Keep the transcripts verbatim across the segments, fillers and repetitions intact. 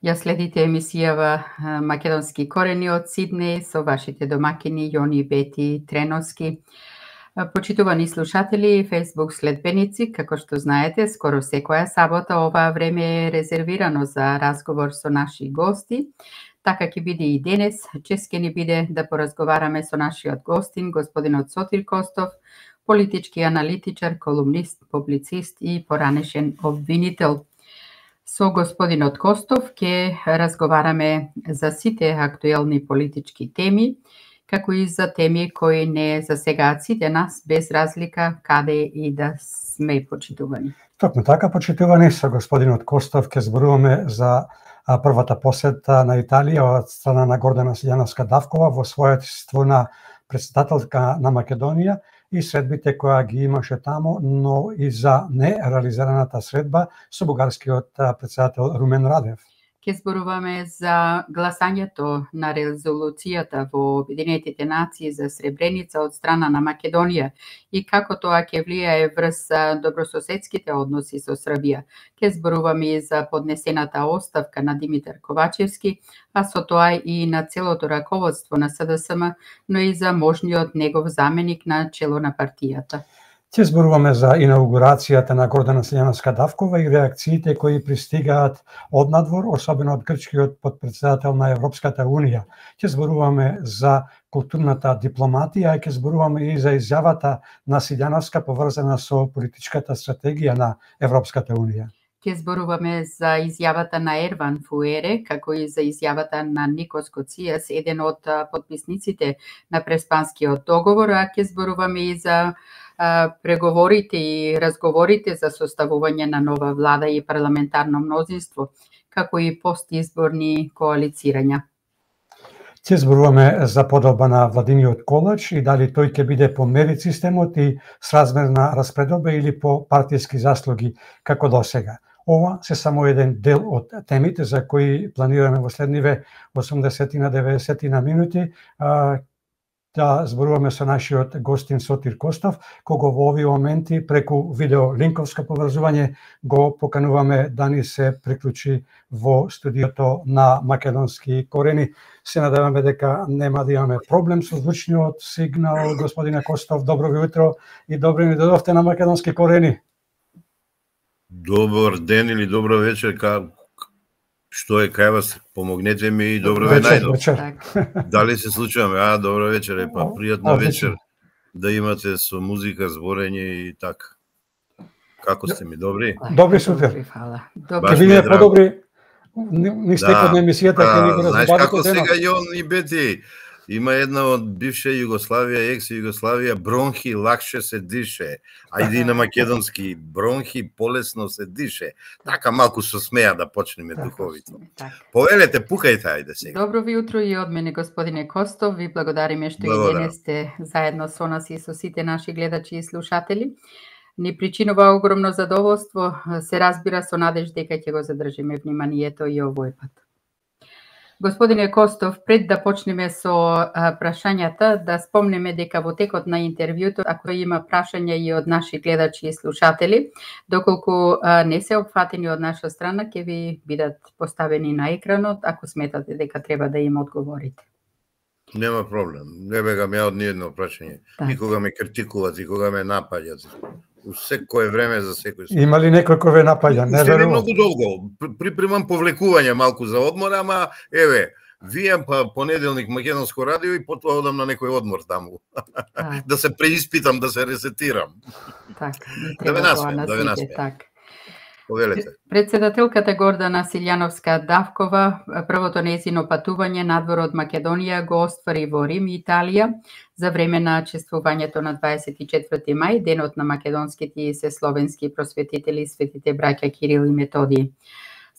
Ја следите емисијава Македонски корени од Сиднеј со вашите домакини Јони, Бети, Треновски. Почитувани слушатели и Facebook следбеници, како што знаете, скоро секоја сабота оваа време е резервирано за разговор со наши гости. Така ќе биде и денес. Чест ќе ни биде да поразговараме со нашиот гостин, господинот Сотир Костов, политички аналитичар, колумнист, публицист и поранешен обвинител. Со господинот Костов ќе разговараме за сите актуелни политички теми, како и за теми кои не засегаат сите нас, без разлика каде и да сме почитувани. Токму така, почитувани, со господинот Костов ќе зборуваме за првата посета на Италија од страна на Гордана Силјановска-Давкова во својство на председателка на Македонија и средбите која ги имаше таму, но и за нереализираната средба со бугарскиот председател Румен Радев. Ќе зборуваме за гласањето на резолуцијата во Обединетите нации за Сребреница од страна на Македонија и како тоа ќе влијае врз добрососедските односи со Србија. Ќе зборуваме и за поднесената оставка на Димитар Ковачевски, а со тоа и на целото раководство на С Д С М, но и за можниот негов заменик на чело на партијата. Ќе зборуваме за инаугурацијата на Гордана Силјановска-Давкова и реакциите кои пристигаат од надвор, особено од грчкиот подпредседател на Европската Унија. Ќе зборуваме за културната дипломатија и ќе зборуваме и за изјавата на Силјановска поврзана со политичката стратегија на Европската Унија. Ќе зборуваме за изјавата на Ерван Фуере, како и за изјавата на Никос Коцијас, еден од подписниците на Преспанскиот договор, а ќе зборуваме и за преговорите и разговорите за составување на нова влада и парламентарно мнозинство, како и постизборни коалицирања. Ќе зборуваме за подолба на владиниот колач и дали тој ќе биде по мерит системот и сразмерна распредоба или по партиски заслуги како досега. Ова се само еден дел од темите за кои планираме во следниве осумдесет на деветдесет на минути да зборуваме со нашиот гостин Сотир Костов, кого во овие моменти преку видео линковско поврзување го покануваме да ни се приклучи во студиото на Македонски корени. Се надеваме дека нема да имаме проблем со звучниот сигнал. Господине Костов, добро ви утро и добро ни додовте на Македонски корени. Добар ден или добро вечер, ка... што е кај вас, помогнете ми и добро ве најдов. Дали се случуваме? А, добро вечер, е па пријатна вечер да имате со музика, зборење и така. Како сте ми, добри? Добри сутер. Добри. Ќе биде подобри ни стекот на емисијата, ќе ни го разбавите. Знаеш како сега Јон и Бети, има една од бивша Југославија, екс-Југославија, бронхи лакше се дише. Ајде и на македонски, бронхи полесно се дише. Така малку со смеа да почнеме духовито. Повелете, пукајте, ајде сега. Добро ви утро и од мене, господине Костов. Ви благодариме што и денес сте заедно со нас и со сите наши гледачи и слушатели. Ни причинува огромно задоволство, се разбира со надеж дека ќе го задржиме вниманието и овој пат. Господине Костов, пред да почнеме со прашањата, да спомнеме дека во текот на интервјуто, ако има прашања и од наши гледачи и слушатели, доколку не се опфатени од наша страна, ќе ви бидат поставени на екранот, ако сметате дека треба да им одговорите. Нема проблем. Не бегам ја од ниедно прашање. Никога ме критикуват, никога ме напаѓат. У секое време за секој случај. Има ли некој кој ве напаѓа? Не верувам. Многу долго. Припремам повлекување малку за одмор, ама еве, вијам па понеделник Македонско радио и потоа одам на некој одмор таму. Да се преиспитам, да се ресетирам. Така, да ве насмеам, да ве насмеам. Повелете. Председателката Гордана Силјановска-Давкова првото нејзино патување надвор од Македонија го оствари во Рим, Италија, за време на чествувањето на дваесет и четврти мај, денот на македонските и сесловенски просветители, светите браќа Кирил и Методиј.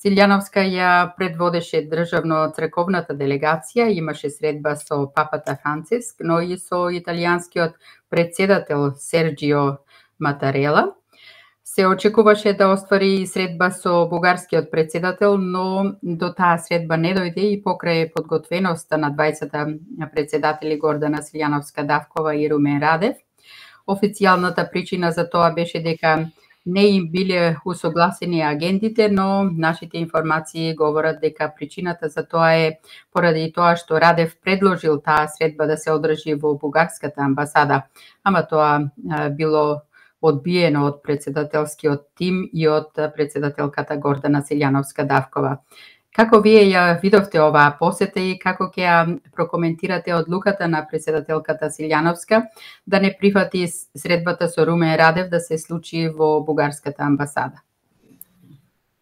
Силјановска ја предводеше државно-црковната делегација, имаше средба со папата Франциск, но и со италијанскиот председател Серџио Матарела. Се очекуваше да оствари средба со бугарскиот председател, но до таа средба не дојде и покрај подготвеноста на дваесетта председатели Гордана Силјановска-Давкова и Румен Радев. Официјалната причина за тоа беше дека не им биле усогласени агендите, но нашите информации говорат дека причината за тоа е поради тоа што Радев предложил таа средба да се одржи во бугарската амбасада, ама тоа било одбиено од председателскиот тим и од председателката Гордана Силјановска-Давкова. Како вие ја видовте оваа посета и како ќе ја прокоментирате одлуката на председателката Силјановска да не прифати средбата со Румен Радев да се случи во бугарската амбасада?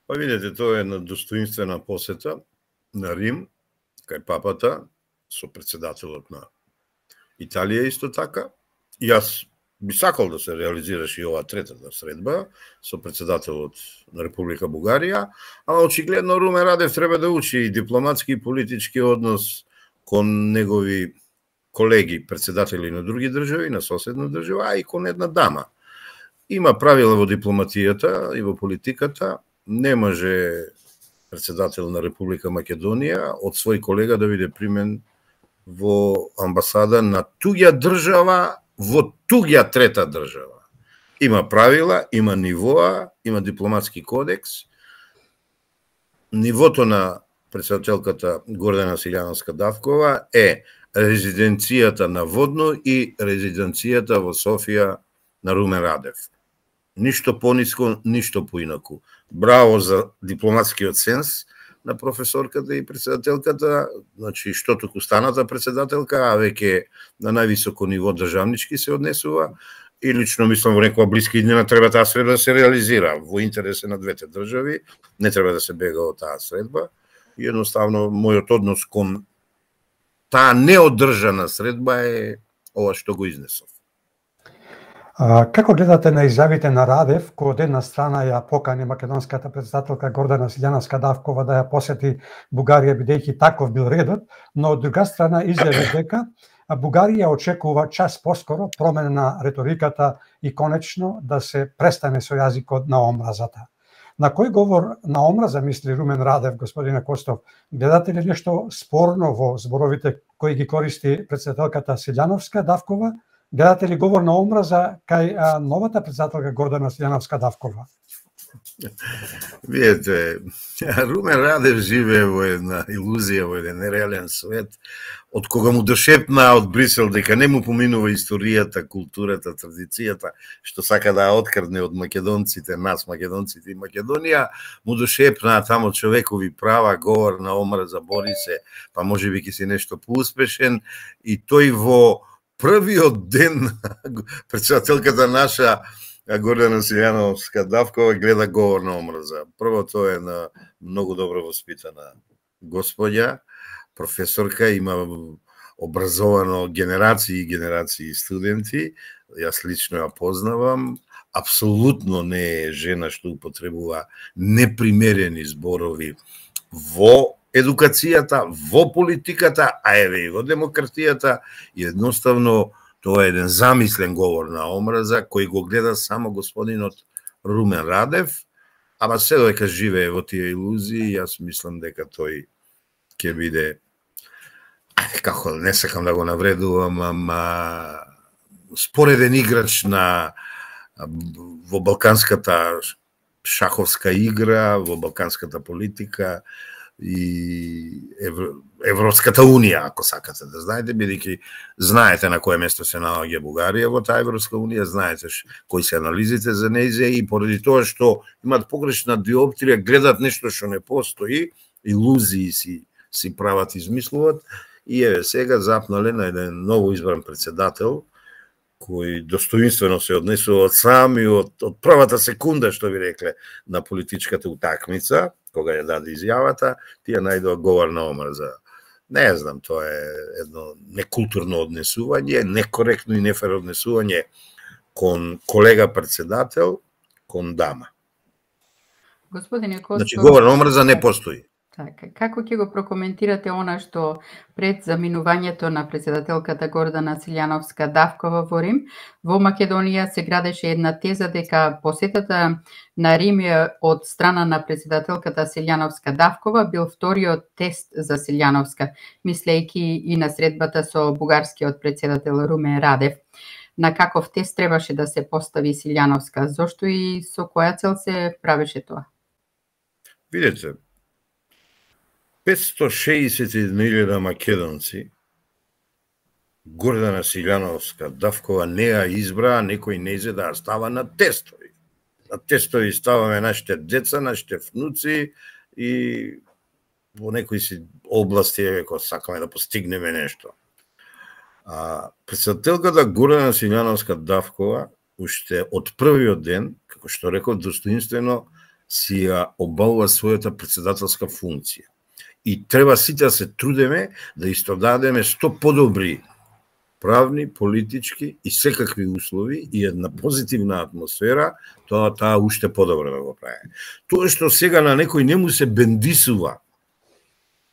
Па видите, тоа е една достоинствена посета на Рим, кај папата, со председателот на Италија исто така. Јас би сакал да се реализираше и ова третата средба со председателот на Република Бугарија, ама очигледно Румен Радев треба да учи и дипломатски и политички однос кон негови колеги, председатели на други држави, на соседна држава, а и кон една дама. Има правила во дипломатијата и во политиката, не може председател на Република Македонија од свој колега да биде примен во амбасада на туѓа држава во туѓа трета држава. Има правила, има нивоа, има дипломатски кодекс. Нивото на председателката Гордана Силјановска-Давкова е резиденцијата на Водно и резиденцијата во Софија на Румен Радев. Ништо пониско, ништо поинаку. Браво за дипломатскиот сенс на професорката и председателката, значи што туку станата председателка, а веќе на највисоко ниво државнички се однесува и лично мислам во некоја блиска иднина треба таа средба да се реализира во интересе на двете држави, не треба да се бега од таа средба. И едноставно мојот однос кон таа неодржана средба е ова што го изнесов. А, како гледате на изјавите на Радев, кој од една страна ја покани македонската председателка Гордана Силјановска-Давкова да ја посети Бугарија бидејќи таков бил редот, но од друга страна изјави дека Бугарија очекува час поскоро промена на реториката и конечно да се престане со јазикот на омразата. На кој говор на омраза мисли Румен Радев, господине Костов? Гледате ли нешто спорно во зборовите кои ги користи председателката Силјановска-Давкова? Гледате ли говор на омраза кај а, новата председателка Гордана Силјановска-Давкова? Видете, Румен Радев живее во една илузија, во еден нереален свет, од кога му дошепна од Брисел дека не му поминува историјата, културата, традицијата, што сака да ја открадне од македонците, нас македонците и Македонија, му дошепна тамо човекови права, говор на омраза, бори се, па можеби ќе си нешто поуспешен, и тој во првиот ден председателката наша Гордана Силјановска-Давкова гледа говор на омраза. Прво, тоа е на многу добро воспитана господја, професорка, има образовано генерации и генерации студенти, јас лично ја познавам, апсолутно не е жена што употребува непримерени зборови во едукацијата, во политиката, а еве и во демократијата, и едноставно тоа е еден замислен говор на омраза кој го гледа само господинот Румен Радев, ама се додека живее во тие илузии, јас мислам дека тој ќе биде, како не сакам да го навредувам, ама спореден играч на во балканската шаховска игра, во балканската политика и Европската унија, ако сакате да знаете, бидејќи знаете на кое место се наоѓа Бугарија во таа Европска унија, знаете кои се анализите за нејзе, и поради тоа што имаат погрешна диоптрија, гледат нешто што не постои, илузии си си прават, измислуват, и еве сега запнале на еден ново избран председател кој достоинствено се однесува од сам и од, од првата секунда, што ви рекле, на политичката утакмица, кога ја даде изјавата, тие најдоа говор на омраза. Не знам, тоа е едно некултурно однесување, некоректно и нефер однесување кон колега председател, кон дама. Господине Костов, значи, говор на омраза не постои. Така, како ќе го прокоментирате она што пред заминувањето на председателката Гордана Силјановска-Давкова во Рим, во Македонија се градеше една теза дека посетата на Рим од страна на председателката Силјановска-Давкова бил вториот тест за Силјановска, мислејќи и на средбата со бугарскиот председател Румен Радев. на каков тест требаше да се постави Силјановска? Зошто и со која цел се правеше тоа? Видете, петстотини шеесет и еден илјада македонци Гордана Силјановска Давкова не ја избраа, некој не изе да ја става на тестови. На тестови ставаме нашите деца, нашите внуци и во некои си области ако сакаме да постигнеме нешто. А председателката Гордана Силјановска Давкова уште од првиот ден, како што реков, достоинствено си ја обавува својата председателска функција. И треба сите да се трудеме да истодадеме што подобри правни, политички и секакви услови и една позитивна атмосфера, тоа таа уште подобро да го прави. Тоа што сега на некој не му се бендисува,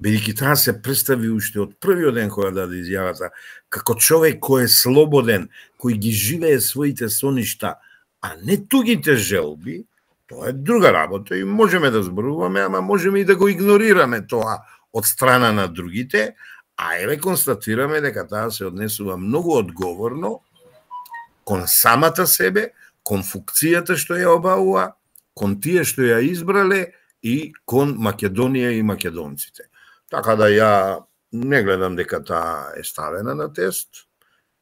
бидејќи таа се представи уште од првиот ден кога даде изјавата, како човек кој е слободен, кој ги живее своите соништа, а не тугите желби, тоа е друга работа и можеме да зборуваме, ама можеме и да го игнорираме тоа од страна на другите, а еве констатираме дека таа се однесува многу одговорно кон самата себе, кон функцијата што ја обавува, кон тие што ја избрале и кон Македонија и македонците. Така да ја не гледам дека таа е ставена на тест.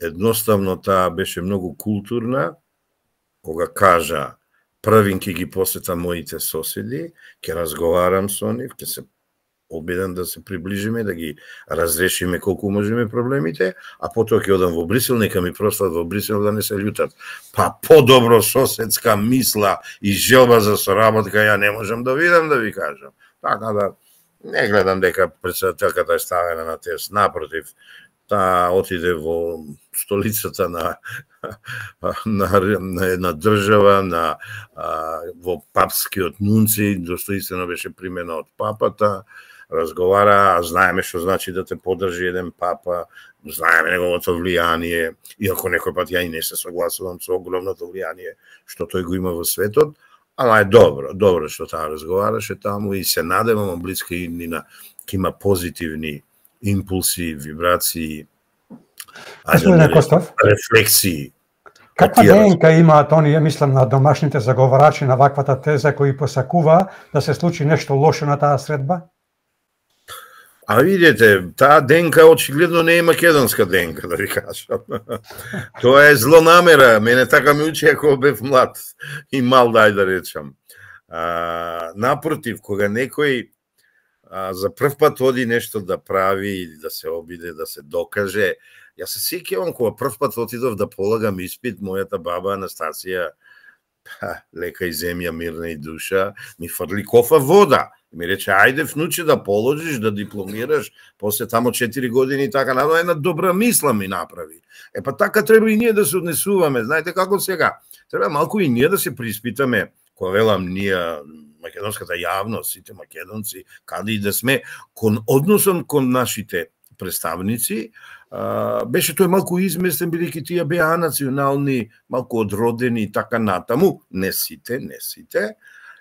Едноставно таа беше многу културна, кога кажа првин ќе ги посетам моите соседи, ќе разговарам со нив, ќе се обидам да се приближиме, да ги разрешиме колку можеме проблемите, а потоа ќе одам во Брисел, нека ми простат во Брисел да не се љутат. Па подобро соседска мисла и желба за соработка ја не можам да видам, да ви кажам. Така да не гледам дека председателката е ставена на тест, напротив, таа отиде во столицата на на, на една држава, на а, во папскиот нунци, достоинствено беше примена од папата, разговара, а знаеме што значи да те подржи еден папа, знаеме неговото влијание, иако некој пат ја и не се согласувам со огромното влијание што тој го има во светот, ама е добро, добро што таа разговараше таму и се надевам блиска иднина ќе има позитивни импулси, вибрации, Господине Костов, рефлексии. Каква ДНК имаат оние, мислам на домашните заговарачи на ваквата теза кои посакува да се случи нешто лошо на таа средба? А видите, таа ДНК очигледно не е македонска ДНК, да ви кажам. Тоа е злонамера, мене така ми учи ако бев млад и мал, дај да речам. А, напротив, кога некој а, за прв пат оди нешто да прави или да се обиде, да се докаже, јас се сеќавам кога прв пат отидов да полагам испит, мојата баба Анастасија, лека и земја, мирна и душа, ми фрли кофа вода. Ми рече, ајде внуче да положиш, да дипломираш, после тамо четири години и така, надо една добра мисла ми направи. Е па така треба и ние да се однесуваме, знаете како сега. Треба малку и ние да се приспитаме, кога велам ние, македонската јавност, сите македонци, каде и да сме, кон односом кон нашите представници, а, беше тој малку изместен, бидејќи тие беа национални, малку одродени и така натаму, не сите, не сите.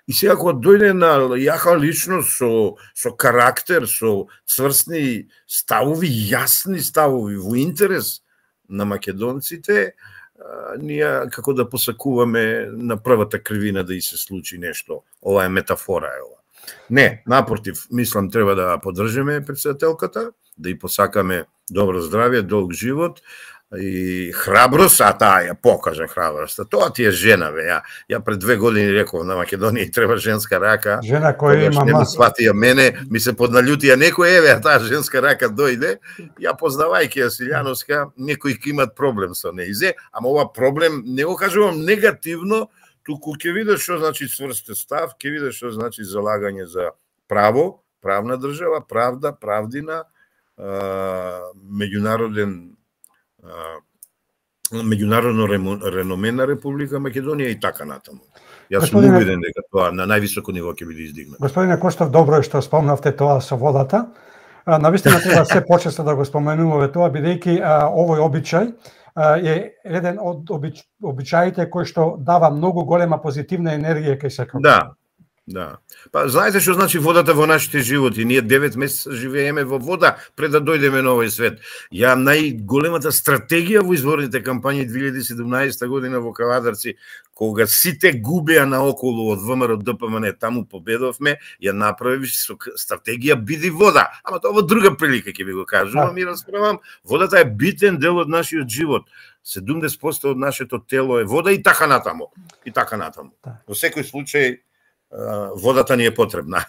И сега кога дојде на јака личност со, со карактер, со цврстни ставови, јасни ставови во интерес на македонците, а, ние како да посакуваме на првата кривина да и се случи нешто. Ова е метафора е ова. Не, напротив, мислам треба да поддржиме председателката, да и посакаме добро здравје, долг живот и храброст, а таа ја покажа храброста. Тоа ти е жена, бе. Ја, ја пред две години реков на Македонија треба женска рака. Жена која има не ма... сватија мене, ми се подналјутија некој, еве, таа женска рака дојде. Ја познавајќи ја Силјановска, некои ќе имат проблем со нејзе, ама ова проблем не го кажувам негативно, туку ќе видиш што значи цврст став, ќе видиш што значи залагање за право, правна држава, правда, правдина, меѓународен меѓународно реноме на Република Македонија и така натаму. Јас сум убеден дека тоа на највисоко ниво ќе биде издигнато. Господине Костов, добро е што спомнавте тоа со водата. Навистина треба се почесто да го споменуваме тоа, бидејќи овој обичај е еден од обич... обичаите кој што дава многу голема позитивна енергија кај секој. Да. Да. Па знаете што значи водата во нашите животи? Ние девет месеца живееме во вода пред да дојдеме на овој свет. Ја најголемата стратегија во изборните кампањи две илјади и седумнаесета година во Кавадарци, кога сите губеа наоколу од ВМРО Д П М Н, таму победовме, ја направи со стратегија биди вода. Ама тоа во друга прилика ќе ви го кажувам и расправам. Водата е битен дел од нашиот живот. седумдесет проценти од нашето тело е вода и така натаму. И така натаму. Во секој случај водата ни е потребна.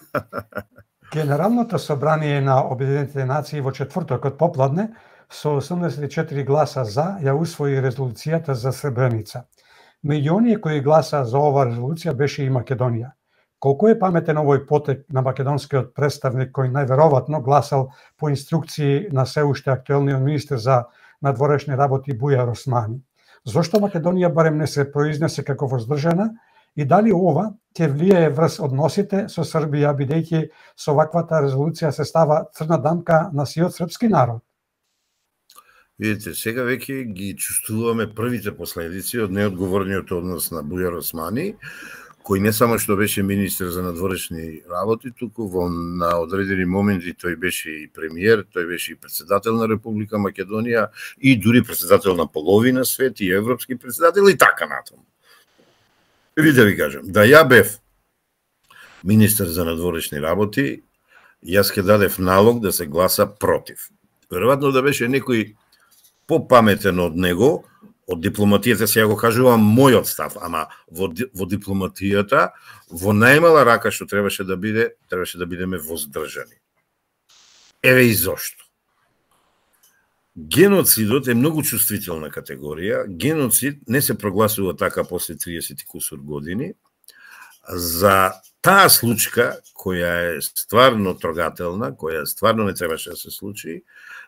Генералното собрание на Обединетите нации во четвртокот попладне со осумдесет и четири гласа за ја усвои резолуцијата за Сребреница. Меѓу оние кои гласа за оваа резолуција беше и Македонија. Колку е паметен овој потек на македонскиот представник кој најверојатно гласал по инструкции на се уште актуелниот министер за надворешни работи Бујар Османи? Зошто Македонија барем не се произнесе како воздржана и дали ова ќе влијае врз односите со Србија, бидејќи со ваквата резолуција се става црна дамка на сиот српски народ? Видите, сега веќе ги чувствуваме првите последици од неодговорниот однос на Бујар Османи, кој не само што беше министер за надворешни работи, туку во на одредени моменти тој беше и премиер, тој беше и председател на Република Македонија и дури председател на половина свет и европски председател и така натаму. Ви да ви кажам, да ја бев министер за надворешни работи, јас ке дадев налог да се гласа против. Веројатно да беше некој попаметен од него, од дипломатијата, сега го кажувам мојот став, ама во, во дипломатијата, во најмала рака што требаше да биде, требаше да бидеме воздржани. Еве и зошто. Геноцидот е многу чувствителна категорија. Геноцид не се прогласува така после триесет и кусур години. За таа случка, која е стварно трогателна, која стварно не требаше да се случи,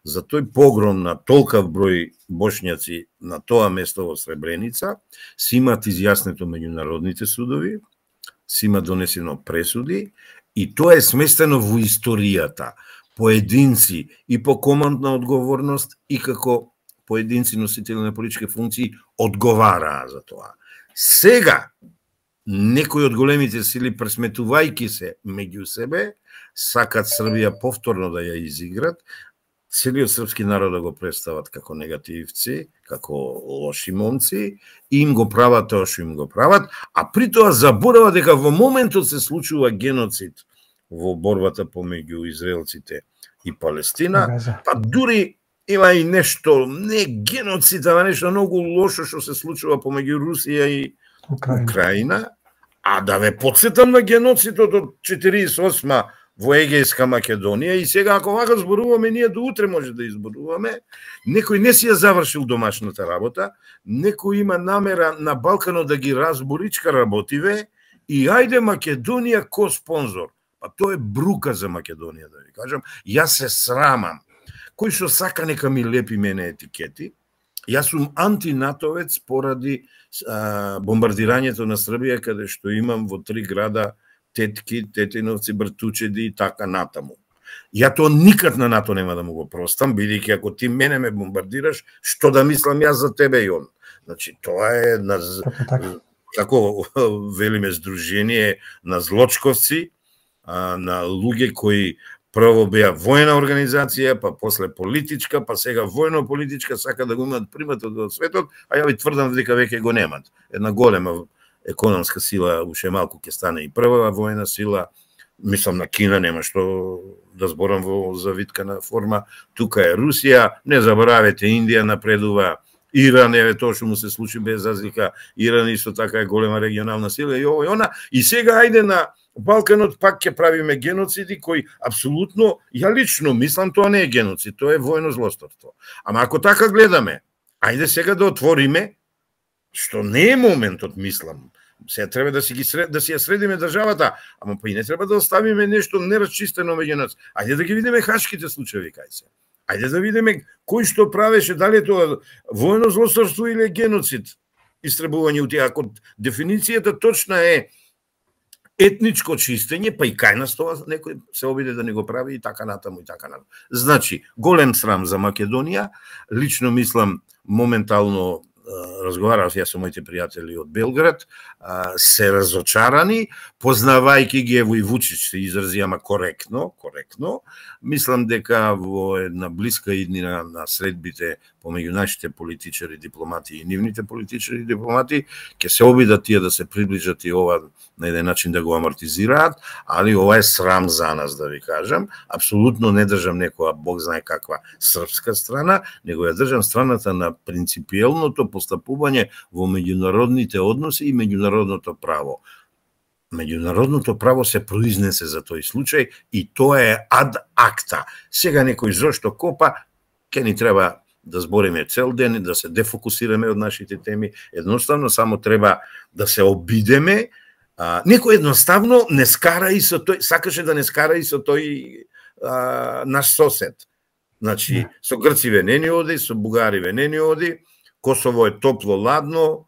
за тој погром на толкав број бошњаци на тоа место во Сребреница, си имат изјаснето меѓународните судови, си има донесено пресуди и тоа е сместено во историјата. Поединци и по командна одговорност и како поединци носители на политички функции одговараа за тоа. Сега, некои од големите сили, пресметувајќи се меѓу себе, сакат Србија повторно да ја изиграт, целиот српски народ да го представат како негативци, како лоши момци, и им го прават тоа што им го прават, а при тоа заборава дека во моментот се случува геноцид во борбата помеѓу израелците и Палестина, па дури има и нешто, не геноцид, а нешто многу лошо што се случува помеѓу Русија и Украина. Украина, а да ве потсетам на геноцидот од четириесет и осма во Егејска Македонија и сега ако вака зборуваме, ние до утре може да изборуваме, некој не си ја завршил домашната работа, некој има намера на Балканот да ги разборичка работиве и ајде Македонија ко спонзор. Па тоа е брука за Македонија, да ви кажам. Јас се срамам. Кој што сака нека ми лепи мене етикети, јас сум антинатовец поради а, бомбардирањето на Србија, каде што имам во три града тетки, тетиновци, бртучеди и така натаму. Ја тоа никад на НАТО нема да му го простам, бидејќи ако ти мене ме бомбардираш, што да мислам јас за тебе и он. Значи, тоа е на, како велиме, здружение на злочковци, а, на луѓе кои прво беа војна организација, па после политичка, па сега војно-политичка, сака да го имат приматот од светот, а ја ви тврдам дека веќе го немат. Една голема економска сила, уште малку ќе стане и прва војна сила, мислам на Кина, нема што да зборам во завиткана форма, тука е Русија, не заборавете, Индија напредува, Иран, еве тоа што му се случи без разлика, Иран исто така е голема регионална сила и ово и она, и сега ајде на Балканот пак ќе правиме геноциди кои апсолутно, ја лично мислам, тоа не е геноцид, тоа е војно злосторство. Ама ако така гледаме, ајде сега да отвориме, што не е моментот, мислам, сега треба да си ги сред, да си ја средиме државата, ама па и не треба да оставиме нешто нерасчистено меѓу нас. Ајде да ги видиме хашките случаи, кај се. Ајде да видиме кој што правеше, дали е тоа војно злосторство или геноцид, истребување у тие. Ако дефиницијата точна е етничко чистење, па и кај нас тоа некој се обиде да не го прави и така натаму и така натаму. Значи, голем срам за Македонија, лично мислам моментално разговарав ја со моите пријатели од Белград, се разочарани, познавајќи ги, ево и Вучич се изрази, ама коректно, коректно. Мислам дека во една блиска иднина на средбите помеѓу нашите политичари, дипломати и нивните политичари и дипломати, ќе се обидат тие да се приближат и ова на еден начин да го амортизираат, али ова е срам за нас, да ви кажам. Апсолутно не држам некоја, Бог знае каква, српска страна, него ја држам страната на принципиелното постапување во меѓународните односи и меѓународното право. Меѓународното право се произнесе за тој случај и тоа е ад акта. Сега некој зошто копа, ке ни треба да збориме цел ден, да се дефокусираме од нашите теми, едноставно само треба да се обидеме. А, некој едноставно не скара и со тој, сакаше да не скара и со тој а, наш сосед. Значи, со грци не ни оди, со бугари не ни оди, Косово е топло, ладно,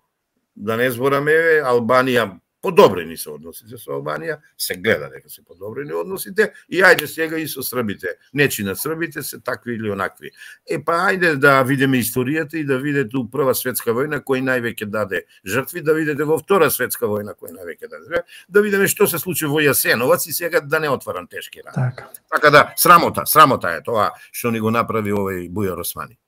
да не збораме, Албанија подобрени се односите со Албанија, се гледа дека се подобрени односите, и ајде сега и со србите. Нечи на србите се такви или онакви. Е па ајде да видиме историјата и да видите у Прва светска војна кој највеќе даде жртви, да видите во Втора светска војна кој највеќе даде, да видиме што се случи во Јасеновац и сега да не отварам тешки рани. Така. Така да, срамота, срамота е тоа што ни го направи овој Бујар Османи.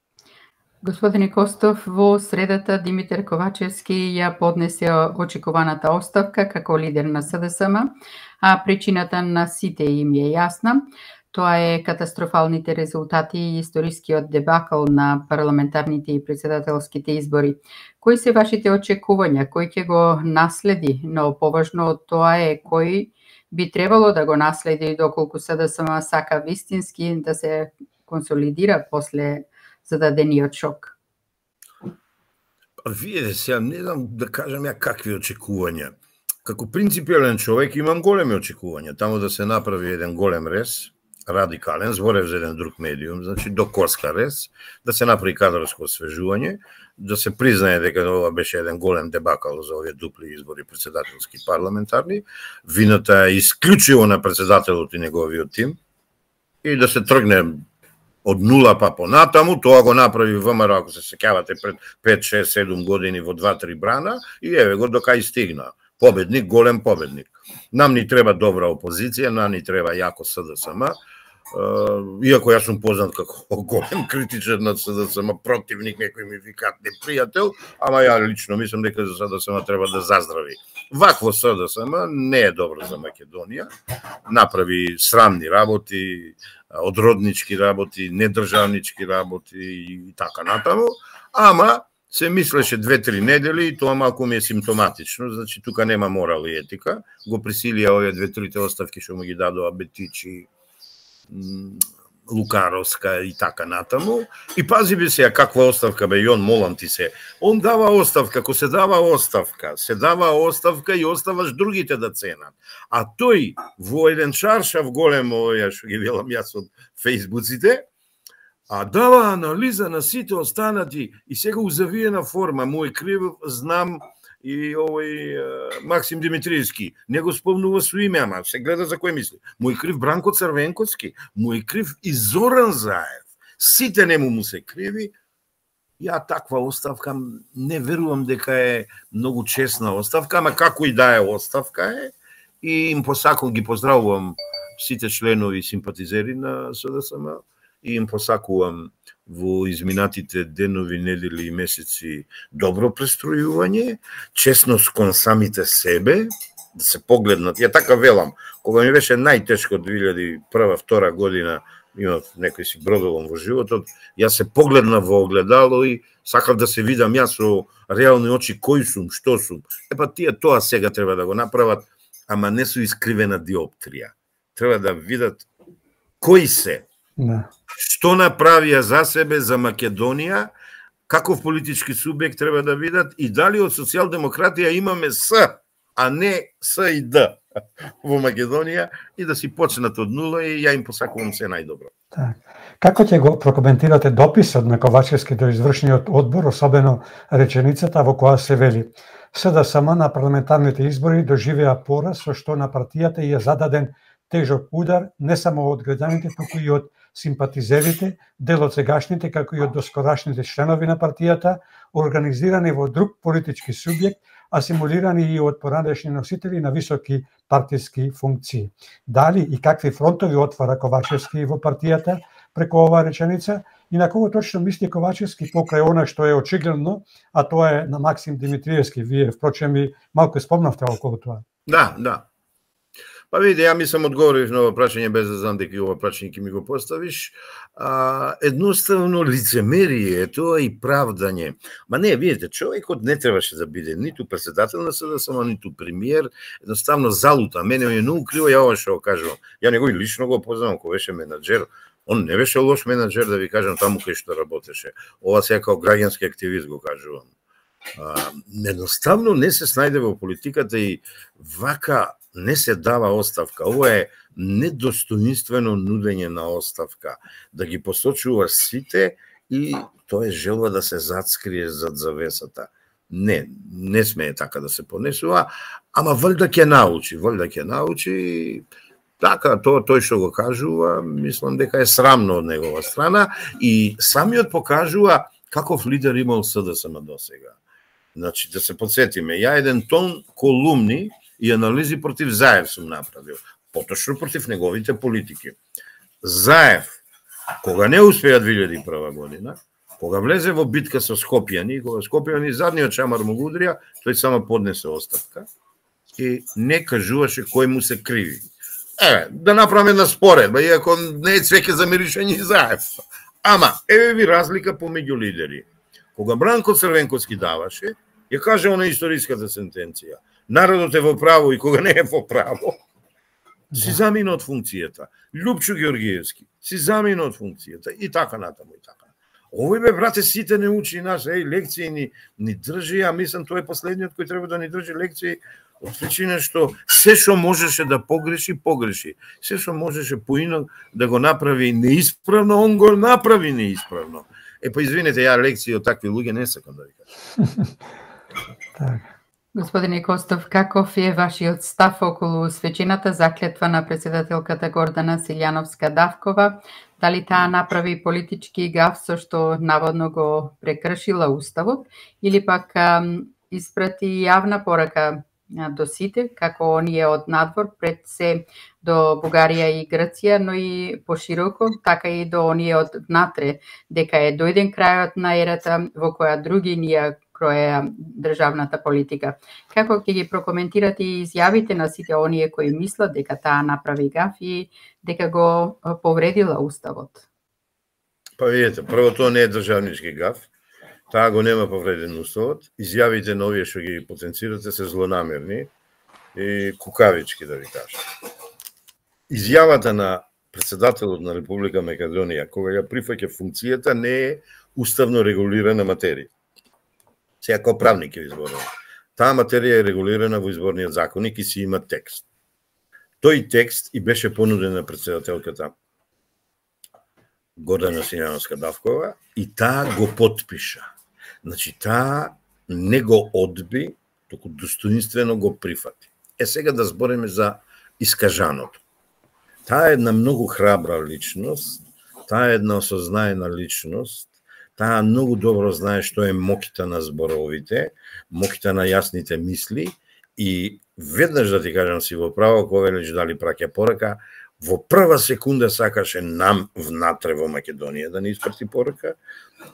Господине Костов, во средата Димитар Ковачевски ја поднесе очекуваната оставка како лидер на СДСМ, а причината на сите им е јасна. Тоа е катастрофалните резултати и историскиот дебакл на парламентарните и председателските избори. Кои се вашите очекувања? Кој ќе го наследи? Но поважно од тоа е кој би требало да го наследи доколку СДСМ сака вистински да се консолидира после зададениот шок? Видете, сега не знам да кажам ја какви очекувања. Како принципиален човек имам големи очекувања. Таму да се направи еден голем рез, радикален, зборев за еден друг медиум, значи до коска рез, да се направи кадрско освежување, да се признае дека ова беше еден голем дебакал за овие дупли избори председателски парламентарни. Вината е исклучиво на председателот и неговиот тим и да се тргне од нула па понатаму. Тоа го направи ВМРО, ако се сеќавате, пред пет, шест, седум години во два-три брана и еве го до кај стигна. Победник, голем победник. Нам ни треба добра опозиција, нам ни треба јако СДСМ. Иако јас сум познат како голем критичар на СДСМ, противник, некој ми викаат непријател, ама ја лично мислам дека за СДСМ треба да заздрави. Вакво СДСМ не е добро за Македонија. Направи срамни работи, одроднички работи, недржавнички работи и така натаму, ама се мислеше две-три недели и тоа малку ми е симптоматично, значи тука нема морал и етика. Го присилија овие две-трите оставки што му ги дадоа Бетичи, Лукаровска и така натаму. И пази би сега каква оставка бе, и он, молам ти се. Он дава оставка, ако се дава оставка, се дава оставка и оставаш другите да ценат. А тој во еден чаршав голем, овој што ги велам јас од фејсбуците, а дава анализа на сите останати и сега узавиена форма, мој крив, знам, и овој Максим Димитриевски, не го спомнува со име, ама се гледа за кој мисли. Мој крив Бранко Црвенковски, мој крив и Зоран Заев. Сите нему му се криви. Ја таква оставка не верувам дека е многу честна оставка, ама како и да е оставка е. И им посакувам, ги поздравувам сите членови и симпатизери на СДСМ и им посакувам во изминатите денови, недели и месеци добро престројување, честност кон самите себе, да се погледнат. Ја така велам, кога ми беше најтешко од две илјади и прва-втора година, имав некој си бродолом во животот, јас се погледнав во огледало и сакав да се видам јас со реални очи кој сум, што сум. Епа тие тоа сега треба да го направат, ама не со искривена диоптрија. Треба да видат кои се. Да. Што направија за себе, за Македонија, каков политички субјект треба да видат и дали од социјалдемократија имаме С, а не С и Д во Македонија и да си почнат од нула и ја им посакувам се најдобро. Так. Како ќе го прокоментирате дописот на Ковачевски до извршниот одбор, особено реченицата во која се вели: СДСМ на парламентарните избори доживеа пораз со што на партијата ја зададен тежок удар не само од граѓаните, туку и од симпатизерите, дел од сегашните, како и од доскорашните членови на партијата, организирани во друг политички субјект, асимулирани и од поранешни носители на високи партиски функции. Дали и какви фронтови отвара Ковачевски во партијата преку оваа реченица и на кого точно мисли Ковачевски покрај она што е очигледно, а тоа е на Максим Димитриевски. Вие, впрочем, и малку спомнавте околу тоа. Да, да. Па видите, ја мислам одговорив на ова прашање без да знам дека ова прашање ќе ми го поставиш. А, едноставно лицемерие, тоа и правдање. Ма не, видите, човекот не требаше да биде ниту председател на СДСМ, ниту премиер, едноставно залута. Мене е многу криво, ја ова што го кажувам. Ја него и лично го познавам, кој беше менаџер. Он не беше лош менаџер, да ви кажам, таму кај што работеше. Ова сега како граѓански активист го кажувам. А, едноставно не се снајде во политиката и вака не се дава оставка. Ова е недостоинствено нудење на оставка. Да ги посочуваш сите и тоа е желба да се зацкрие зад завесата. Не, не смее така да се понесува, ама валјда ќе научи, валјда ќе научи. Така, тоа тој што го кажува, мислам дека е срамно од негова страна и самиот покажува каков лидер имал СДСМ до сега. Значи, да се подсетиме, ја еден тон колумни и анализи против Заев сум направил, поточно против неговите политики. Заев, кога не успеа две илјади и прва година, кога влезе во битка со Скопјани, кога Скопјани задниот чамар му го удрија, тој само поднесе оставка и не кажуваше кој му се криви. Еве, да направиме една споредба, иако не е цвеќе за миришење и Заев. Ама, еве ви разлика помеѓу лидери. Кога Бранко Црвенковски даваше, ја каже она историската сентенција. Народот е во право и кога не е во право, си замина од функцијата. Лјупчо Георгиевски си замина од функцијата и така натаму и така. Овој бе, брате, сите не учи нас, еј, лекции ни, ни држи, а мислам тој е последниот кој треба да ни држи лекции, од причина што се што можеше да погреши, погреши. Се што можеше поинак да го направи неисправно, он го направи неисправно. Е, па извинете, ја лекции од такви луѓе не сакам да ви кажам. Така. Господине Костов, каков е вашиот став околу свечената заклетва на председателката Гордана Силјановска-Давкова? Дали таа направи политички гаф со што наводно го прекршила уставот или пак ам, испрати јавна порака до сите, како оние од надвор пред се до Бугарија и Грција, но и пошироко, така и до оние од внатре, дека е дојден крајот на ерата во која други ние кроеа државната политика. Како ќе ги прокоментирате и изјавите на сите оние кои мислат дека таа направи гаф и дека го повредила уставот? Па видите, прво тоа не е државнички гаф. Таа го нема повреден уставот. Изјавите на овие што ги потенцирате се злонамерни и кукавички, да ви кажам. Изјавата на председателот на Република Македонија, кога ја прифаќа функцијата, не е уставно регулирана материја. Сега како правник е изборен. Таа материја е регулирана во изборниот законник и си има текст. Тој текст и беше понуден на председателката Гордана Силјановска-Давкова и таа го потпиша. Значи, таа не го одби, туку достоинствено го прифати. Е, сега да збориме за искажаното. Таа е една многу храбра личност, таа е една осознаена личност, таа многу добро знае што е моките на зборовите, моките на јасните мисли и веднаш да ти кажам си во право, кога велиш дали праќа порака, во прва секунда сакаше нам внатре во Македонија да ни испрати порака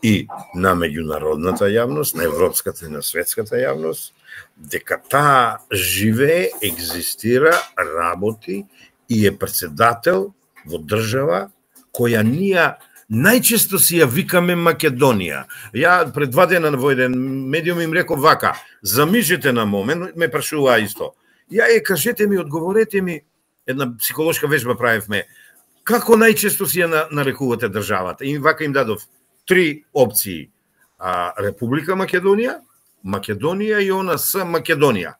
и на меѓународната јавност, на европската и на светската јавност, дека таа живее, екзистира, работи и е председател во држава која ние најчесто си ја викаме Македонија. Ја пред два дена во еден медиум им реков вака, замислете на момент, ме прашуваа исто. Ја е, кажете ми, одговорете ми, една психолошка вежба правевме, како најчесто си ја нарекувате државата? И вака им дадов три опции. А, Република Македонија, Македонија и она с Македонија.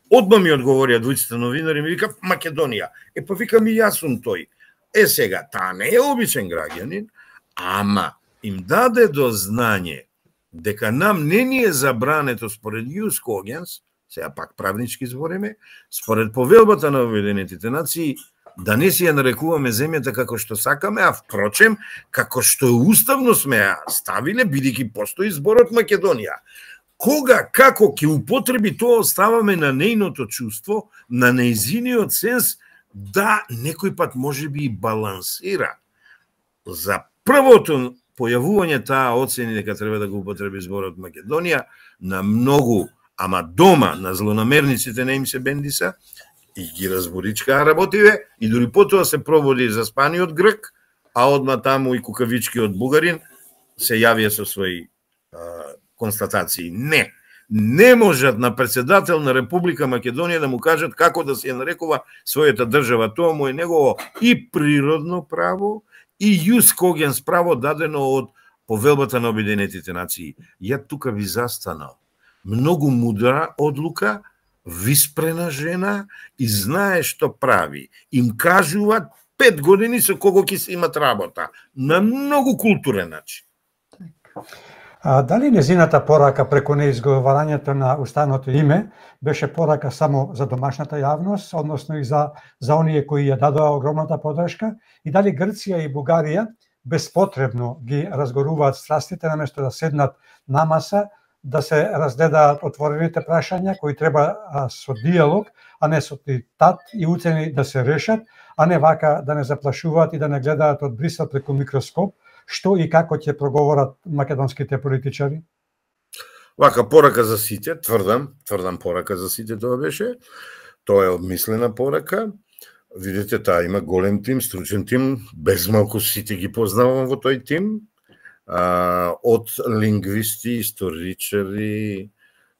Одма ми одговорија двојцата новинари, ми вика Македонија. Е, па викам и јас сум тој. Е, сега, таа не е обичен граѓанин, ама им даде до знање дека нам не ни е забрането според Јус Когенс, сега пак правнички збориме, според повелбата на Обединетите нации, да не си ја нарекуваме земјата како што сакаме, а впрочем, како што уставно сме ја ставиле, бидејќи постои зборот Македонија. Кога, како ќе употреби тоа, оставаме на нејното чувство, на нејзиниот сенс, да некој пат може би и балансира. За првото појавување таа оцени дека треба да го употреби зборот Македонија, на многу, ама дома, на злонамерниците не им се бендиса, и ги разборичка работиве, и дури потоа се проводи за спаниот грк, а одма таму и кукавички од бугарин се јавија со своји а, констатации. Не, не можат на председател на Република Македонија да му кажат како да се ја нарекува својата држава. Тоа му е негово и природно право, и јус когенс право дадено од Повелбата на Обединетите нации. Ја тука ви застанал. Многу мудра одлука, виспрена жена и знае што прави. Им кажуваат пет години со кого ќе се имат работа. На многу културен начин. А дали незината порака преку неизговарањето на уставното име беше порака само за домашната јавност, односно и за, за оние кои ја дадоа огромната подршка, и дали Грција и Бугарија безпотребно ги разгоруваат страстите наместо да седнат на маса, да се разгледаат отворените прашања кои треба а, со диалог, а не со диктат и уцени да се решат, а не вака да не заплашуваат и да не гледаат од Брисел преку микроскоп, што и како ќе проговорат македонските политичари? Вака порака за сите, тврдам, тврдам порака за сите тоа беше. Тоа е обмислена порака. Видите, таа има голем тим, стручен тим, без малку сите ги познавам во тој тим. А, од лингвисти, историчари,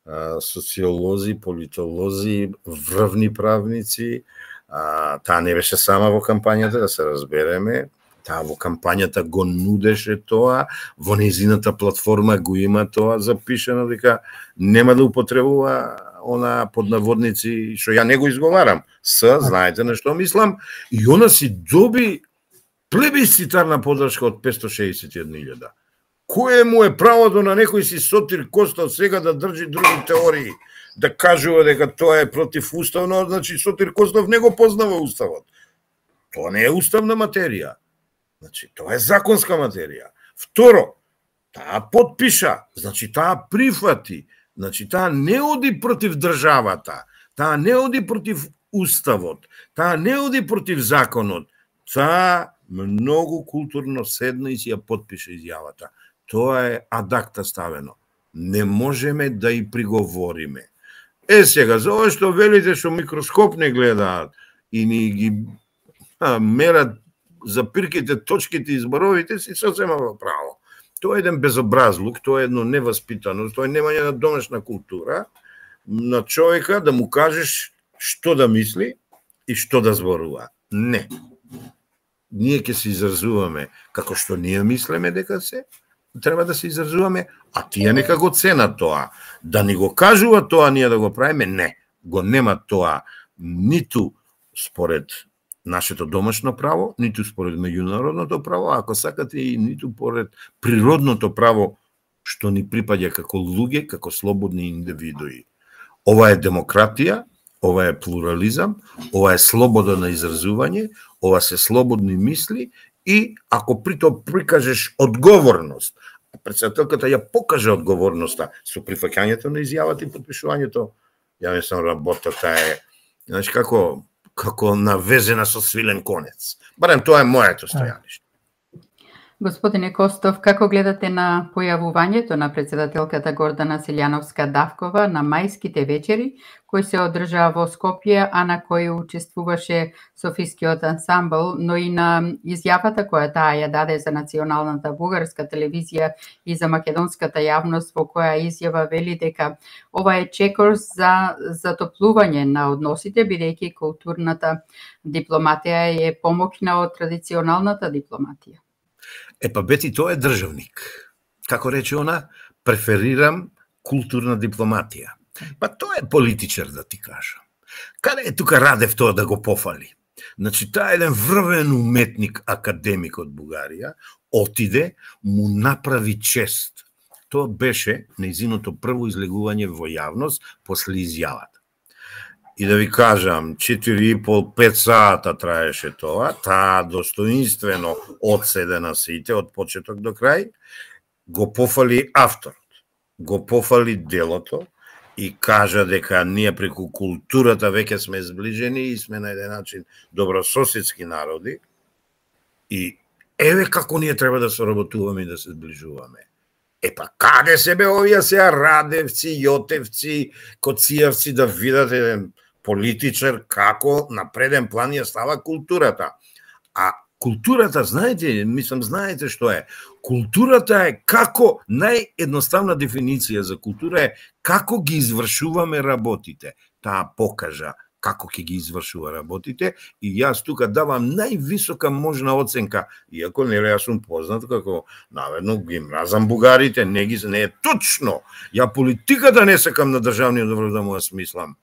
а, социолози, политолози, врвни правници. А, таа не беше сама во кампањата, да се разбереме. Таа во кампањата го нудеше тоа, во нејзината платформа го има тоа запишено, дека нема да употребува она под наводници, што ја не го изговарам. С, знаете на што мислам, и она си доби плебисцитарна подршка од петстотини шеесет и една илјада. Кое му е правото на некој си Сотир Костов сега да држи други теории, да кажува дека тоа е против уставно, значи Сотир Костов не го познава уставот. Тоа не е уставна материја. Значи, тоа е законска материја. Второ, таа подпиша, значи таа прифати, значи таа не оди против државата, таа не оди против уставот, таа не оди против законот, таа многу културно седна и си ја подпиша изјавата. Тоа е адакта ставено. Не можеме да и приговориме. Е сега, за ова што велите што микроскоп не гледаат и ни ги а, мерат за пирките, точките и зборовите, си сосема во право. Тоа е еден безобразлук, тоа е едно неваспитаност, тоа е немање на домашна култура на човека да му кажеш што да мисли и што да зборува. Не. Ние ќе се изразуваме како што ние мислеме дека се, треба да се изразуваме, а тие нека го ценат тоа. Да ни го кажува тоа ние да го правиме, не. Го нема тоа ниту според нашето домашно право, ниту според меѓународното право, ако сакате и ниту според природното право што ни припаѓа како луѓе, како слободни индивидуи. Ова е демократија, ова е плурализам, ова е слобода на изразување, ова се слободни мисли и ако при тоа прикажеш одговорност, председателката ја покаже одговорноста со прифаќањето на изјавата и подпишувањето, ја мислам работата е, значи како како навезена со свилен конец. Барем тоа е моето стојаниште. Господине Костов, како гледате на појавувањето на председателката Гордана Селјановска-Давкова на мајските вечери, кои се одржаа во Скопје, а на кои учествуваше Софискиот ансамбл, но и на изјавата која таа ја даде за националната бугарска телевизија и за македонската јавност, во која изјава вели дека ова е чекор за затоплување на односите, бидејќи културната дипломатија е помокна од традиционалната дипломатија. Е па бети, тоа е државник. Како рече она, преферирам културна дипломатија. Па тоа е политичар, да ти кажам. Каде е тука Радев тоа да го пофали? Значи, таа е еден врвен уметник, академик од Бугарија, отиде, му направи чест. Тоа беше нејзиното прво излегување во јавност после изјавата. И да ви кажам, четири и пол пет сата траеше тоа, таа достоинствено одседена сите од почеток до крај, го пофали авторот, го пофали делото и кажа дека ние преку културата веќе сме зближени и сме на еден начин добрососедски народи и еве како ние треба да соработуваме и да се зближуваме. Епа, каде се бе овие сега Радевци, Јотевци, Коцијевци да видат еден политичар како на преден план ја става културата. А културата, знаете, мислам, знаете што е? Културата е како, наједноставна дефиниција за култура е како ги извршуваме работите. Таа покажа како ќе ги извршува работите и јас тука давам највисока можна оценка, иако нели јас сум познат како наверно ги мразам бугарите, не ги не е точно. Ја политиката не сакам на државниот добро да му ја смислам.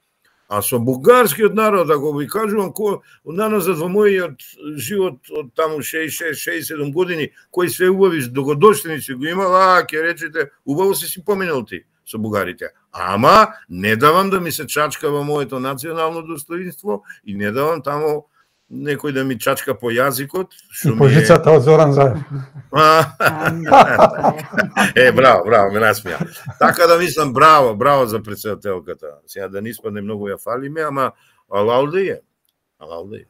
А со бугарскиот народ, ако ви кажувам, кој наназад во мојот живот од таму шеесет и шест шеесет и седум години, кои све убави догодоштиници го имал, а, ќе речете, убаво си си поминал ти со бугарите. Ама, не давам да ми се чачка во моето национално достоинство и не давам таму некој да ми чачка по јазикот. И по жицата од Зоран Заев. Е, браво, браво, ме насмеја. Така да мислам, браво, браво за председателката. Сега да не испадне многу ја фалиме, ама алауде е. Алауде е.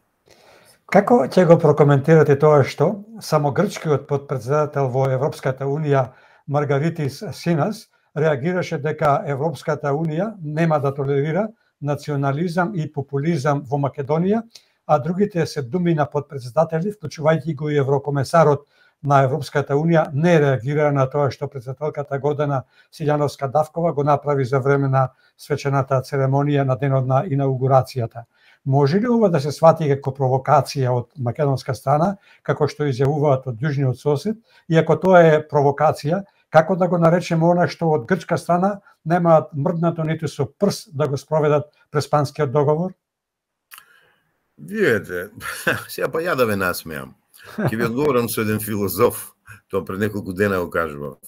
Како ќе го прокоментирате тоа што само грчкиот подпредседател во Европската Унија Маргаритис Синас реагираше дека Европската Унија нема да толерира национализам и популизам во Македонија, а другите се думи на подпредседатели, вклучувајќи го и еврокомесарот на Европската Унија, не реагира на тоа што председателката Гордана Силјановска-Давкова го направи за време на свечената церемонија на денот на инаугурацијата. Може ли ова да се свати како провокација од македонска страна, како што изјавуваат од јужниот сосед, и ако тоа е провокација, како да го наречеме она што од грчка страна немаат мрднато ниту со прст да го спроведат преспанскиот договор? Видете, сега па ја да ве насмеам. Ќе ви одговорам со еден филозоф, тоа пред неколку дена го кажував.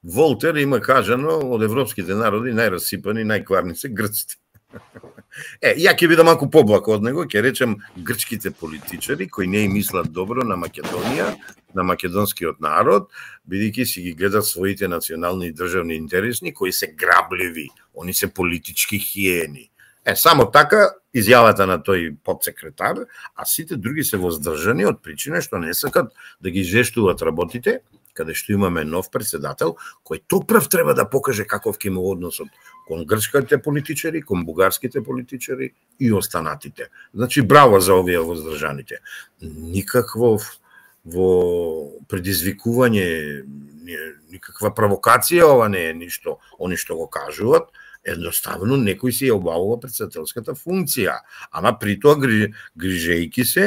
Волтер има кажано од европските народи најрасипани, најкварни се грците. Е, ја ќе бидам малку поблак од него, ќе речем грчките политичари кои не им мислат добро на Македонија, на македонскиот народ, бидејќи си ги гледат своите национални и државни интереси, кои се грабливи, они се политички хиени. Е, само така изјавата на тој подсекретар, а сите други се воздржани од причина што не сакат да ги жештуваат работите, каде што имаме нов председател, кој топрв треба да покаже каков ќе му односот кон грчките политичари, кон бугарските политичари и останатите. Значи, браво за овие воздржаните. Никакво во предизвикување, никаква провокација ова не е ништо, они што го кажуваат, едноставно некој си ја обавува председателската функција, ама при тоа грижејки се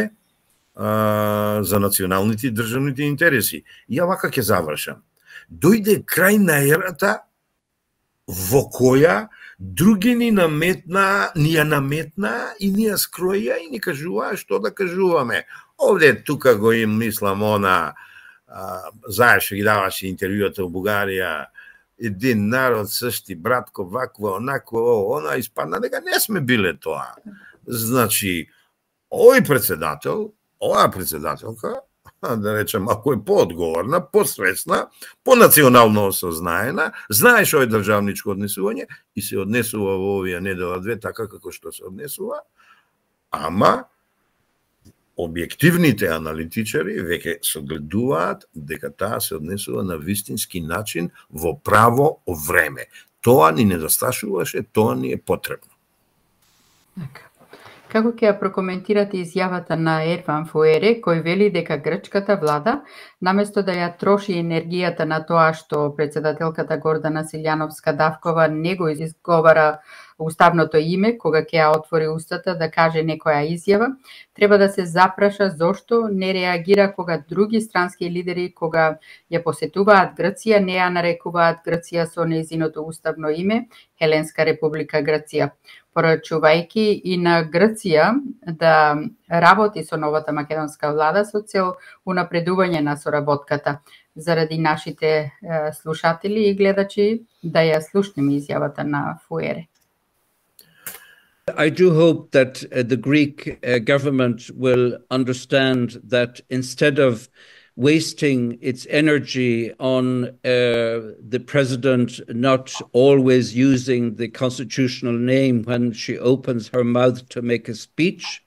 а, за националните и државните интереси. И ја вака ќе завршам. Дојде крај на ерата во која други ни наметна, ни ја наметна и ни ја скроја и ни кажуваа што да кажуваме. Овде тука го им мислам она, знаеш, ги даваше интервјуата во Бугарија, един народ сшти, братко, вакво, онакво, она, испадна дека не сме биле тоа. Значи, овој председател, оваа председателка, да речем, ако е поодговорна, посвесна, понационално осознаена, знаеш овој државничко однесување и се однесува во овие недела две така како што се однесува, ама објективните аналитичари веќе согледуваат дека таа се однесува на вистински начин во право време. Тоа ни недосташуваше, тоа ни е потребно. Како ќе ја прокоментирате изјавата на Ерван Фуере, кој вели дека грчката влада, наместо да ја троши енергијата на тоа што председателката Гордана Силјановска-Давкова не го изговара уставното име, кога ќе ја отвори устата да каже некоја изјава, треба да се запраша зошто не реагира кога други странски лидери, кога ја посетуваат Грција, не ја нарекуваат Грција со нејзиното уставно име, Хеленска република Грција, порачувајќи и на Грција да работи со новата македонска влада со цел унапредување на соработката. Заради нашите е, слушатели и гледачи, да ја слушнеме изјавата на Фуере. I do hope that uh, the Greek uh, government will understand that instead of wasting its energy on uh, the president not always using the constitutional name when she opens her mouth to make a speech.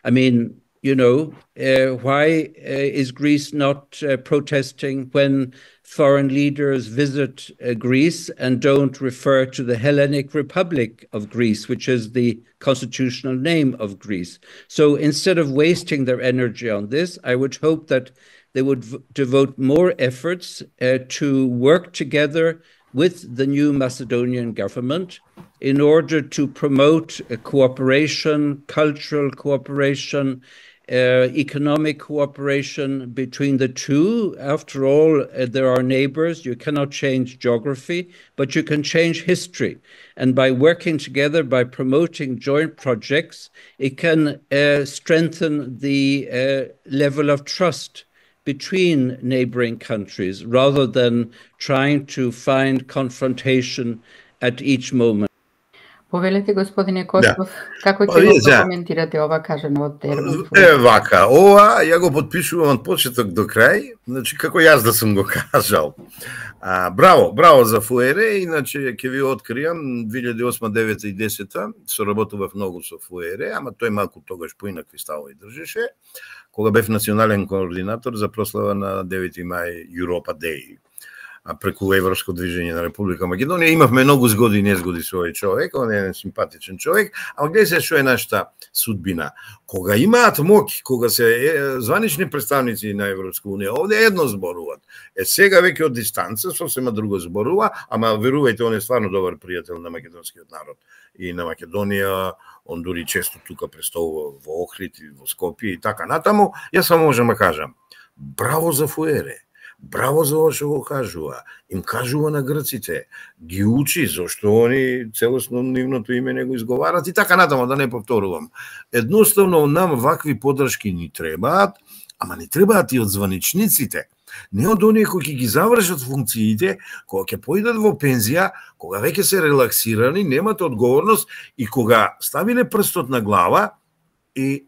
I mean, you know, uh, why uh, is Greece not uh, protesting when foreign leaders visit uh, Greece and don't refer to the Hellenic Republic of Greece, which is the constitutional name of Greece? So instead of wasting their energy on this, I would hope that they would v- devote more efforts uh, to work together with the new Macedonian government in order to promote uh, cooperation, cultural cooperation, uh, economic cooperation between the two. After all, uh, there are neighbors. You cannot change geography, but you can change history. And by working together, by promoting joint projects, it can uh, strengthen the uh, level of trust between neighboring countries rather than trying to find confrontation at each moment. Повелете, господине Костов, Да. како Па, ќе го видите, прокоментирате ова кажано од Ерман Фуер? Е, вака, ова ја го подпишувам од почеток до крај, значи како јас да сум го кажал. А, браво, браво за Фуере, иначе ќе ви откриам, две илјади и осма, девета и десета соработував многу со Фуере, ама тој малку тогаш поинакви ставови држеше, кога бев национален координатор за прослава на девети мај Europa Day, а преку Европско движење на Република Македонија. Имавме многу згоди и незгоди со овој човек, он е еден симпатичен човек, ама гледа се што е нашата судбина. Кога имаат моќ, кога се е, званични представници на Европска унија, овде едно зборуваат. Е сега веќе од дистанца сосема друго зборува, ама верувајте, он е стварно добар пријател на македонскиот народ и на Македонија. Он дури често тука представува во Охрид и во Скопје и така натаму. Јас само можам да кажам, браво за Фуере. Браво за ова што го кажува. Им кажува на грците, ги учи зашто они целосно нивното име не го изговарат и така натаму, да не повторувам. Едноставно нам вакви подршки ни требаат, ама не требаат и од званичниците. Не од оние кои ќе ги завршат функциите, кога ќе поидат во пензија, кога веќе се релаксирани, немат одговорност и кога ставиле прстот на глава и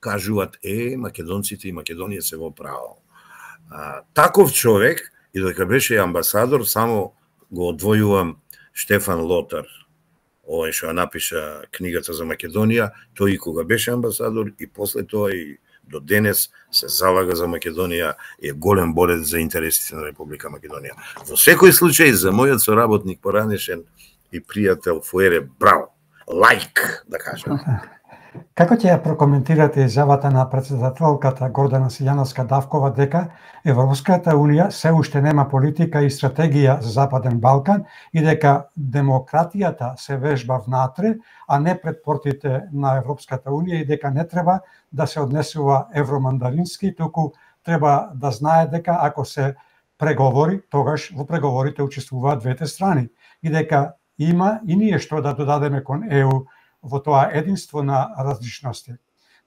кажуваат, е, македонците и Македонија се во право. А, таков човек, и дека беше амбасадор, само го одвојувам Штефан Лотар, овој што напиша книгата за Македонија, тој и кога беше амбасадор и после тоа и до денес се залага за Македонија и е голем борец за интересите на Република Македонија. Во секој случај, за мојот соработник поранешен и пријател Фуере, браво, лайк, да кажам. Како ќе ја прокоментирате изјавата на претседателката Гордана Силјановска-Давкова дека Европската унија се уште нема политика и стратегија за Западен Балкан и дека демократијата се вежба внатре, а не пред портите на Европската унија и дека не треба да се однесува евромандарински, туку треба да знае дека ако се преговори, тогаш во преговорите учествуваат двете страни и дека има и ние што да додадеме кон Е У во тоа единство на различности.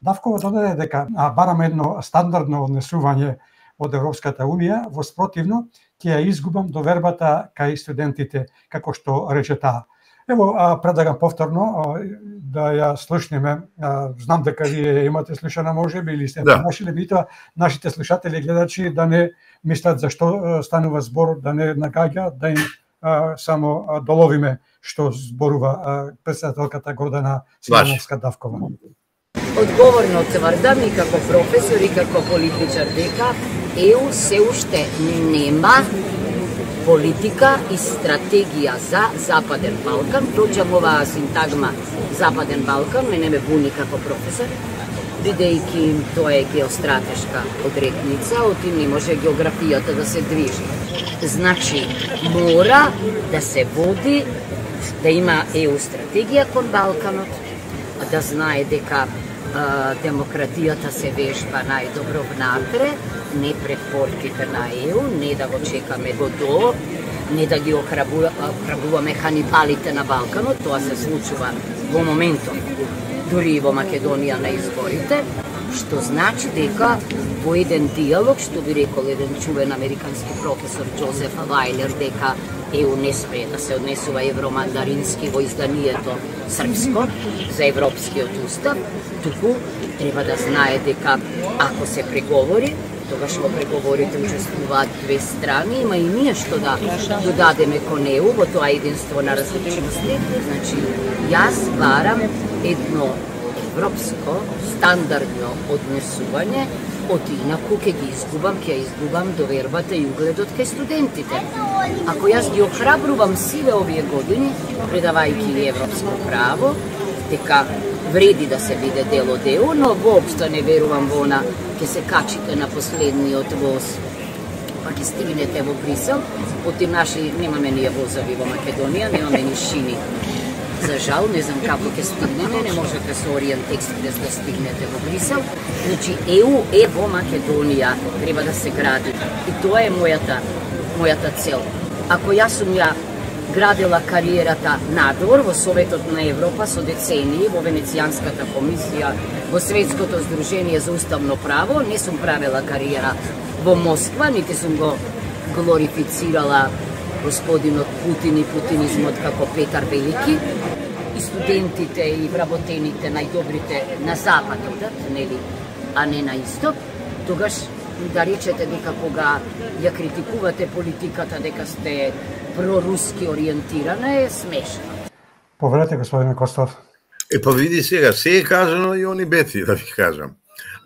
Давкова додаде дека а, бараме едно стандардно однесување од Европската унија, во спротивно ќе ја изгубам довербата кај студентите, како што рече таа. Ево, а, предлагам повторно а, да ја слушнеме. А, знам дека вие имате слушана можеби или сте Да. нашиле, битоа нашите слушатели и гледачи да не мислат зашто станува збор, да не нагаѓа, да им а, само а, доловиме што зборува а, претседателката Гордана Силјановска-Давкова. Одговорно тврдам и како професор и како политичар дека Е У се уште нема политика и стратегија за Западен Балкан. Проđам оваа синтагма Западен Балкан, мене ме буни како професор, бидејќи тоа е геостратешка одредница, отим не може географијата да се движи. Значи, мора да се води, да има Е У стратегија кон Балканот, да знае дека а, демократијата се вежба најдобро внатре, не пред портите на Е У, не да го чекаме Годо, не да ги охрабуваме ханибалите на Балканот, тоа се случува во моментот, дури и во Македонија на изборите, што значи дека во еден диалог, што би рекол еден чувен американски професор Джозеф Вајлер, дека ЕУ не смее да се однесува евромандарински во изданието српско за Европскиот устав, туку треба да знае дека ако се преговори, тогаш во преговорите учествуваат две страни, има и ние што да додадеме кон ЕУ во тоа единство на различности. Значи, јас барам едно европско, стандардно однесување, од инаку ќе ги изгубам, ќе изгубам довербата и угледот кај студентите. Ако јас ги охрабрувам сиве овие години, предавајќи европско право, дека вреди да се биде дел од ЕУ, но воопшто не верувам во она, ќе се качите на последниот воз, па ќе стигнете во Брисел, од тим наши, немаме ние возови во Македонија, немаме ни шини. За жал, не знам како ќе стигнеме, не можете со Ориент Експрес да стигнете во Брисел. Значи, ЕУ е во Македонија, треба да се гради. И тоа е мојата, мојата цел. Ако јас сум ја градила кариерата надвор во Советот на Европа со децении, во Венецијанската комисија, во Светското здружение за уставно право, не сум правила кариера во Москва, нити сум го глорифицирала господинот Путин и путинизмот како Петар Велики, и студентите и вработените најдобрите на запад одат, нели, а не на исток, тогаш да речете дека кога ја критикувате политиката дека сте проруски ориентирана е смешно. Повелете, господине Костов. Е, па види сега, се е кажано и они бети, да ви кажам.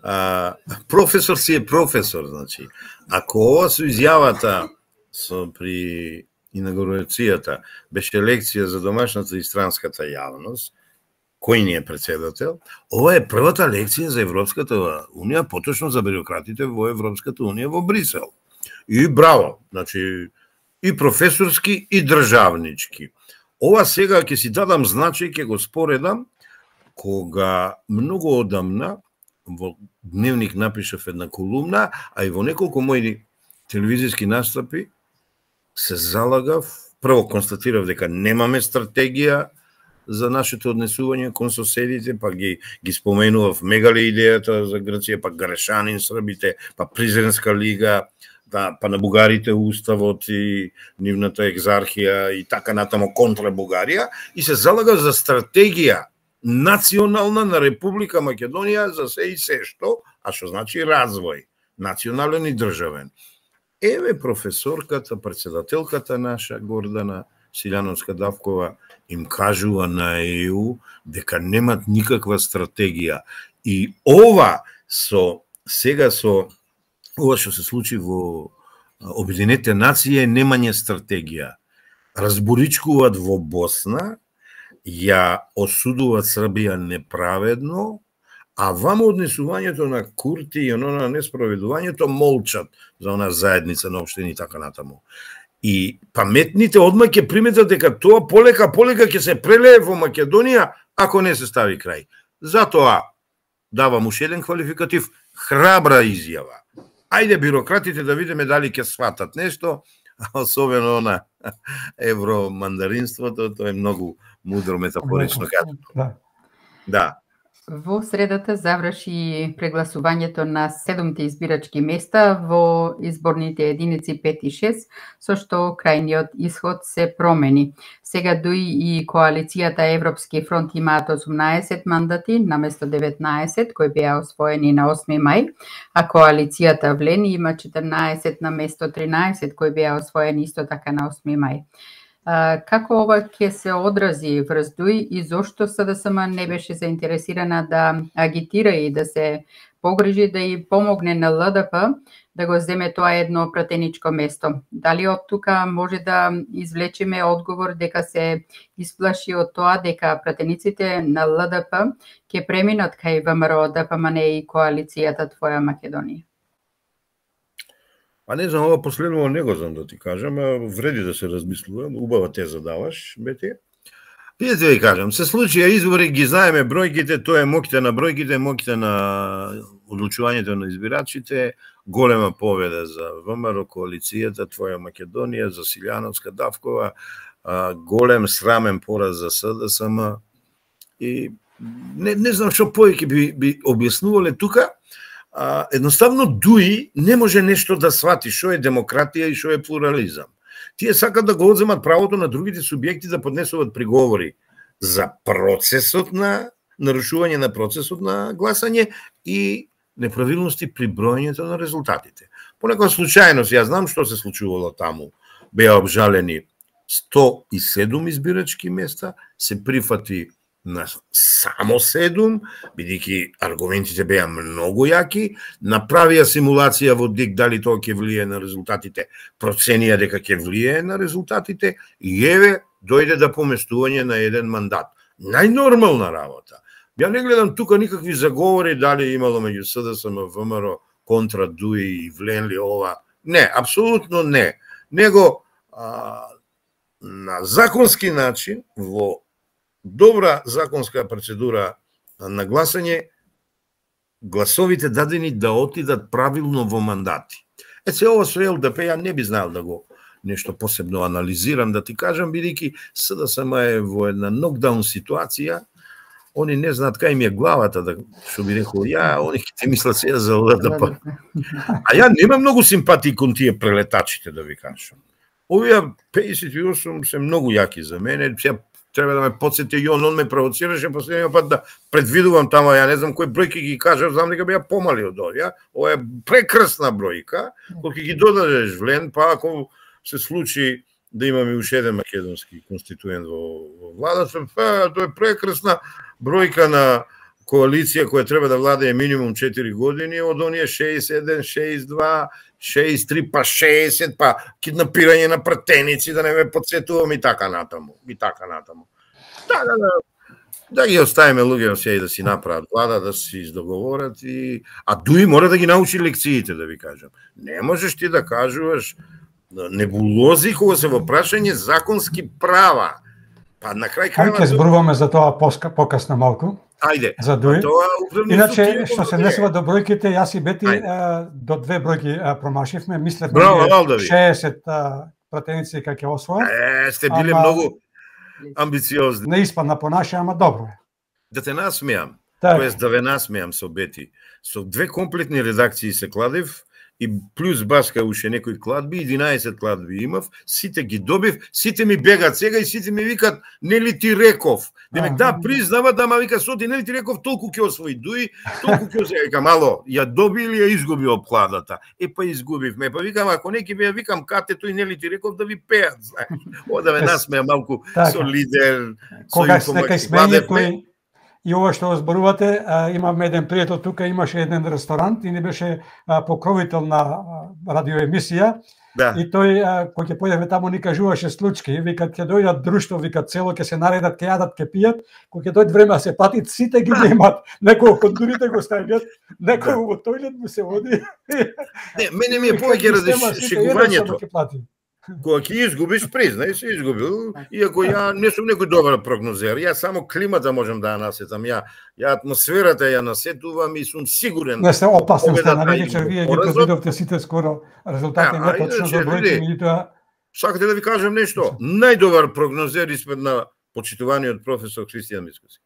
А, професор си е професор, значи. Ако ова со изјавата со при инаугурацијата беше лекција за домашната и странската јавност, кој ни е председател, ова е првата лекција за Европската унија, поточно за бюрократите во Европската унија во Брисел. И браво, значи, и професорски, и државнички. Ова сега ќе си дадам значај, ќе го споредам, кога многу одамна во Дневник напишав една колумна, а и во неколку мои телевизиски настапи се залагав, прво констатирав дека немаме стратегија за нашето однесување кон соседите, па ги, ги споменував мегале идејата за Грција, па Грешанин Србите, па Призренска лига, да, па на бугарите уставот и нивната екзархија и така натамо контра Бугарија, и се залага за стратегија национална на Република Македонија за се и се што, а што значи развој, национален и државен. Еве професорката, председателката наша Гордана Силјановска-Давкова им кажува на ЕУ дека немат никаква стратегија. И ова со сега со ова што се случи во Обединетите нации е немање стратегија. Разборичкуваат во Босна, ја осудуваат Србија неправедно, а вамо однесувањето на Курти и оно на неспроведувањето молчат за она заедница на општини и така натаму. И паметните одма ќе приметат дека тоа полека полека ќе се прелее во Македонија ако не се стави крај. Затоа давам уште еден квалификатив, храбра изјава. Ајде бюрократите да видиме дали ќе сватат нешто, особено на евромандаринството, тоа е многу мудро метафорично кажано. Да. Да. Во средата заврши прегласувањето на седумте избирачки места во изборните единици пет и шест, со што крајниот исход се промени. Сега дуи и коалицијата Европски фронт имаат осумнаесет мандати наместо деветнаесет кои беа освоени на осми мај, а коалицијата Влени има четрнаесет наместо тринаесет кои беа освоени исто така на осми мај. Како ова ќе се одрази врз ДУИ и зошто СДСМ не беше заинтересирана да агитира и да се погрижи да и помогне на ЛДП да го земе тоа едно пратеничко место? Дали од тука може да извлечеме одговор дека се исплаши од тоа дека пратениците на ЛДП ќе преминат кај ВМРО, ДПМН и коалицијата Твоја Македонија? А не знам, ова последново не го знам да ти кажам, а вреди да се размислува, убава те задаваш, Бети. Видите ви кажам, се случија избори, ги знаеме бројките, тоа е моките на бројките, моките на одлучувањето на избирачите, голема победа за ВМРО, коалицијата Твоја Македонија, за Силјановска-Давкова, голем срамен пораз за СДСМ и не, не знам што повеќе би, би објаснувале тука. А, едноставно Дуи не може нешто да свати што е демократија и што е плурализам. Тие сакат да го одземат правото на другите субјекти да поднесуваат приговори за процесот на нарушување на процесот на гласање и неправилности при броењето на резултатите. По некоја случајност, ја знам што се случувало таму. Беа обжалени сто и седум избирачки места, се прифати на само седум, бидејќи аргументите беа многу јаки, направија симулација во ДИК дали тоа ќе влие на резултатите, проценија дека ќе влие на резултатите и еве дојде до поместување на еден мандат. Најнормална работа. Ја не гледам тука никакви заговори дали имало меѓу СДСМ, ВМРО контра Дуи и вленли ова. Не, апсолутно не. Него а, на законски начин, во добра законска процедура на гласање, гласовите дадени да отидат правилно во мандати. Е, се ова со ЛДП ја не би знаел да го нешто посебно анализирам, да ти кажам, бидејќи СДСМ е во една нокдаун ситуација, они не знаат кај им е главата, да, што би рекол ја, они ќе мислат сега за ЛДП. А ја немам многу симпатии кон тие прелетачите, да ви кажам. Овие пеесет и осум се многу јаки за мене, сега треба да ме подсети и он, он ме провоцираше последниот пат да предвидувам тама, ја не знам кои бројки ги кажав, знам дека беа помали од овие. Ова е прекрасна бројка, кога ќе ги додадеш влен, па ако се случи да имаме уште еден македонски конституент во, во владата, па тоа е прекрасна бројка на коалиција која треба да владее минимум четири години, од оние шеесет и еден, шеесет и два, шеесет и три, па шеесет, па киднапирање на пратеници, да не ме подсетувам и така натаму, и така натаму. Така да, да ги оставиме луѓето сега и да си направат влада, да си издоговорат и... А Дуи мора да ги научи лекциите, да ви кажам. Не можеш ти да кажуваш небулози кога се во прашање законски права. Па на крај крајва... Ајде зборуваме за тоа покасно малку. Ајде. За Дуи. Иначе, што се несува до бројките, јас и Бети а, до две бројки а, промашивме. Мислев на шеесет а, пратеници кај ќе освојат. Е, сте биле ама... многу амбициозни. Не испадна по наше, ама добро е. Да те насмеам, так. тоест да ве насмеам со Бети. Со две комплетни редакции се кладев, и плюс баска уште некои кладби, единаесет кладби имав, сите ги добив, сите ми бегат сега и сите ми викат, нели ти реков? Демек, да, признава, да, ма вика, соти, нели ти реков, толку ќе освои Дуи, толку ќе освои, вика, мало, ја доби или ја изгуби обкладата? Е, па изгубивме, па викам, ако не ќе ви ја викам, кате тој, нели ти реков, да ви пеат, знаеш. О, да ме насмеа малку со лидер, со информатик. И ова што зборувате, имаме еден пријател тука, имаше еден ресторант и не беше а, покровител на радиоемисија. Да. И тој, кој ќе појдеме таму, ни кажуваше случаи, вика ќе дојдат друштво, вика цело ќе се наредат, ќе јадат, ќе пијат, кој ќе дојде време да се платит, сите ги немат. Некој од дурите го стават, некој во тојлет му се води. Не, мене ми е повеќе разшегувањето. Кога ќе изгубиш, признај, се изгубил, иако ја не сум некој добар прогнозер, ја само климата можам да ја насетам, ја, ја атмосферата ја насетувам и сум сигурен. Не се опасно стана, вечер вие ги предвидовте сите скоро резултати, не точно за бројки, меѓутоа. Сакате да ви кажам нешто? Најдобар прогнозер испред на почитуваниот професор Христијан Мицкоски.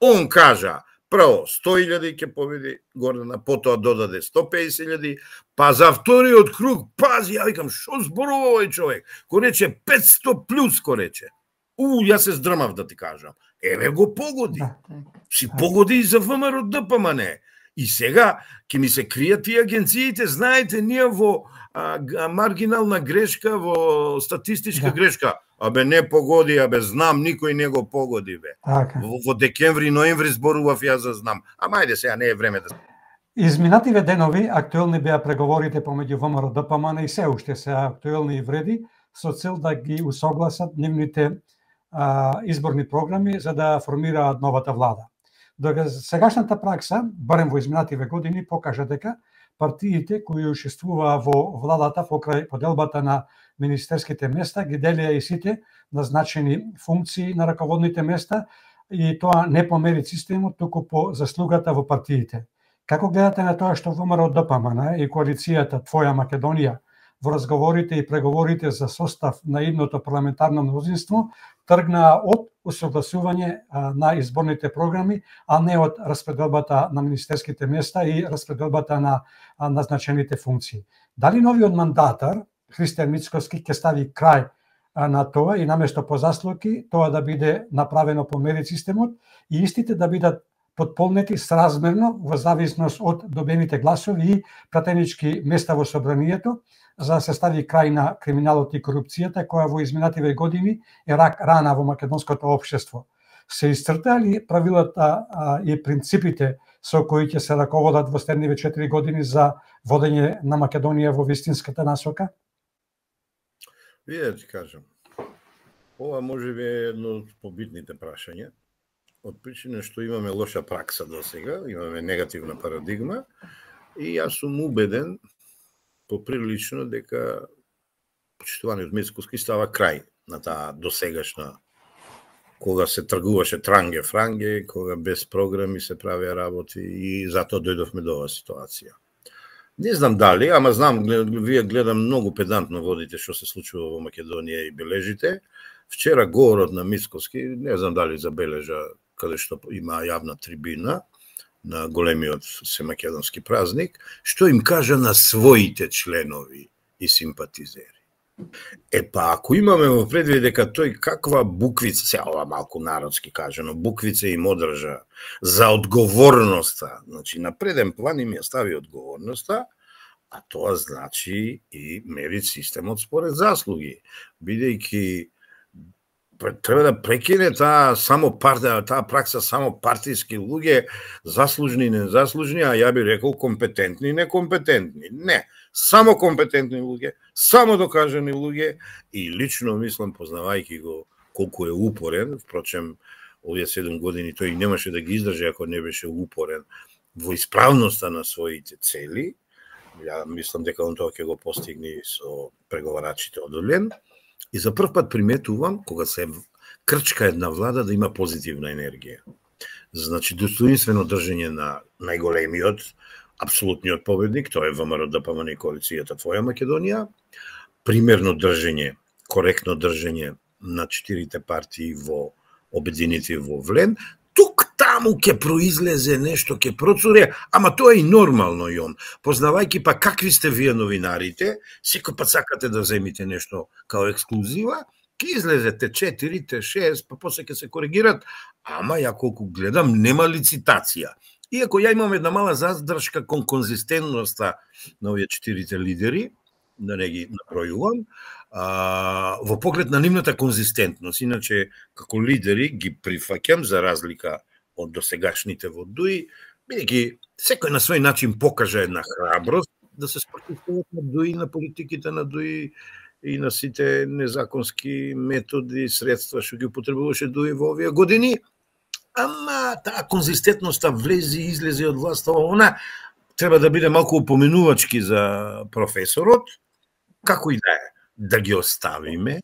Он кажа, прво сто илјади ќе победи Гордана, потоа додаде сто песет илјади, па за вториот круг, пази, ја викам, шо зборува овој човек? Ко рече петсто плюс, ко рече. У, јас се здрмав да ти кажам. Еве го погоди. Си погоди и за ВМРО ДПМН. И сега ќе ми се кријат тие агенциите, знаете, ние во а, маргинална грешка, во статистичка грешка. Абе не погоди, абе знам, никој не го погоди, бе. Во, во декември, ноември зборував ја за знам. Ама ајде сега не е време да... Изминативе денови актуелни беа преговорите помеѓу ВМРО ДПМН и се уште се актуелни и вреди со цел да ги усогласат нивните а, изборни програми за да формираат новата влада. Додека сегашната пракса, барем во изминативе години, покажа дека партиите кои учествуваа во владата покрај поделбата на министерските места ги делија и сите назначени функции на раководните места и тоа не по мерит системот, туку по заслугата во партиите. Како гледате на тоа што ВМРО ДПМН и коалицијата Твоја Македонија во разговорите и преговорите за состав на идното парламентарно мнозинство тргнаа од усогласување на изборните програми, а не од распределбата на министерските места и распределбата на назначените функции. Дали новиот мандатар Христијан Мицкоски ќе стави крај на тоа и наместо по заслуги тоа да биде направено по мерит системот и истите да бидат потполнети сразмерно во зависност од добените гласови и пратенички места во собранието, за да се стави крај на криминалот и корупцијата која во изминативе години е рак рана во македонското општество. Се исцртали правилата а, и принципите со кои ќе се раководат во следниве четири години за водење на Македонија во вистинската насока? Вие да ти кажам, ова може би е едно од побитните прашања, од причина што имаме лоша пракса до сега, имаме негативна парадигма и јас сум убеден поприлично дека почитуваниот Мицкоски става крај на таа досегашна, кога се тргуваше транге-франге, кога без програми се правеа работи и затоа дојдовме до оваа ситуација. Не знам дали, ама знам, вие гледам многу педантно водите што се случува во Македонија и бележите. Вчера говорот на Мицкоски, не знам дали забележа каде што има јавна трибина на големиот семакедонски празник, што им кажа на своите членови и симпатизери. Е па, ако имаме во предвид дека тој каква буквица, се ова малку народски кажано, буквица им одржа за одговорноста, значи на преден план им ја стави одговорноста, а тоа значи и мерит системот според заслуги, бидејќи треба да прекине таа само партија, таа пракса само партиски луѓе, заслужни и незаслужни, а ја би рекол компетентни и некомпетентни. Не, само компетентни луѓе, само докажани луѓе и лично мислам, познавајќи го колку е упорен, впрочем, овие седум години тој немаше да ги издржи ако не беше упорен во исправноста на своите цели. Ја мислам дека он тоа ќе го постигне со преговарачите одолен. И за прв пат приметувам, кога се крчка една влада, да има позитивна енергија. Значи, достоинствено држење на најголемиот, апсолутниот победник, тоа е ВМРО ДПМН и коалицијата Твоја Македонија, примерно држење, коректно држење на четирите партии во обединети во Влен, тук таму ќе произлезе нешто, ќе процуре, ама тоа е и нормално, Јон. Познавајќи па какви сте вие новинарите, секој пат сакате да земите нешто као ексклузива, ќе излезете четири, шест, па после ќе се коригират, ама ја колку гледам, нема лицитација. Иако ја имам една мала задршка кон конзистентноста на овие четирите лидери, да не ги набројувам, а, во поглед на нивната конзистентност. Иначе, како лидери ги прифаќам за разлика од досегашните во ДУИ, бидејќи секој на свој начин покажа една храброст да се спротивстават на ДУИ, на политиките на ДУИ и на сите незаконски методи, средства што ги употребуваше ДУИ во овие години. Ама таа конзистентноста влези и излезе од власта, она треба да биде малку упоменувачки за професорот, како и да е, да ги оставиме,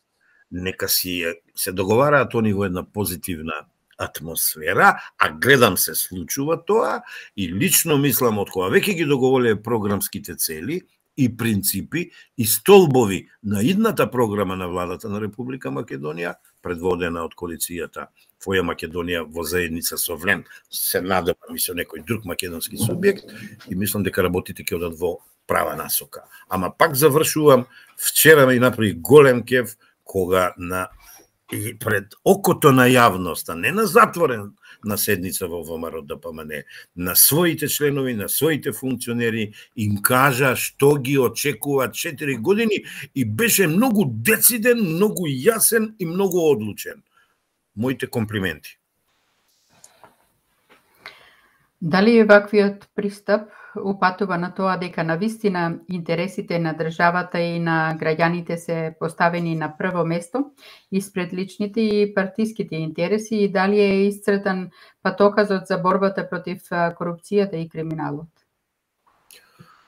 нека си се договараат они во една позитивна атмосфера, а гледам се случува тоа и лично мислам од кога веќе ги договориле програмските цели и принципи и столбови на идната програма на владата на Република Македонија, предводена од коалицијата Твоја Македонија во заедница со Влен, се надевам и со некој друг македонски субјект и мислам дека работите ќе одат во права насока. Ама пак завршувам, вчера ме направи голем кеф кога на и пред окото на јавноста, не на затворен на седница во ВМРО ДПМН, на своите членови, на своите функционери, им кажа што ги очекува четири години и беше многу дециден, многу јасен и многу одлучен. Моите комплименти. Дали ваквиот пристап упатува на тоа дека навистина интересите на државата и на граѓаните се поставени на прво место испред личните и партиските интереси и дали е исцртан патоказот за борбата против корупцијата и криминалот?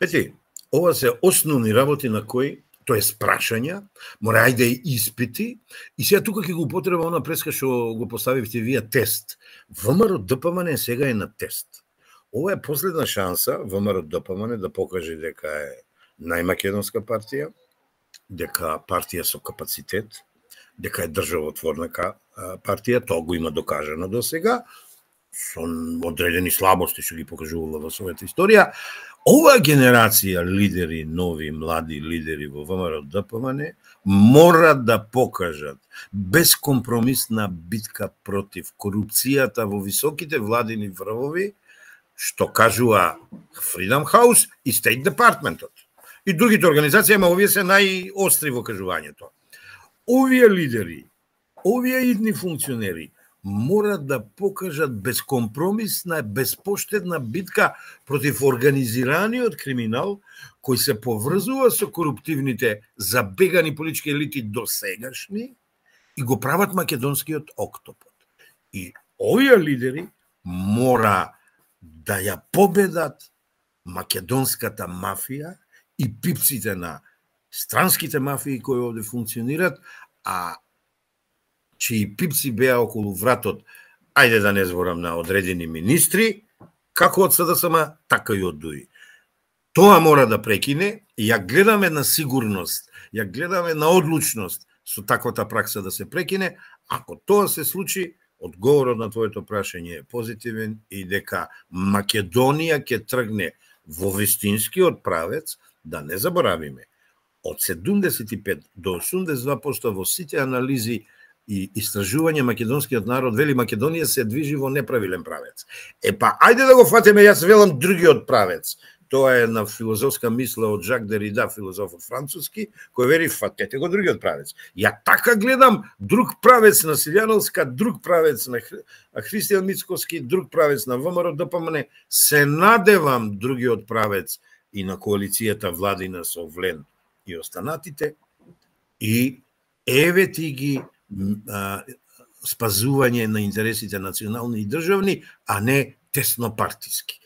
Ети, ова се основни работи на кои, тоа е прашања, мора ајде и испити, и сега тука ќе го употреба она преска што го поставивте вие тест. ВМРО ДПМН сега е на тест. Ова е последна шанса ВМРО ДПМН да покаже дека е најмакедонска партија, дека партија со капацитет, дека е државотворна партија, тоа го има докажано до сега, со одредени слабости што ги покажувала во својата историја. Оваа генерација лидери, нови, млади лидери во ВМРО-ДПМН мора да покажат безкомпромисна битка против корупцијата во високите владини врвови, што кажува Freedom House и State Department-от. И другите организации, ама овие се најостри во кажувањето. Овие лидери, овие идни функционери мора да покажат безкомпромисна, безпоштедна битка против организираниот криминал кој се поврзува со коруптивните забегани политички елити досегашни и го прават македонскиот октопод. И овие лидери мора да ја победат македонската мафија и пипците на странските мафии кои овде функционират, а чии пипци беа околу вратот, ајде да не зборам на одредени министри, како од СДСМ, така и од ДУИ. Тоа мора да прекине, и ја гледаме на сигурност, ја гледаме на одлучност со таквата пракса да се прекине. Ако тоа се случи, одговорот на твоето прашање е позитивен и дека Македонија ќе тргне во вистинскиот правец, да не заборавиме, од седумдесет и пет до осумдесет и два проценти во сите анализи и истражување македонскиот народ вели Македонија се движи во неправилен правец. Е па, ајде да го фатиме, јас велам другиот правец. Тоа е на филозофска мисла од Жак Дерида, филозофот француски, кој вели фатете го другиот правец. Ја така гледам друг правец на Силјановска, друг правец на Христијан Мицкоски, друг правец на ВМРО-ДПМН. Се надевам другиот правец и на коалицијата владина со Влен и останатите, и еве ти ги а, спазување на интересите национални и државни, а не теснопартиски.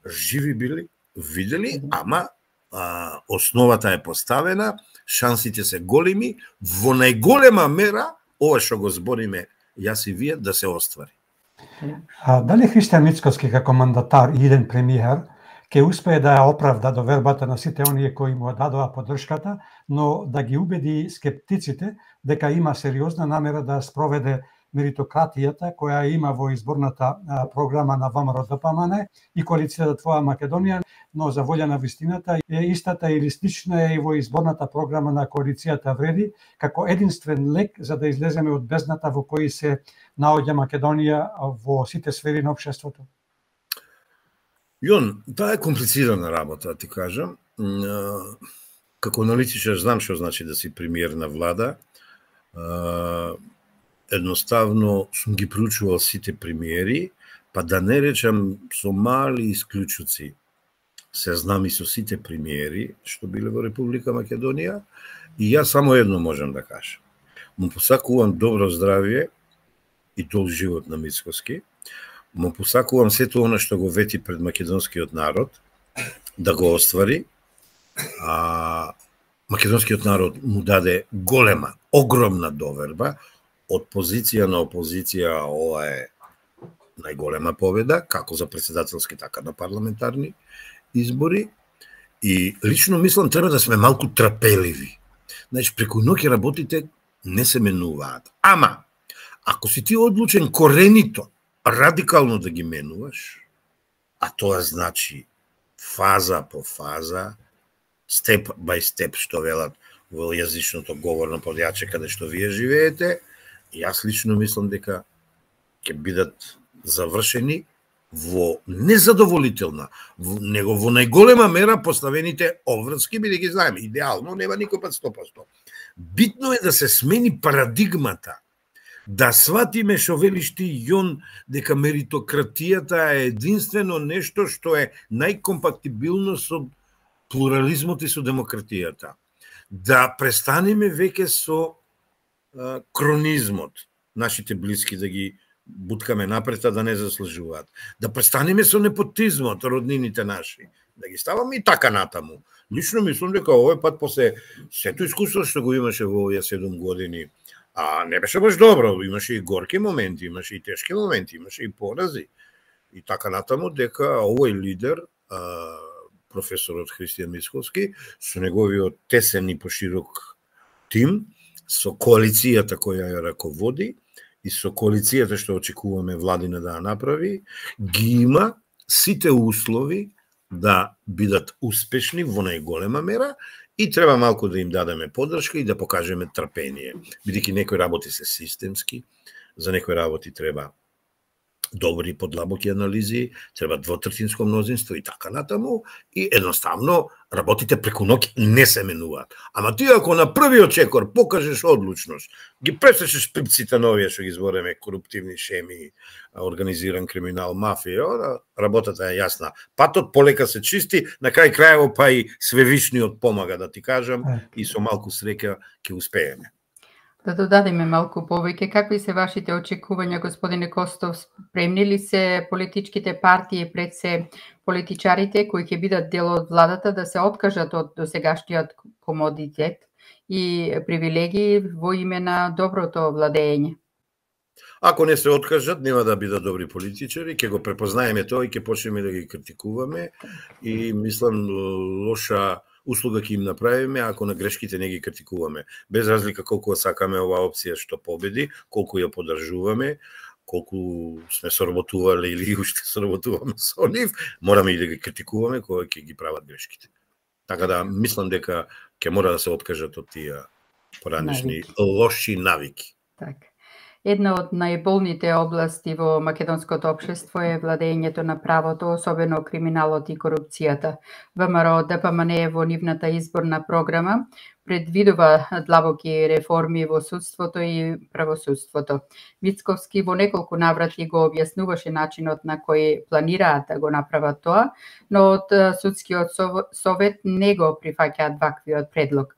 Живи били, видели, ама а, основата е поставена, шансите се големи, во најголема мера, ова што го збориме јас и вие, да се оствари. А, дали Христијан Мицкоски како мандатар и иден премиер ќе успее да ја оправда довербата на сите оние кои му дадоа поддршката, но да ги убеди скептиците дека има сериозна намера да спроведе меритократијата која има во изборната програма на ВМРО-ДПМН и коалицијата Твоја Македонија, но за волја на вистината е истата или слична е и во изборната програма на коалицијата Вреди, како единствен лек за да излеземе од бездната во кој се наоѓа Македонија во сите сфери на општеството? Јон, таа е комплицирана работа, ти кажам. Како аналитичар знам што значи да си премиер на влада. Едноставно сум ги проучувал сите премиери, па да не речам со мали исклучуци. Се знам и со сите премиери што биле во Република Македонија, и јас само едно можам да кажам. Му посакувам добро здравје и долг живот на Мицкоски. Му посакувам сето она што го вети пред македонскиот народ да го оствари. А македонскиот народ му даде голема, огромна доверба. Од позиција на опозиција ова е најголема победа, како за председателски, така на парламентарни избори. И лично мислам треба да сме малку трпеливи. Значи, преку ноќ работите не се менуваат. Ама, ако си ти одлучен коренито, радикално да ги менуваш, а тоа значи фаза по фаза, степ by степ, што велат во јазичното говорно подјаче каде што вие живеете, јас лично мислам дека ќе бидат завршени во незадоволителна, него во најголема мера поставените обврски, бидејќи знаеме, идеално нема никој пат сто проценти. Битно е да се смени парадигмата, да сватиме што велиш ти, Јон, дека меритократијата е единствено нешто што е најкомпатибилно со плурализмот и со демократијата. Да престанеме веќе со а, кронизмот, нашите блиски да ги буткаме напред, а да не заслужуваат. Да престанеме со непотизмот, роднините наши, да ги ставаме и така натаму. Лично мислам дека овој пат после сето искуство што го имаше во овие седум години, а не беше баш добро, имаше и горки моменти, имаше и тешки моменти, имаше и порази. И така натаму дека овој лидер, професорот Христијан Мицкоски, со неговиот тесен и поширок тим со коалицијата која ја раководи и со коалицијата што очекуваме владина да ја направи, ги има сите услови да бидат успешни во најголема мера и треба малку да им дадеме поддршка и да покажеме трпение. Бидејќи некои работи се системски, за некои работи треба добри подлабоки анализи, треба двотретинско мнозинство и така натаму, и едноставно работите преку ноќ не се менуваат. Ама ти ако на првиот чекор покажеш одлучност, ги пресечеш пипците на овие што ги збореме коруптивни шеми, организиран криминал, мафија, работата е јасна. Патот полека се чисти, на крај крајево па и Свевишниот помага, да ти кажам, и со малку среќа ќе успееме. Да додадеме малку повеќе, какви се вашите очекувања, господине Костов? Спремни ли се политичките партии пред се политичарите кои ќе бидат дел од владата да се откажат од досегашниот комодитет и привилегии во име на доброто владење? Ако не се откажат, нема да бидат добри политичари, ќе го препознаеме тоа и ќе почнеме да ги критикуваме и мислам лоша услуга ќе им направиме ако на грешките не ги критикуваме. Без разлика колку сакаме оваа опција што победи, колку ја поддржуваме, колку сме соработувале или уште соработуваме со нив, мораме и да ги критикуваме кога ќе ги прават грешките. Така да мислам дека ќе мора да се откажат од тие поранешни лоши навики. Така. Една од најболните области во македонското општество е владењето на правото, особено криминалот и корупцијата. ВМРО ДПМН во нивната изборна програма предвидува длабоки реформи во судството и правосудството. Мицковски во неколку наврати го објаснуваше начинот на кој планираат да го направат тоа, но од судскиот совет не го прифаќаат ваквиот предлог.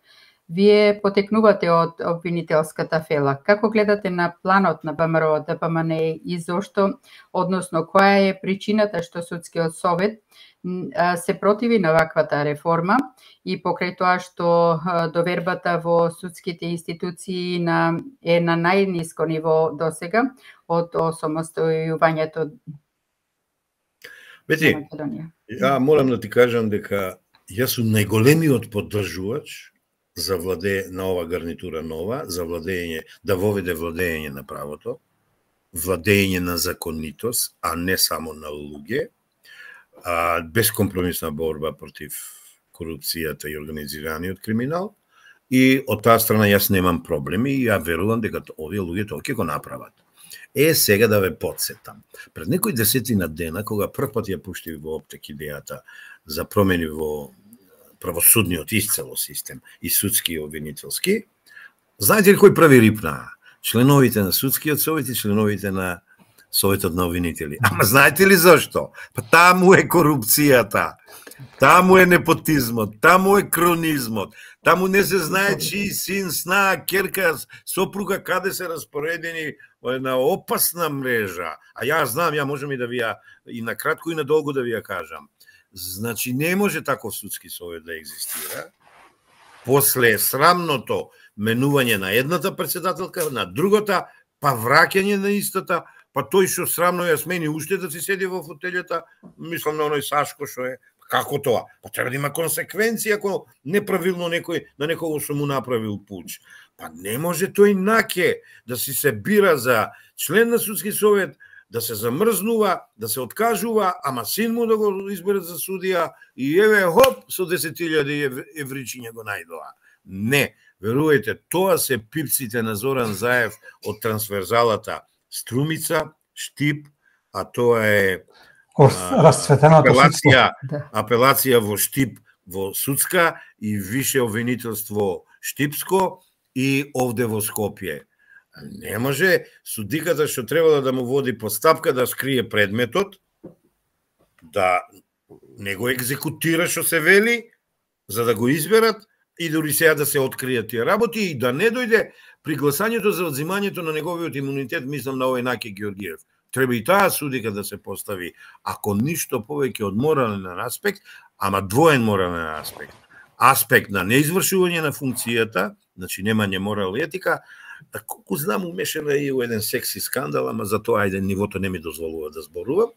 Вие потекнувате од обвинителската фела. Како гледате на планот на ВМРО ДПМН и зошто, односно која е причината што судскиот совет се противи на ваквата реформа и покрај тоа што довербата во судските институции на, е на најниско ниво досега од осамостојувањето на Македонија? Ја морам да ти кажам дека јас сум најголемиот поддржувач за владе на ова гарнитура нова, за владење, да воведе владење на правото, владење на законитост, а не само на луѓе, а, безкомпромисна борба против корупцијата и организираниот криминал, и од таа страна јас немам проблеми и ја верувам дека овие луѓе тоа ќе го направат. Е, сега да ве подсетам. Пред некои десетина дена, кога прв пат ја пуштив во оптек идејата за промени во правосудниот исцело систем и судски и обвинителски, знаете ли кој прави рипна? Членовите на судскиот совет и членовите на советот на обвинители. Ама знаете ли зашто? Па таму е корупцијата, таму е непотизмот, таму е кронизмот, таму не се знае чиј син, сна, керка, сопруга каде се распоредени во една опасна мрежа. А ја знам, ја можам и да ви ја и на кратко и на долго да ви ја кажам. Значи, не може таков судски совет да екзистира. После срамното менување на едната председателка, на другата, па враќање на истата, па тој што срамно ја смени уште да си седи во фотелјата, мислам на оној Сашко што е, како тоа? Па треба да има консеквенција ако неправилно некој на некого што му направил пуч. Па не може тој наке да си се бира за член на судски совет, да се замрзнува, да се откажува, ама син му да го изберат за судија и еве хоп со десет илјади евричиња го најдоа. Не, верувајте, тоа се пипците на Зоран Заев од трансверзалата Струмица, Штип, а тоа е апелација, апелација во Штип во судска и више обвинителство Штипско и овде во Скопје. Не може судиката што требало да му води постапка да скрие предметот, да не го екзекутира што се вели, за да го изберат и дори сега да се откријат тие работи и да не дојде при гласањето за одзимањето на неговиот имунитет, мислам на овој Наки Георгиев. Треба и таа судика да се постави, ако ништо повеќе од морален аспект, ама двоен морален аспект. Аспект на неизвршување на функцијата, значи немање морал и етика, колку знам умешана и у еден секси скандал, ама за тоа ајде нивото не ми дозволува да зборувам.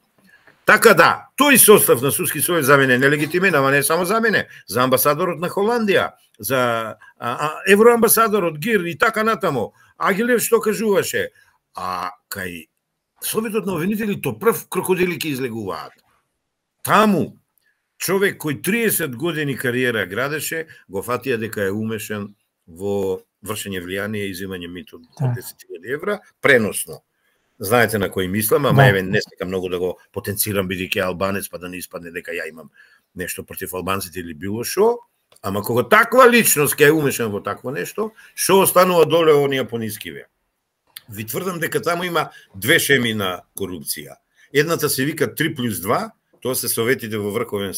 Така да, тој состав на Судски совет за мене нелегитимен, ама не само за мене, за амбасадорот на Холандија, за а, а, евроамбасадорот Гир и така натаму. Агилев што кажуваше, а кај Советот на обвинители то прв крокодили ќе излегуваат. Таму човек кој триесет години кариера градеше, го фатија дека е умешан во вршење влијание и изимање мито од десет илјади евра, преносно. Знаете на кој мислам, ама еве не сакам многу да го потенцирам бидејќи албанец, па да не испадне дека ја имам нешто против албанците или било шо, ама кога таква личност ќе е умешан во такво нешто, што останува доле оние понискиве? Ви тврдам дека таму има две шеми на корупција. Едната се вика три плюс два, тоа се советите во Врховен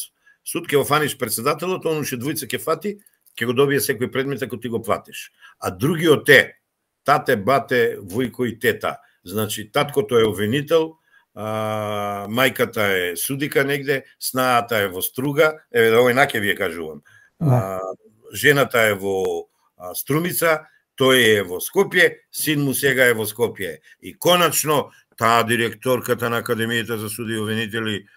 суд, ќе го фаниш председателот, он уште двојца ќе фати, ќе го добие секој предмет ако ти го платиш. А другиот е тате, бате, војко и тета. Значи, таткото е обвинител, а, мајката е судика негде, снаата е во Струга, еве да овој наке ви ја кажувам. А, жената е во а, Струмица, тој е во Скопје, син му сега е во Скопје. И конечно, таа директорката на Академијата за суди и обвинители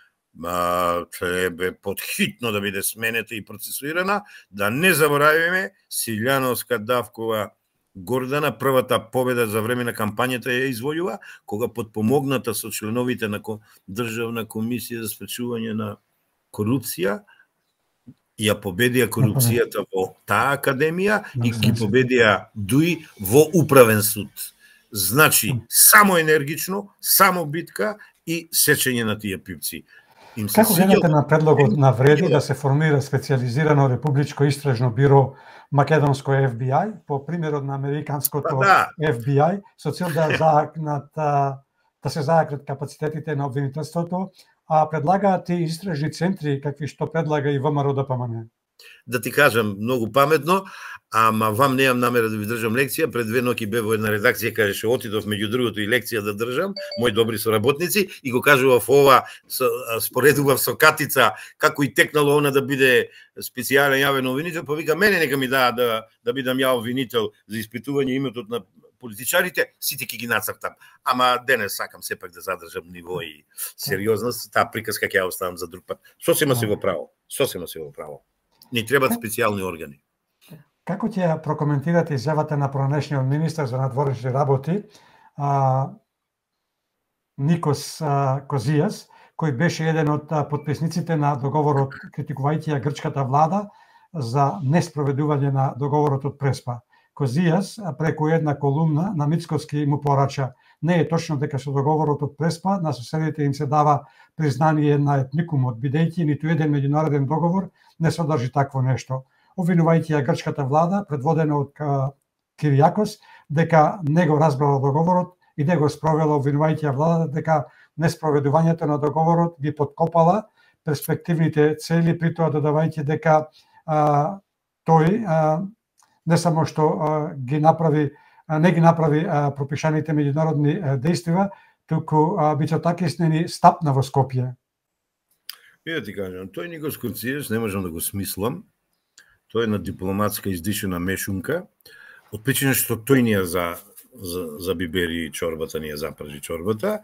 а, треба подхитно да биде сменета и процесуирана, да не заборавиме Силјановска Давкова Гордана, првата победа за време на кампањата ја извојува, кога подпомогната со членовите на Државна комисија за спречување на корупција, ја победија корупцијата во таа академија и ги победија дуи во управен суд. Значи, само енергично, само битка и сечење на тие пипци. Како гледате на предлогот на Вреди да се формира специализирано републичко истражно биро македонско Еф Би Ај, по примерот на американското Еф Би Ај, со цел да заакнат да се заакнат капацитетите на обвинителството, а предлагаат и истражни центри какви што предлага и ВМРО Д П М Н. Да ти кажам, многу паметно, ама вам немам намера да ви држам лекција. Пред две ноќи бев во една редакција каде што отидов меѓу другото и лекција да држам, мои добри соработници, и го кажував ова, споредував со Катица како и текнало она да биде специјален јавен обвинител, па вика мене нека ми даа да да бидам ја обвинител за испитување иметот на политичарите, сите ќе ги нацртам. Ама денес сакам сепак да задржам ниво и сериозност, таа приказка ќе ја оставам за друг пат. Сосема си во право, сосема си во право. Ни требаат специјални органи. Како ќе прокоментирате изјавата на пронешниот министар за надворешни работи, а, Никос а, Козијас, кој беше еден од потписниците на договорот, критикувајќи ја грчката влада за неспроведување на договорот од Преспа. Козијас преку една колумна на Мицкоски му порача: не е точно дека со договорот од Преспа на соседите им се дава признание на етникумот, бидејќи ниту еден меѓународен договор не содржи такво нешто. Обвинувајќи ја грчката влада, предводена од Киријакос, дека не го разбрала договорот и не го спровела, обвинувајќи ја влада дека неспроведувањето на договорот ги подкопала перспективните цели, притоа додавајќи дека а, тој а, не само што а, ги направи, а, не ги направи а, пропишаните меѓународни а, дејствива, туку Мицотакис не стапна во Скопје. И да ти кажам, тој Никос Козијас не можам да го смислам. Тој е на дипломатска издишена мешунка, од причина што тој ни ја за, за, за бибери чорбата, ни ја запржи чорбата,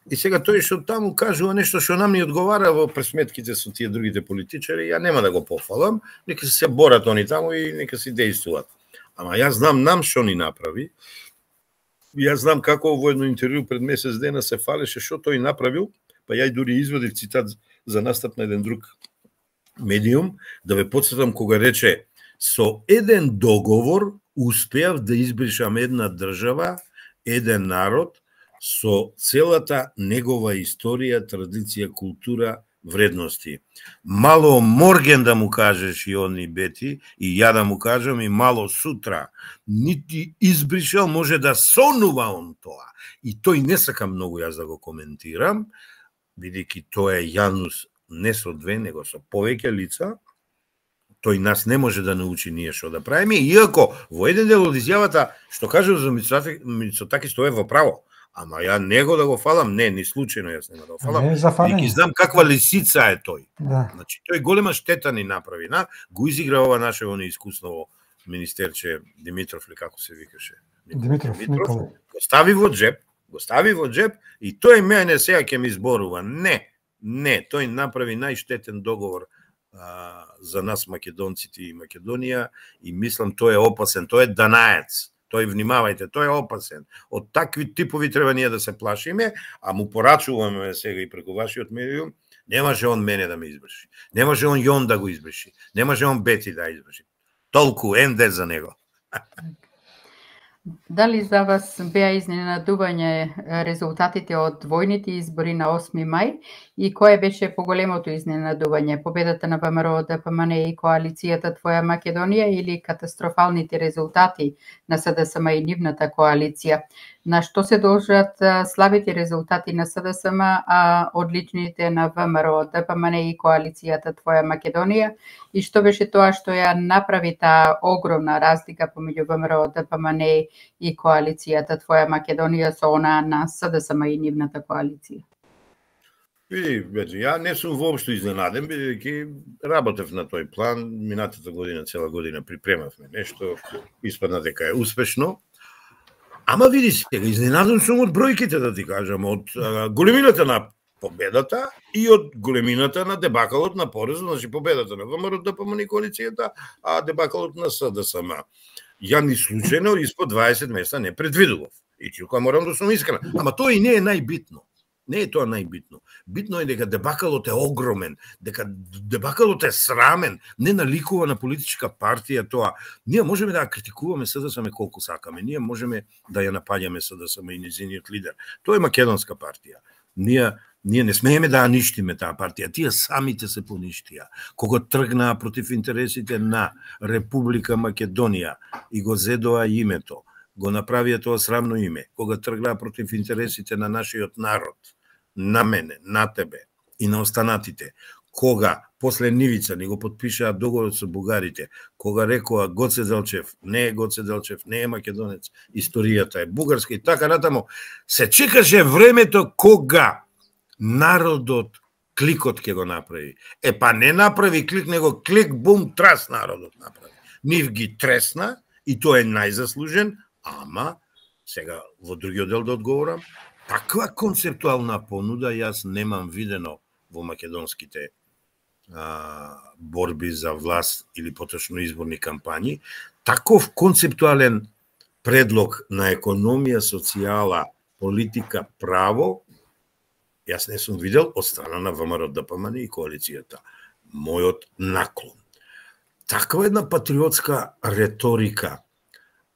и сега тој што таму кажува нешто што нам ни одговара во пресметките со тие другите политичари, ја нема да го пофалам, нека се борат они таму и нека си дејствуваат. Ама јас знам нам што ни направи. Јас знам како во едно интервју пред месец дена се фалеше што тој направил, па ја дури извадив цитат за настап на еден друг медиум, да ве потсетам кога рече: со еден договор успеав да избришам една држава, еден народ, со целата негова историја, традиција, култура, вредности. Мало морген да му кажеш и они бети, и ја да му кажам и мало сутра. Нити избришал, може да сонува он тоа. И тој не сака многу јас да го коментирам, бидејќи тоа е јавност не со две, него со повеќе лица. Тој нас не може да научи ние што да правиме, иако во еден дел од изјавата што кажа за Мицотакис, тоа е во право. Ама ја него да го фалам, не, ни случајно јас нема да го фалам. И ги знам каква лисица е тој. Да. Значи, тој голема штета ни направи. На, го изигра ова наше неискусново министерче Димитров, ли како се викаше? Димитров, Димитров. Го стави во джеп, го стави во джеп и тој мене сега ќе ми зборува. Не, Не, тој направи најштетен договор а, за нас македонците и Македонија и мислам тој е опасен, тој е данаец. Тој внимавајте, тој е опасен. Од такви типови треба ние да се плашиме, а му порачуваме сега и преку вашиот медиум, не може он мене да ме избрши. Не може он Јон да го избрши. Не може он Бети да избрши. Толку енде за него. Дали за вас беа изненадување резултатите од двојните избори на осми мај и кое беше поголемото изненадување? Победата на ВМРО, ДПМН и коалицијата Твоја Македонија или катастрофалните резултати на СДСМ и нивната коалиција? На што се должат слабите резултати на СДСМ, а одличните на ВМРО, ДПМН и коалицијата Твоја Македонија? И што беше тоа што ја направи таа огромна разлика помеѓу ВМРО, ДПМН и коалицијата Твоја Македонија со она на СДСМ и нивната коалиција? Види, Бети, ја не сум воопшто изненаден, бидејќи работев на тој план, минатата година, цела година припремавме нешто, испадна дека е успешно. Ама види сега, изненаден сум од бројките, да ти кажам, од а, големината на победата и од големината на дебакалот на порезот, значи победата на ВМРО, ДПМН и коалицијата, а дебакалот на СДСМ. Ја ни случајно испод дваесет места не предвидував. И тука морам да сум искрен. Ама тоа и не е најбитно. Не е тоа најбитно. Битно е дека дебакалот е огромен, дека дебакалот е срамен, не наликува на политичка партија тоа. Ние можеме да ја критикуваме СДСМ колку сакаме, ние можеме да ја напаѓаме СДСМ и незиниот лидер. Тоа е македонска партија. Ние Ние не смееме да ја ништиме таа партија, тие самите се поништија. Кога тргнаа против интересите на Република Македонија и го зедоа името, го направија тоа срамно име, кога тргнаа против интересите на нашиот народ, на мене, на тебе и на останатите, кога после нивица ни го подпишаа договорот со бугарите, кога рекоа Гоце Делчев не е Гоце Делчев, не е македонец, историјата е бугарска и така натаму, се чекаше времето кога народот кликот ќе го направи. Е, па не направи клик, него клик, бум, трас народот направи. Нив ги тресна и тој е најзаслужен, ама, сега во другиот дел да одговорам, таква концептуална понуда јас немам видено во македонските а, борби за власт или поточно изборни кампањи. Таков концептуален предлог на економија, социјала, политика, право, јас не сум видел од страна на ВМРО, ДПМН и коалицијата. Мојот наклон. Таква една патриотска реторика,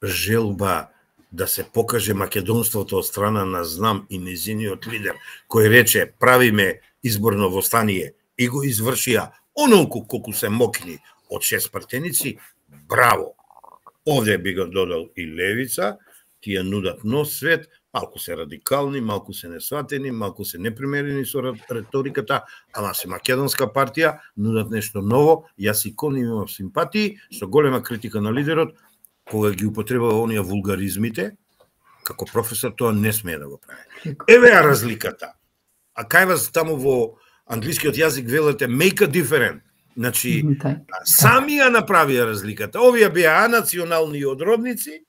желба да се покаже македонството од страна на Знам и незиниот лидер, кој рече правиме изборно востание и го извршија онолку колку се мокни од шест партеници, браво. Овде би го додал и левица, тие нудат нов свет, малку се радикални, малку се несватени, малку се непримерени со реториката, ама се македонска партија, нудат нешто ново, јас и кон имам симпатии, со голема критика на лидерот, кога ги употребува оние вулгаризмите, како професор тоа не смее да го прави. Еве ја разликата. А кај вас таму во англискиот јазик велете make a difference. Значи, сами ја направија разликата. Овие беа национални одродници,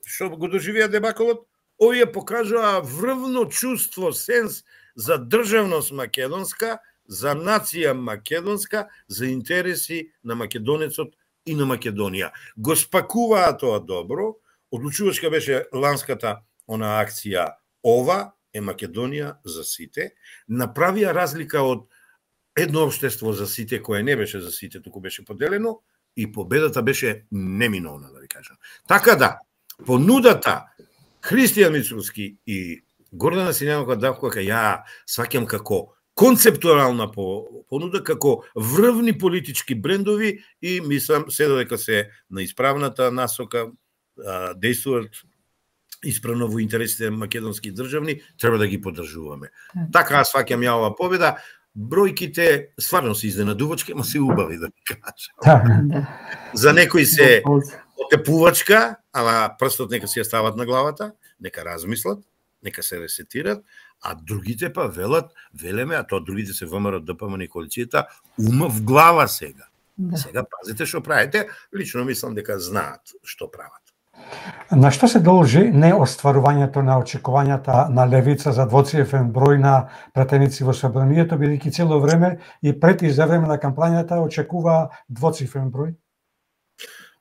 што го доживеа дебакалот, овие покажаа врвно чувство, сенс за државност македонска, за нација македонска, за интереси на македонецот и на Македонија. Го спакуваа тоа добро, одлучувачка беше ланската она акција ова е Македонија за сите, направија разлика од едно општество за сите кое не беше за сите, туку беше поделено и победата беше неминовна, да ви кажам. Така да, понудата Христијан Мицурски и Гордана Силјанова Давкова ја сваќам како концептуална понуда, како врвни политички брендови и мислам се додека се на исправната насока действуваат исправно во интересите македонски државни, треба да ги поддржуваме. Така сваќам ја ова победа. Бројките стварно се изненадувачки, ама се убави, да ви кажам. За некои се отепувачка, ама прстот нека си ја стават на главата, нека размислат, нека се ресетират, а другите па велат, велеме, а тоа другите се ВМРО, ДПМН и коалицијата, ума в глава сега. Да. Сега пазите што правите, лично мислам дека знаат што прават. На што се должи неостварувањето на очекувањата на левица за двоцифрен број на пратеници во собранието, бидејќи цело време и пред и за време на кампањата очекува двоцифрен број?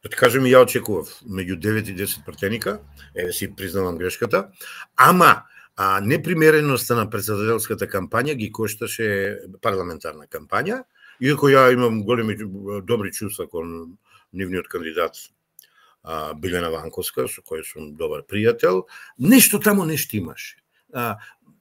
Да ти кажем, ја очекував меѓу девет и десет пратеника, еве си признавам грешката, ама а, непримереноста на председателската кампања ги кошташе парламентарна кампања, иако ја имам големи добри чувства кон нивниот кандидат а, Билена Ванковска, со кој сум добар пријател, нешто таму не штимаше. А,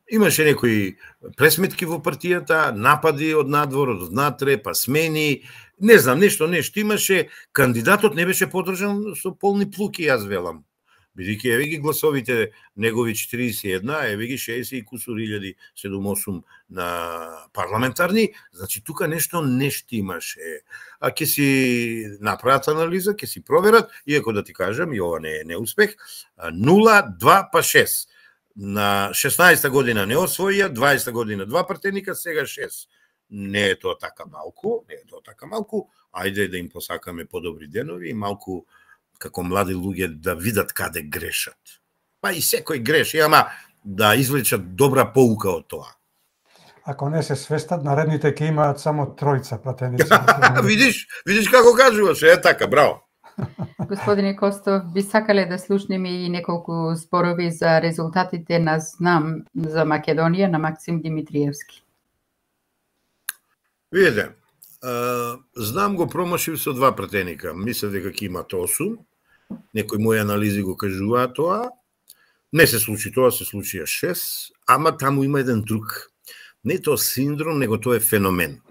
имаше некои пресметки во партијата, напади од надвор, од внатре, па смени, не знам, нешто не штимаше, кандидатот не беше подржан со полни плуки, јас велам. Бидејќи еве ги гласовите негови четириесет и една, еве ги шеесет и кусур илјади, седум осум на парламентарни, значи тука нешто не штимаше. А ќе си направат анализа, ќе си проверат, иако да ти кажам, и ова не е неуспех, нула, два па шест. На шеснаесетта година не освоија, дваесетта година два пратеника, сега шест. Не е тоа така малку, не е тоа така малку, ајде да им посакаме подобри денови и малку како млади луѓе да видат каде грешат. Па и секој греши, ама да извлечат добра поука од тоа. Ако не се свестат, наредните ќе имаат само тројца пратеници. Видиш, видиш како кажуваш, е така, браво. Господине Костов, би сакале да слушнеме и неколку зборови за резултатите на Знам за Македонија на Максим Димитриевски. Видете, Знам го промашив со два пратеника. Мислев дека ќе имат осум. Некои мои анализи го кажуваат тоа. Не се случи тоа, се случија шест, ама таму има еден друг. Не тоа синдром, него тоа е феномен.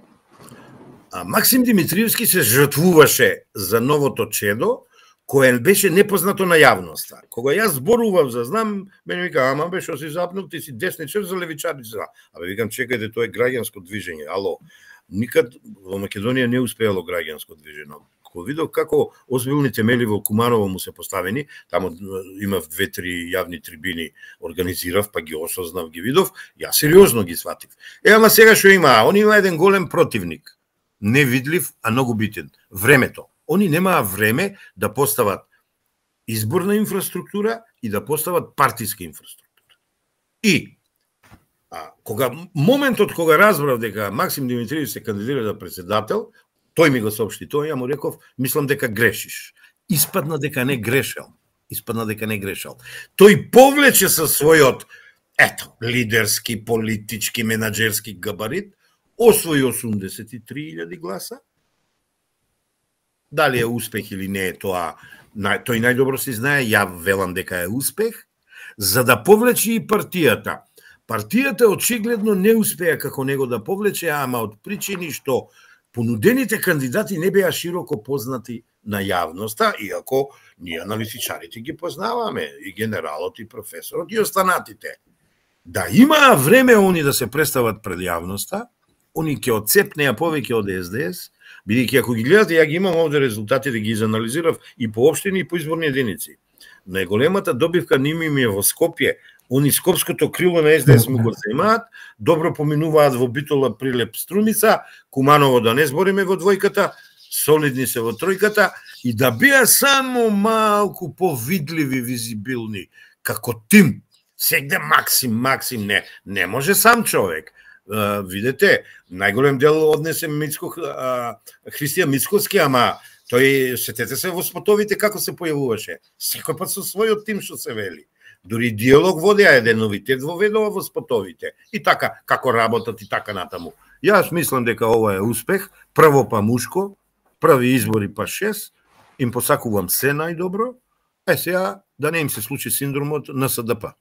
А Максим Димитриевски се жртвуваше за новото чедо, кое беше непознато на јавноста. Кога јас зборував за Знам, мене вика, ама бе, што си запнал, ти си десничар за левичарици. Абе, викам, чекајте, тоа е граѓанско движење. Ало, никад во Македонија не успеало граѓанско движење. Кога видов како озбилни темели во Куманово му се поставени, таму имав две-три јавни трибини, организирав, па ги осознав, ги видов, јас сериозно ги сватив. Е, ама сега што има? Он има еден голем противник. Невидлив, а многу битен. Времето. Они немаа време да постават изборна инфраструктура и да постават партиска инфраструктура. И а, кога моментот кога разбрав дека Максим Димитриевски се кандидира за председател, тој ми го соопшти тоа, ја му реков, мислам дека грешиш. Испадна дека не грешел. Испадна дека не грешел. Тој повлече со својот, ето, лидерски, политички, менаџерски габарит, освои осумдесет и три илјади гласа. Дали е успех или не е тоа, тој најдобро си знае, ја велам дека е успех, за да повлече и партијата. Партијата очигледно не успеа како него да повлече, ама од причини што понудените кандидати не беа широко познати на јавноста, иако ние аналитичарите ги познаваме, и генералот, и професорот, и останатите. Да имаа време они да се представат пред јавноста, они ќе отцепнеа повеќе од Ес Де Ес, бидејќи ако ги гледате, ја ги имам овде резултатите, да ги изанализирав и по општини, и по изборни единици. Најголемата добивка ними ми е во Скопје, они скопското крило на Ес Де Ес му го земаат, добро поминуваат во Битола, Прилеп, Струмица, Куманово да не збориме во двојката, солидни се во тројката, и да беа само малку повидливи, визибилни, како тим. Сегде Максим, Максим, не, не може сам човек. Uh, видете, најголем дел однесе Мицко, uh, Христијан Мицковски, ама тој, сетете се во спотовите како се појавуваше. Секој пат со својот тим што се вели. Дури диалог водеа, еден новитет воведува во спотовите. И така, како работат и така натаму. Јас мислам дека ова е успех, прво па мушко, први избори па шест, им посакувам се најдобро, е сега да не им се случи синдромот на Ес Де Пе.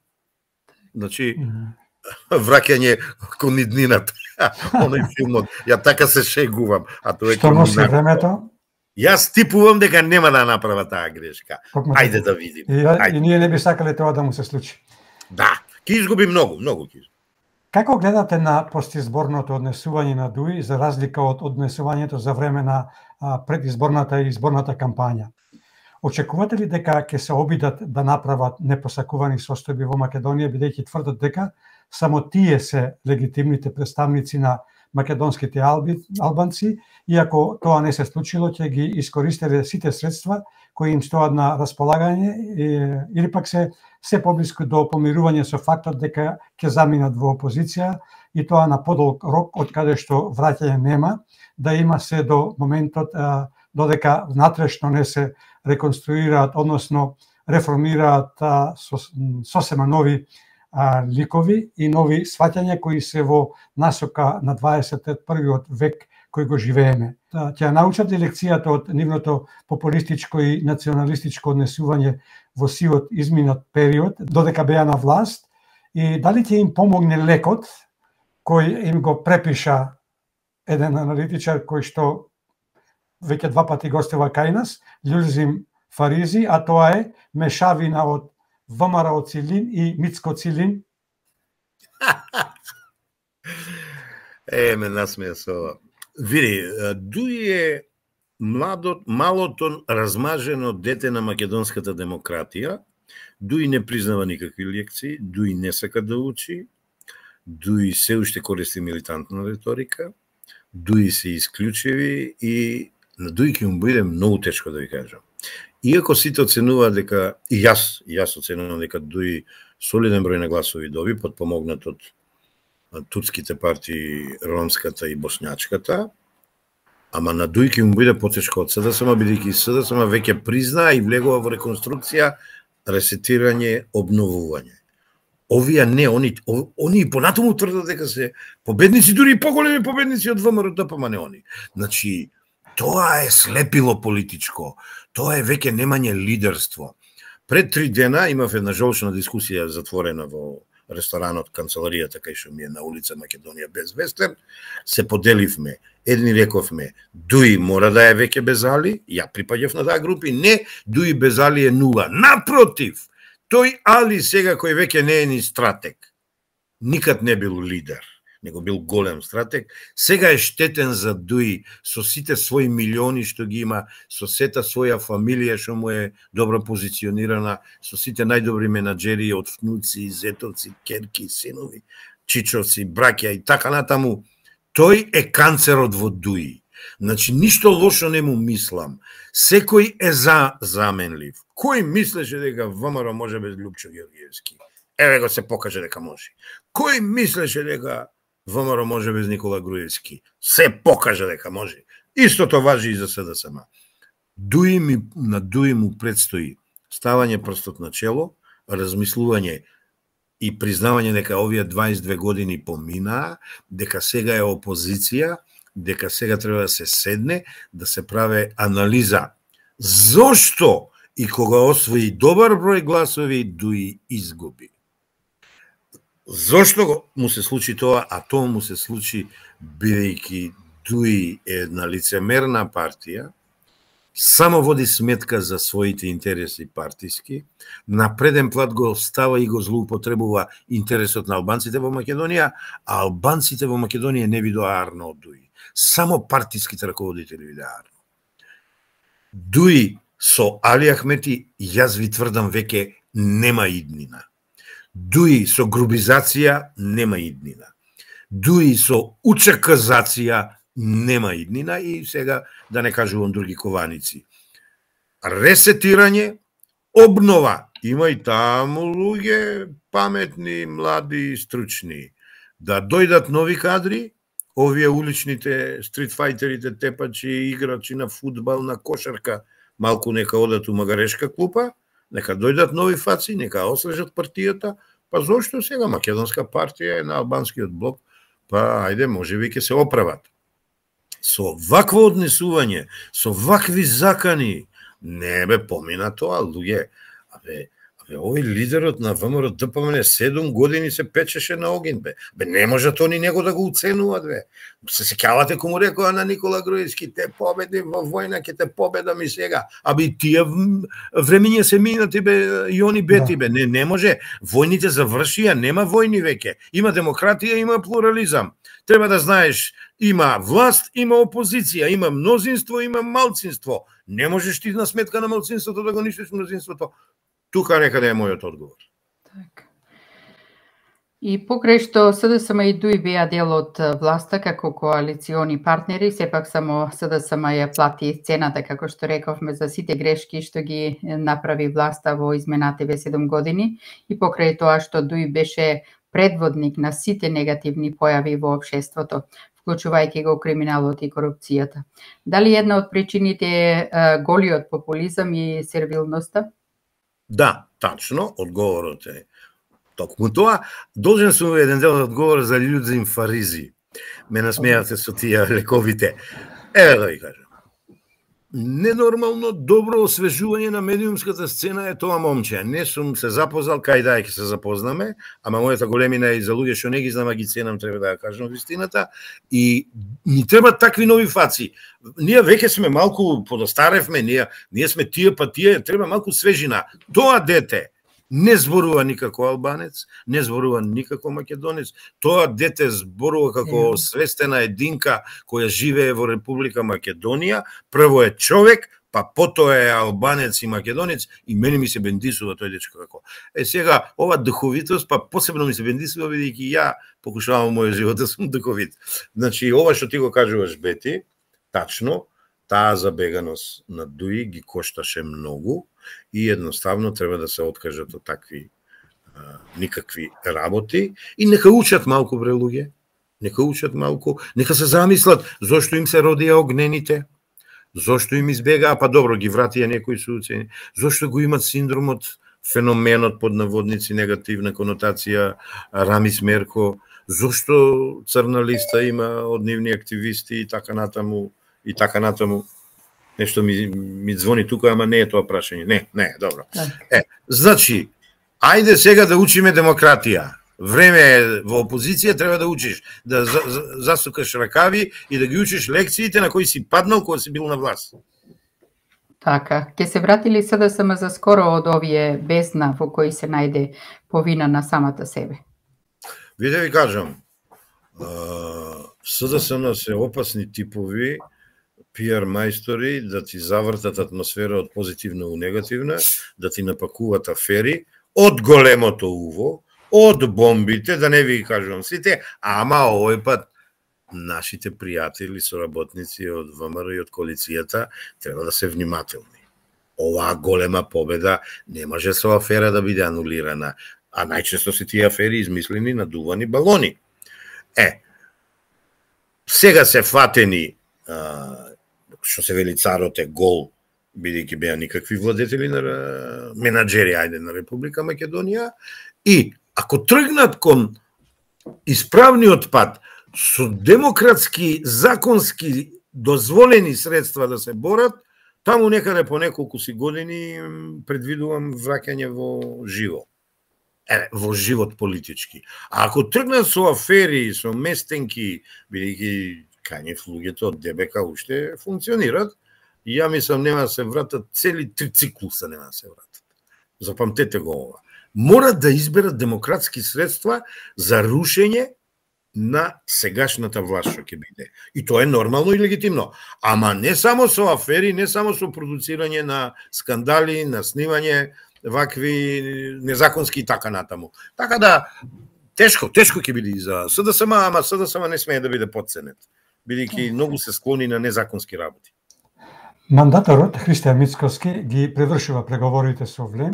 Значи, враќање кон иднината. Оној филмот. Ја така се шегувам. А тоа е што носи времето? Јас типувам дека нема да направа таа грешка. Ајде да видим. И, и ние не би сакале тоа да му се случи. Да, ќе изгуби многу, многу ќе изгуби. Како гледате на постизборното однесување на ДУИ за разлика од однесувањето за време на а, предизборната и изборната кампања? Очекувате ли дека ќе се обидат да направат непосакувани состојби во Македонија, бидејќи тврдат дека само тие се легитимните представници на македонските алби, албанци, и ако тоа не се случило, ќе ги искористеле сите средства кои им стоат на располагање или пак се се поблиску до помирување со фактот дека ќе заминат во опозиција и тоа на подолг рок од каде што враќање нема, да има се до моментот додека внатрешно не се реконструираат, односно реформираат сосема нови ликови и нови сваќања кои се во насока на дваесет и првиот век кој го живееме. Ќе научат лекцијата од нивното популистичко и националистичко однесување во сивот изминат период, додека беа на власт, и дали ќе им помогне лекот кој им го препиша еден аналитичар кој што веќе два пати гостува кај нас, Љузим Фаризи, а тоа е мешавина од ВМРО-цилин и Мицко-цилин. Е, ме насмеја со ова. Види, Дуј е младот, малото размажено дете на македонската демократија. Дуј не признава никакви лекции, Дуј не сака да учи, Дуј се уште користи милитантна риторика, Дуј се исклучиви и на Дуј ќе му биде многу тешко да ви кажам. Иако сите оценуваат дека, и јас, и јас оценувам дека Дуј солиден број на гласови доби, подпомогнат од турските партии, ромската и боснјачката, ама на Дуј ќе му биде потешко од СДСМ, бидејќи СДСМ веќе призна и влегува во реконструкција, ресетирање, обновување. Овие не, они, они понатаму тврдат дека се победници, дури и поголеми победници од ВМРО-ДП, ама не они. Значи, тоа е слепило политичко, тоа е веќе немање лидерство. Пред три дена имав една жолчна дискусија затворена во ресторанот канцеларијата кај што ми е на улица Македонија без Вестерн, се поделивме. Едни рековме, Дуј мора да е веќе без Али, ја припаѓав на таа групи, не, Дуј без Али е нула. Напротив, тој Али сега кој веќе не е ни стратег, никад не бил лидер, него бил голем стратег, сега е штетен за Дуј со сите своји милиони што ги има, со сета своја фамилија што му е добро позиционирана, со сите најдобри менаџери од внуци, зетовци, керки, синови, чичовци, браќа и така натаму. Тој е канцерот во Дуј. Значи, ништо лошо не му мислам. Секој е за заменлив. Кој мислеше дека ВМРО може без Лјупчо Георгиевски? Еве го се покаже дека може. Кој мислеше дека ВМРО може без Никола Груевски? Се покаже дека може. Истото важи и за СДСМ. Дуј ми, на Дуј му предстои ставање прстот на чело, размислување и признавање дека овие дваесет и две години поминаа, дека сега е опозиција, дека сега треба да се седне, да се праве анализа. Зошто и кога освои добар број гласови, Дуј изгуби? Зошто му се случи тоа, а тоа му се случи бидејќи Дуј е една лицемерна партија, само води сметка за своите интереси партиски, на преден плат го става и го злоупотребува интересот на албанците во Македонија, а албанците во Македонија не видоа Арно од Дуј. Само партиските раководители видоа Арно. Дуј со Али Ахмети, јас ви тврдам, веќе нема иднина. Дуј со грубизација нема иднина. Дуј со учаказација нема иднина и сега да не кажувам други кованици. Ресетирање, обнова, има и таму луѓе паметни, млади, стручни. Да дојдат нови кадри, овие уличните стритфајтерите, тепачи, играчи на фудбал, на кошарка, малку нека одат у магарешка клупа, нека дојдат нови фаци, нека освежат партијата, па зошто сега Македонска партија е на албанскиот блок, па ајде, може би ќе се оправат. Со вакво однесување, со вакви закани, не бе помина тоа, луѓе. Абе, абе овој лидерот на ВМРО-ДПМН седум години се печеше на огин, бе. Бе, не можат они него да го уценуваат, бе. Се сеќавате кому рекоа на Никола Груевски, те победи во војна, ке те победам и сега. Абе, тие времења се минати, бе, и они бети, бе. Не, не може. Војните завршија, нема војни веќе. Има демократија, има плурализам. Треба да знаеш, има власт, има опозиција, има мнозинство, има малцинство. Не можеш ти на сметка на малцинството да го ништиш мнозинството. Тука некаде е мојот одговор. Так. И покрај што СДСМ и ДУИ беа дел од власта како коалициони партнери, сепак само СДСМ ја плати цената, како што рековме, за сите грешки што ги направи власта во изминативе седум години, и покрај тоа што ДУИ беше предводник на сите негативни појави во општеството, вклучувајќи го криминалот и корупцијата. Дали една од причините е голиот популизам и сервилноста? Да, тачно, одговорот е токму тоа. Должен сум еден дел да одговор за људзим фаризи. Ме насмејате со тие лековите. Еве да ви кажам. Ненормално добро освежување на медиумската сцена е тоа момче. Не сум се запознал, кај да ќе се запознаме, ама мојата големина е и за луѓе што не ги знам, а ги ценам, треба да ја кажам вистината. И ни треба такви нови фаци. Ние веќе сме малку подостаревме, ние, ние сме тие па тие, треба малку свежина. Тоа дете не зборува никако албанец, не зборува никако македонец. Тоа дете зборува како свестена единка која живее во Република Македонија. Прво е човек, па потоа е албанец и македонец, и мене ми се бендисува тој дечко како. Е сега ова духовитост, па посебно ми се бендисува бидејќи ја покушавам мојот живот да сум духовит. Значи ова што ти го кажуваш, Бети, тачно, таа забеганост на ДУИ ги кошташе многу и едноставно треба да се откажат од такви а, никакви работи и нека учат малку, бре луѓе, нека учат малку, нека се замислат зошто им се родија огнените, зошто им избегаа, па добро ги вратија некои суцени, зошто го имат синдромот, феноменот под наводници негативна конотација Рамис Мерко, зошто црна листа има од нивни активисти и така натаму и така натаму. Нешто ми, ми звони тука, ама не е тоа прашање. Не, не, добро. Е, значи, ајде сега да учиме демократија. Време е во опозиција, треба да учиш, да за, за, засукаш ракави и да ги учиш лекциите на кои си паднал кога си бил на власт. Така, ќе се врати ли СДСМ за скоро од овие бездна во кои се најде повина на самата себе? Виде ви кажам, СДСМ се опасни типови, пиар мајстори, да ти завртат атмосфера од позитивна у негативна, да ти напакуваат афери, од големото уво, од бомбите, да не ви кажувам сите, ама овој пат нашите пријатели, соработници од ВМРО и од коалицијата треба да се внимателни. Оваа голема победа не може со афера да биде анулирана, а најчесто се тие афери измислени надувани балони. Е, сега се фатени, што се вели царот е гол, бидејќи беа никакви владетели на менаџери, ајде, на Република Македонија, и ако тргнат кон исправниот пат, со демократски, законски дозволени средства да се борат, таму некаде по неколку си години предвидувам враќање во живо. Е, во живот политички. А ако тргнат со афери, со местенки, бидејќи кањев луѓето од ДБК уште функционират, и ја мислам нема да се вратат, цели три циклуса нема да се вратат. Запамтете го ова. Морат да изберат демократски средства за рушење на сегашната власт што ќе биде. И тоа е нормално и легитимно. Ама не само со афери, не само со продуцирање на скандали, на снимање вакви незаконски и така натаму. Така да, тешко, тешко ќе биде и за СДСМ, ама СДСМ не смее да биде подценет, бидејќи многу се склони на незаконски работи. Мандаторот Христијан Мицкоски ги превршува преговорите со Влем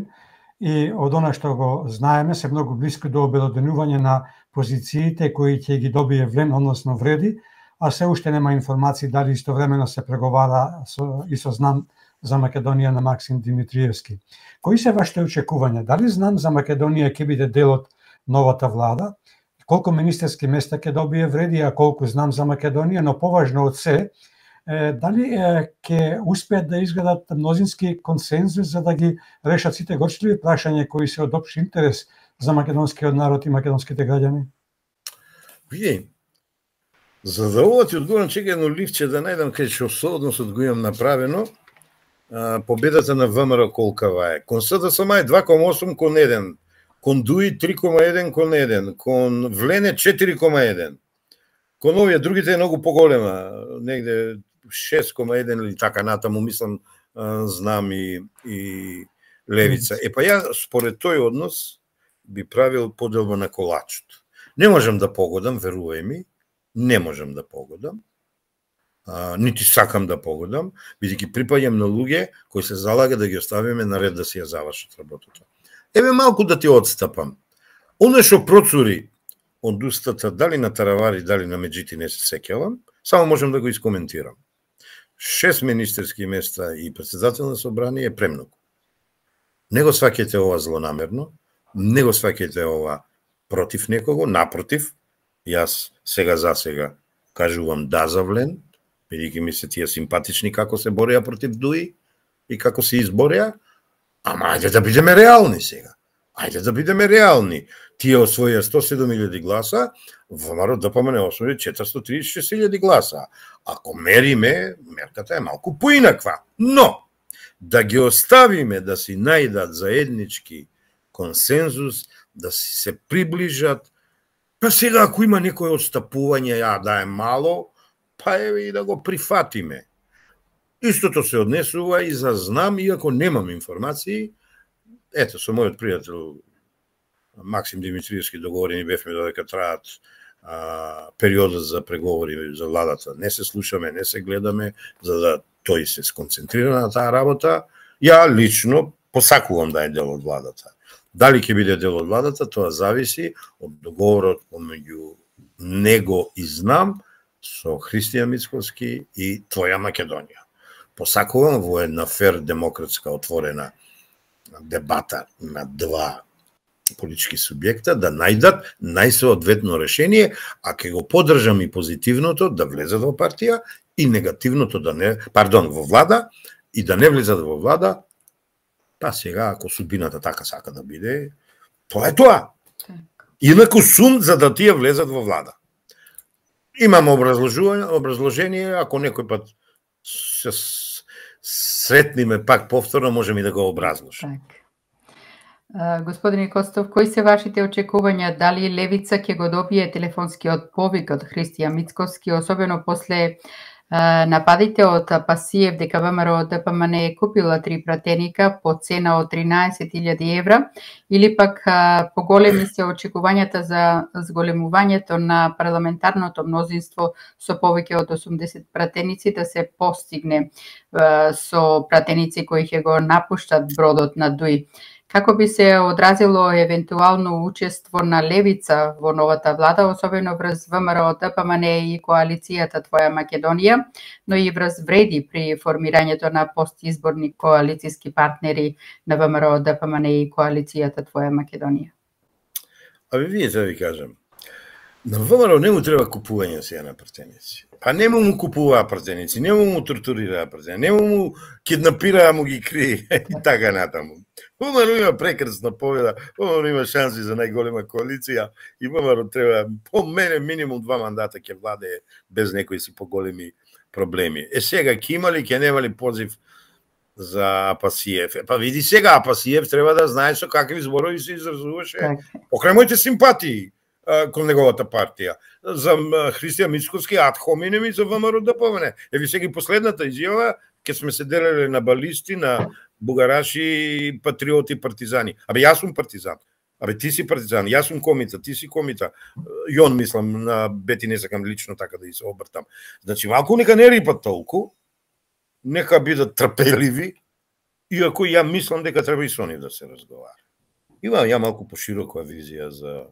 и од она што го знаеме се многу близко до обелоденување на позициите кои ќе ги добие Влем, односно вреди, а се уште нема информации дали истовремено се преговара со, и со знам за Македонија на Максим Димитриевски. Кои се вашите очекувања? Дали знам за Македонија ќе биде дел од новата влада? Колку министерски места ќе добие вреди, а колку знам за Македонија, но поважно од се, е, дали ќе успеат да изградат мнозински консензус за да ги решат сите горчливи прашања кои се од општ интерес за македонскиот народ и македонските граѓани? Види, за да ова ти одговорам, чека едно ливче да најдам кај што со односот го имам направено. Победата на ВМРО колкава е? Кон СДСМ е два кома осум кон еден, кон ДУИ три кома еден кон еден, кон Влене четири кома еден. Кон овие другите е многу поголема, негде шест кома еден или така натаму, мислам, знам и, и Левица. Е па ја според тој однос би правил поделба на колачот. Не можам да погодам, верувај ми, не можам да погодам, а, нити сакам да погодам, бидејќи припаѓам на луѓе кои се залага да ги оставиме наред да си ја завршат работата. Еве малку да ти отстапам. Оно што процури од устата, дали на Таравари, дали на Меджити, не се сеќавам, само можам да го искоментирам. Шест министерски места и председател на собрание е премногу. Не го сваќате ова злонамерно, не го сваќате ова против некого, напротив, јас сега за сега кажувам да за Влен, бидејќи ми се тие симпатични како се бореа против Дуи и како се избореа, ама ајде да бидеме реални сега. Ајде да бидеме реални. Тие освоија сто и седум илјади гласа, ВМРО ДПМН освои четиристотини и тридесет и шест илјади гласа. Ако мериме, мерката е малку поинаква. Но, да ги оставиме да си најдат заеднички консензус, да си се приближат, па сега ако има некој отстапување, ја да е мало, па еве и да го прифатиме. Истото се однесува и за знам, иако немам информации. Ето, со мојот пријател Максим Димитриевски договорени бевме додека траат а, периодот за преговори за владата. Не се слушаме, не се гледаме, за да тој се сконцентрира на таа работа. Ја лично посакувам да е дел од владата. Дали ќе биде дел од владата, тоа зависи од договорот помеѓу него и знам со Христијан Мицковски и Твоја Македонија. Посакувам во една фер, демократска, отворена дебата на два политички субјекта да најдат најсоодветно решение, а ќе го поддржам и позитивното да влезат во партија и негативното да не, пардон, во влада и да не влезат во влада. Па сега, ако судбината така сака да биде, тоа е тоа. Инаку сум за да тие влезат во влада. Имам образложение, образложение ако некој пат се сретниме пак повторно, можем и да го образложиме. Так. Господине Костов, кои се вашите очекувања? Дали Левица ќе го добие телефонскиот повик од Христијан Мицковски, особено после нападите од Апасиев дека ВМРО ДПМН е купила три пратеника по цена од тринаесет илјади евра, или пак поголеми се очекувањата за зголемувањето на парламентарното мнозинство со повеќе од осумдесет пратеници да се постигне со пратеници кои ќе го напуштат бродот на Дуи. Како би се одразило евентуално учество на Левица во новата влада, особено врз ВМРО ДПМН и коалицијата Твоја Македонија, но и врз вреди при формирањето на постизборни коалицијски партнери на ВМРО ДПМН и коалицијата Твоја Македонија? Аби видите да ви кажам, на ВМРО не му треба купување сега на пратеници. Па нему му купуваа пратеници, нему му тортурираа пратеници, нему му киднапираа, му ги крие и така натаму. ВМРО има прекрсна победа, ВМРО има шанси за најголема коалиција и ВМРО треба, по мене, минимум два мандата ќе владее без некои си поголеми проблеми. Е сега ќе има ли, ќе нема ли позив за Апасиев? Па види сега, Апасиев треба да знае со какви зборови се изразуваше покрај моите симпатии кон неговата партија. За Христијан Мицковски ад хоминем и за ВМРО ДПМН. Еви сега и последната изјава, ке сме се делеле на балисти, на бугараши, патриоти, партизани. Абе, јас сум партизан. Абе, ти си партизан, јас сум комита, ти си комита. Јон, мислам, на Бети не сакам лично така да и се обртам. Значи, малку нека не рипат толку, нека бидат трпеливи, иако ја мислам дека треба и со нив да се разговара. Имам ја малку поширока визија за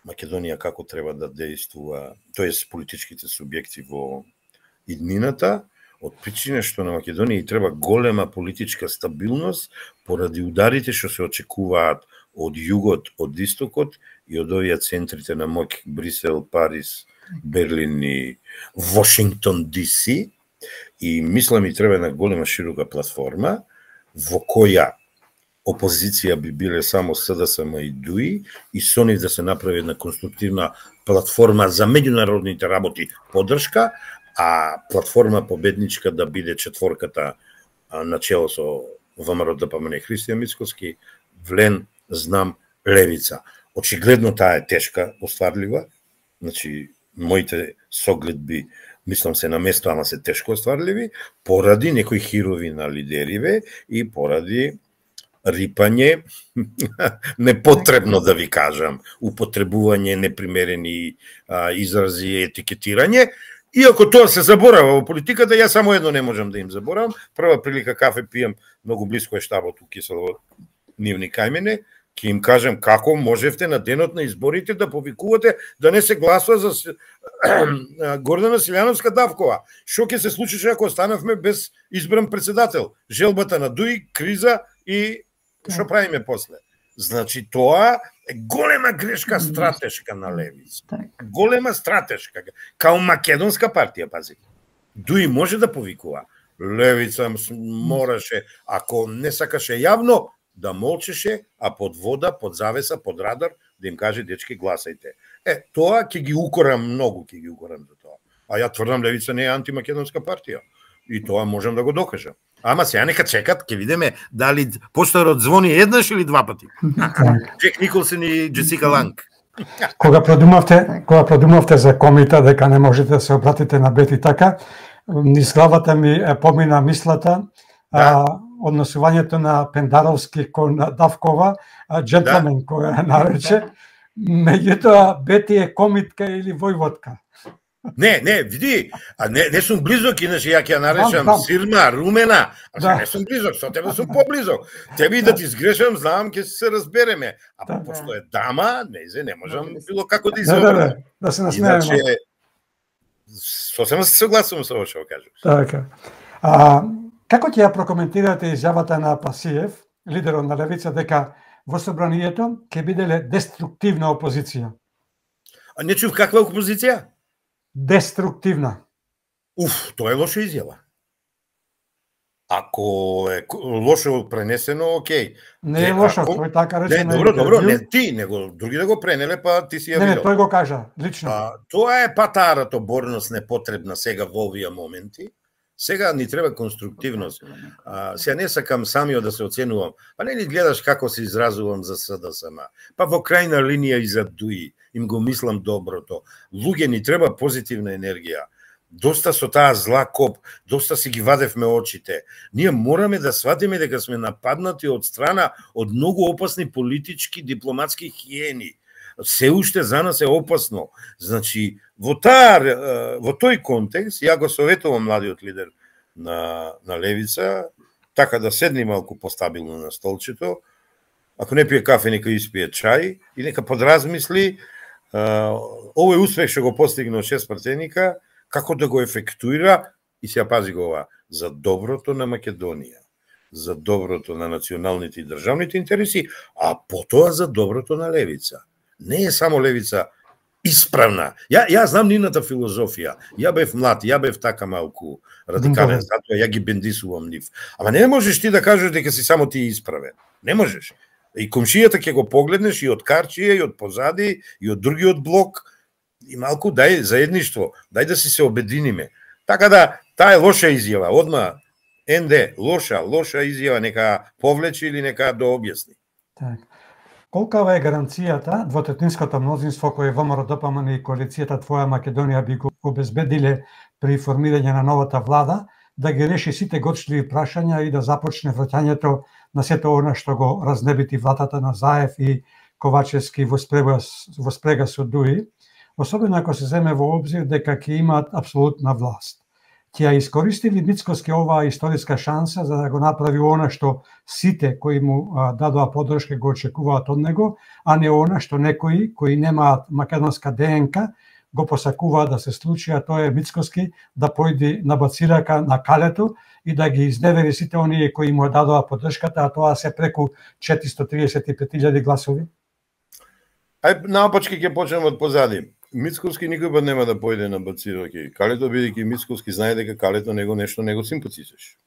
Македонија како треба да действува, тоест политичките субјекти во иднината, од причина што на Македонија треба голема политичка стабилност поради ударите што се очекуваат од југот, од истокот и од овие центрите на моќ Брисел, Париз, Берлин и Вашингтон Ди Си. И мислам и треба една голема широка платформа во која опозиција би биле само СДСМ и Дуи и со нив да се направи една конструктивна платформа за меѓународните работи поддршка, а платформа победничка да биде четворката начело со ВМРО ДПМН Христијан Мицковски, Влен, Знам, Левица. Очигледно таа е тешка, остварлива, значи моите согледби мислам се на место, ама се тешко остварливи, поради некои хирови на лидериве и поради рипање, непотребно да ви кажам, употребување непримерени а, изрази, етикетирање. Иако тоа се заборава во политиката, ја само едно не можам да им заборавам. Прва прилика кафе пијам, многу близко е штабот у Киселово, нивни кај мене, ќе им кажем како можевте на денот на изборите да повикувате да не се гласува за Гордана Силјановска-Давкова. Што ќе се случише ако останавме без избран председател? Желбата на Дуи, криза и што правиме после? Значи тоа е голема грешка стратешка на левица. Голема стратешка. Као македонска партија, пази. Дуи може да повикува. Левица мораше, ако не сакаше јавно, да молчеше, а под вода, под завеса, под радар, да им каже, дечки, гласајте. Е, тоа ќе ги укорам многу, ќе ги укорам за тоа. А ја тврдам, левица не е антимакедонска партија. И тоа можам да го докажам. Ама сега нека чекат, ќе видиме дали поштарот звони еднаш или два пати. Джек Николсон и Джесика Ланг. Кога продумавте, кога продумавте за комита дека не можете да се обратите на Бети така, низ главата ми помина мислата, да. а, односувањето на Пендаровски кон Давкова, джентлмен да. која нарече, меѓутоа Бети е комитка или војводка. Не, не, види, а не, не сум близок, иначе ја ќе ја наречам да, да. Сирма, Румена, а да. не сум близок, со тебе сум поблизок. Тебе да ти сгрешам, знам, ќе се разбереме. А да, пошто е дама, не, не можам било како да изобрам. Да, да, да се насмееме. Иначе, сосема се согласувам со ова што кажеш. Така. А, како ќе ја прокоментирате изјавата на Пасиев, лидерот на левица, дека во собранието ќе биделе деструктивна опозиција? А не чув каква опозиција? Деструктивна. Уф, тоа е лоша изјава. Ако е лошо пренесено, окей. Не е лошо, ако... тој така рече. Не, добро, добро, не ти, него други да го пренеле, па ти си ја видел. Не, не, тој го кажа, лично. А, тоа е патарата борност непотребна сега во овие моменти. Сега ни треба конструктивност. А, сега не сакам самиот да се оценувам. Па не ни гледаш како се изразувам за СДСМ. Па во крајна линија и за Дуи. Им го мислам доброто. Луѓе ни треба позитивна енергија. Доста со таа зла коп, доста си ги вадевме очите. Ние мораме да сватиме дека сме нападнати од страна од многу опасни политички, дипломатски хиени. Се уште за нас е опасно. Значи, во таа, во тој контекст, ја го советувам младиот лидер на, на левица, така да седни малку постабилно на столчето, ако не пие кафе, нека испие чај и нека подразмисли uh, овој успех што го постигна од шест пратеника, како да го ефектуира и се пази го ова, за доброто на Македонија, за доброто на националните и државните интереси, а потоа за доброто на левица. Не е само левица исправна. Ја, ја знам нивната филозофија. Ја бев млад, ја бев така малку радикален, затоа ја ги бендисувам нив. Ама не можеш ти да кажеш дека си само ти исправен. Не можеш. И комшијата ќе го погледнеш и од Карчија, и од позади, и од другиот блок, и малку дај заедништво, дај да си се обединиме. Така да, таа е лоша изјава. Одма, ен де, лоша, лоша изјава, нека повлече или нека дообјасни. Так. Колкава е гаранцијата двотретинското мнозинство кое ВМРО Д П М Н и коалицијата Твоја Македонија би го обезбедиле при формирање на новата влада, да ги реши сите горчливи прашања и да започне враќањето на сето она што го разнебити владата на Заев и Ковачевски во спрега, во спрега со Дуи, особено ако се земе во обзир дека ќе имаат апсолутна власт. Ќе ја искористи ли Мицкоски оваа историска шанса за да го направи она што сите кои му а, дадоа поддршка го очекуваат од него, а не она што некои кои немаат македонска Д Н К го посакуваат да се случи, а тоа е Мицкоски да појди на бацирака на калето и да ги изневери сите оние кои му дадоа поддршката, а тоа се преку четиристо триесет и пет илјади гласови? Ај, наопачки ќе почнем од позади. Мицкоски никој пат нема да појде на бацираки. Калето, бидејќи Мицкоски знае дека Калето него нешто него симпатизеш.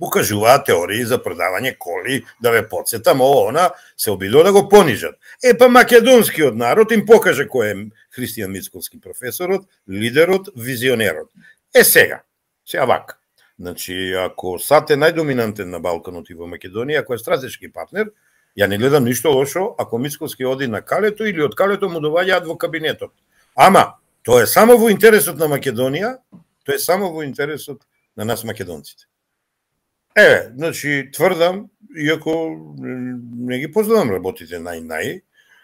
Му кажуваат теории за продавање коли, да ве подсетам, ово, она, се обидува да го понижат. Е, па македонскиот народ им покаже кој е Христијан Мицкоски, професорот, лидерот, визионерот. Е, сега, сега вака. Значи, ако САД е најдоминантен на Балканот и во Македонија, ако е стратешки партнер, ја не гледам ништо лошо ако Мицкоски оди на Калето или од Калето му доаѓаат во кабинетот. Ама, тоа е само во интересот на Македонија, тоа е само во интересот на нас македонците. Е, значи, тврдам, иако не ги познавам работите нај-нај,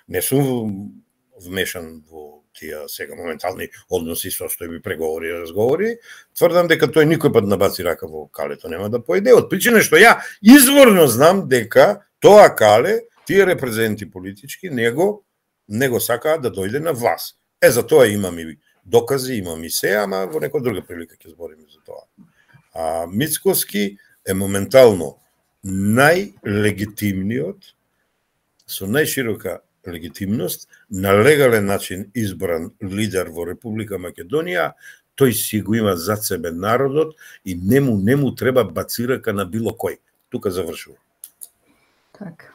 не сум вмешан во тие сега моментални односи, состојби, преговори, разговори, тврдам дека тој никој пат набаци рака во калето нема да поеде, од причина што ја изворно знам дека тоа кале, тие репрезенти политички, него, него сакаат да дојде на власт. Е, за тоа имам и докази, имам и се, ама во некоја друга прилика ќе збориме за тоа. А Мицкоски е моментално најлегитимниот, со најширока легитимност, на легален начин избран лидер во Република Македонија, тој си го има зад себе народот и нему нему треба бацирака на било кој. Тука завршува. Така.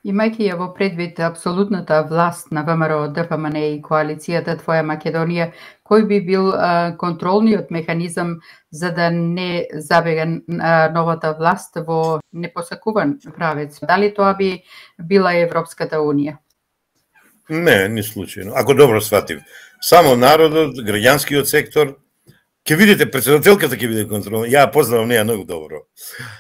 Имајќи ја во предвид апсолутната власт на ВМРО, ДПМН и коалицијата Твоја Македонија, кој би бил а, контролниот механизам за да не забега а, новата власт во непосакуван правец? Дали тоа би била Европската Унија? Не, ни случајно. Ако добро сватив, само народот, граѓанскиот сектор, ќе видите, председателката ќе биде контролна, ја познавам неја многу добро.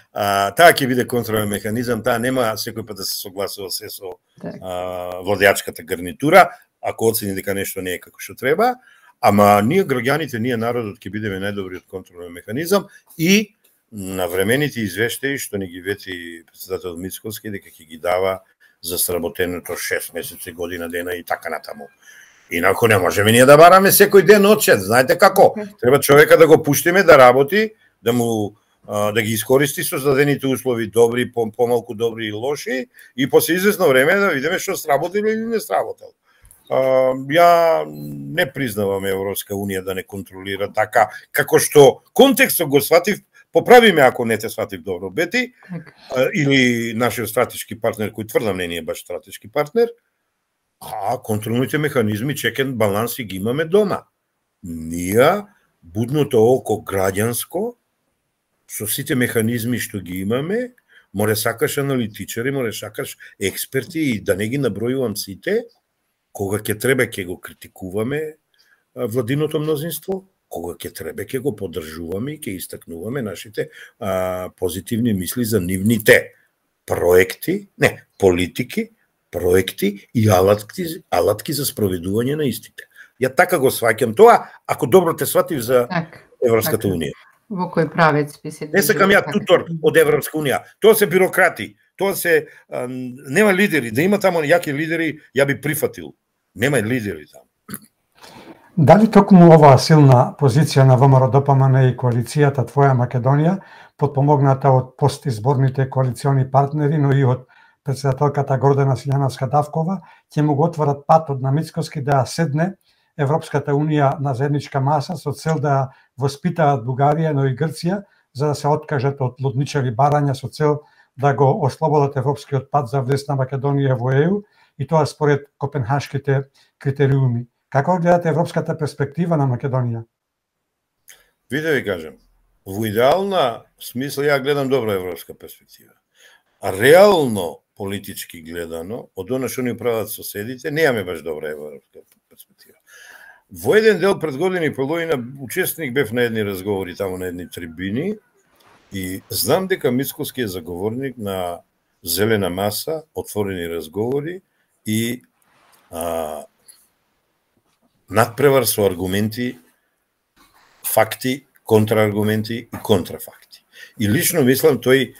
А, таа ќе биде контролен механизам, таа нема секој пат да се согласува се со а, владеачката гарнитура, ако оцени дека нешто не е како што треба, ама ние граѓаните, ние народот ќе бидеме најдобриот контролен механизам и на времените извештаи што ни ги вети председател Мицкоски дека ќе ги дава за сработеното шест месеци, година дена и така натаму. Инако не можеме ние да бараме секој ден отчет, знаете како? Треба човека да го пуштиме да работи, да му да ги искористи создадените услови, добри, помалку добри и лоши, и после известно време да видиме што сработил или не сработил. Ја не признавам Европска Унија да не контролира така, како што контекстот го сватив. Поправиме ако не те сватив добро, Бети, или нашиот стратешки партнер, кој тврдам не е баш стратешки партнер, а контролните механизми, чекен баланси ги имаме дома. Ние, будното око граѓанско, со сите механизми што ги имаме, море сакаш аналитичари, море сакаш експерти и да не ги набројувам сите, кога ќе треба ќе го критикуваме владиното мнозинство, кога ќе треба ќе го поддржуваме и ќе истакнуваме нашите а, позитивни мисли за нивните проекти, не, политики, проекти и алатки, алатки за спроведување на истите. Ја така го сваќам тоа, ако добро те сватив за так, Европската так. Унија. Во кој правец би се... Не сакам ја тутор од Европска Унија. Тоа се бюрократи, тоа се... А, нема лидери, да има тамо јаки лидери, ја би прифатил. Нема лидери таму. Дали токму оваа силна позиција на ВМРО-ДПМН и коалицијата Твоја Македонија, подпомогната од постизборните коалициони партнери, но и од председателката Гордана Силјановска-Давкова, ќе му го отворат патот на Мицкоски да седне Европската Унија на заедничка маса со цел да воспитаат Бугарија, но и Грција, за да се откажат од лудничави барања со цел да го ослободат европскиот пат за влез на Македонија во Е Ју, и тоа според копенхашките критериуми. Како гледате европската перспектива на Македонија? Ви да ви кажам, во идеална смисла ја гледам добра европска перспектива. А реално политички гледано, од она што ни прават соседите, немаме баш добра европска перспектива. Во еден дел пред години и половина учесник бев на едни разговори таму на едни трибини и знам дека Мицкоски е заговорник на зелена маса, отворени разговори и а, надпревар со аргументи, факти, контрааргументи и контрафакти. И лично мислам тој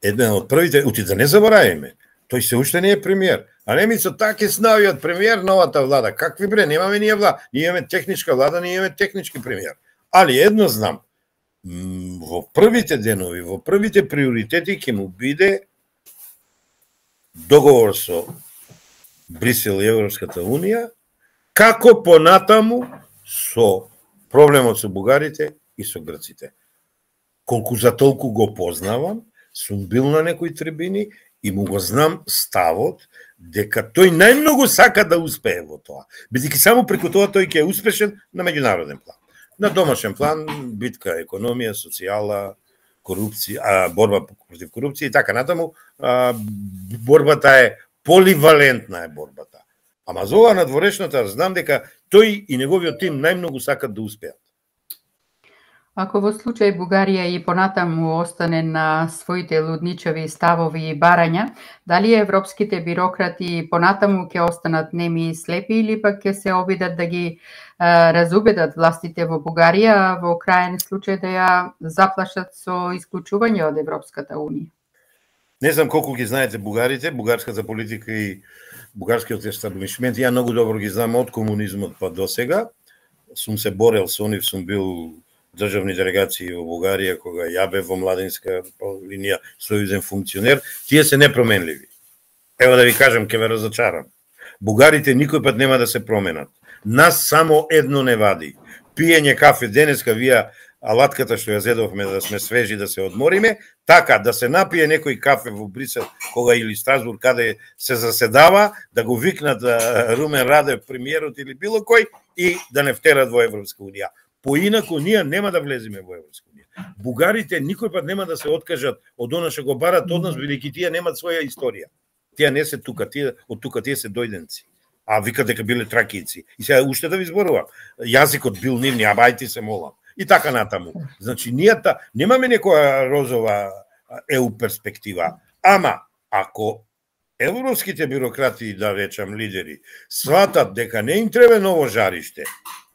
еден од првите, ути да не заборавиме, тој се уште не е премиер. А не мислам, така е снајот премиер новата влада. Какви бре, немаме ние влада. Ние имаме техничка влада, ние имаме технички премиер. Али едно знам, во првите денови, во првите приоритети ќе му биде договор со Брисел и Европската Унија, како понатаму со проблемот со бугарите и со грците. Колку за толку го познавам, сум бил на некои трибини и му го знам ставот дека тој најмногу сака да успее во тоа. Бидејќи само преку тоа тој ќе е успешен на меѓународен план. На домашен план, битка, економија, социјала, корупција, а, борба против корупција и така натаму, а, борбата е поливалентна е борбата. Ама за ова надворешната знам дека тој и неговиот тим најмногу сакат да успеат. Ако во случај Бугарија и понатаму остане на своите лудничави ставови и барања, дали европските бирократи понатаму ќе останат неми и слепи или пак ќе се обидат да ги а, разубедат властите во Бугарија, а во крајен случај да ја заплашат со исклучување од Европската унија? Не знам колку ги знаете бугарите, бугарската политика и бугарскиот естаблишмент. Ја многу добро ги знам од комунизмот па до сега. Сум се борел со нив, сум бил државни делегации во Бугарија, кога ја бев во младинска линија сојузен функционер. Тие се непроменливи. Ево да ви кажам, ќе ве разочарам. Бугарите никој пат нема да се променат. Нас само едно не вади. Пиење кафе денеска, вие алатката што ја зедовме да сме свежи, да се одмориме, така да се напие некој кафе во Брисел, кога или Страсбург, каде се заседава, да го викнат Румен Радев, премиерот или било кој, и да не втерат во Европска унија. Поинаку ние нема да влеземе во Европска унија. Бугарите никој пат нема да се откажат од она што го барат од нас, бидејќи тие немат своја историја. Тие не се тука, тие од тука тие се дојденци. А викат дека биле тракијци. И сега уште да ви зборувам, јазикот бил нивни, а бајти се молам. И така натаму. Значи, ние та, немаме некоја розова ЕУ перспектива. Ама, ако европските бюрократи, да речам лидери, сватат дека не им треба ново жариште,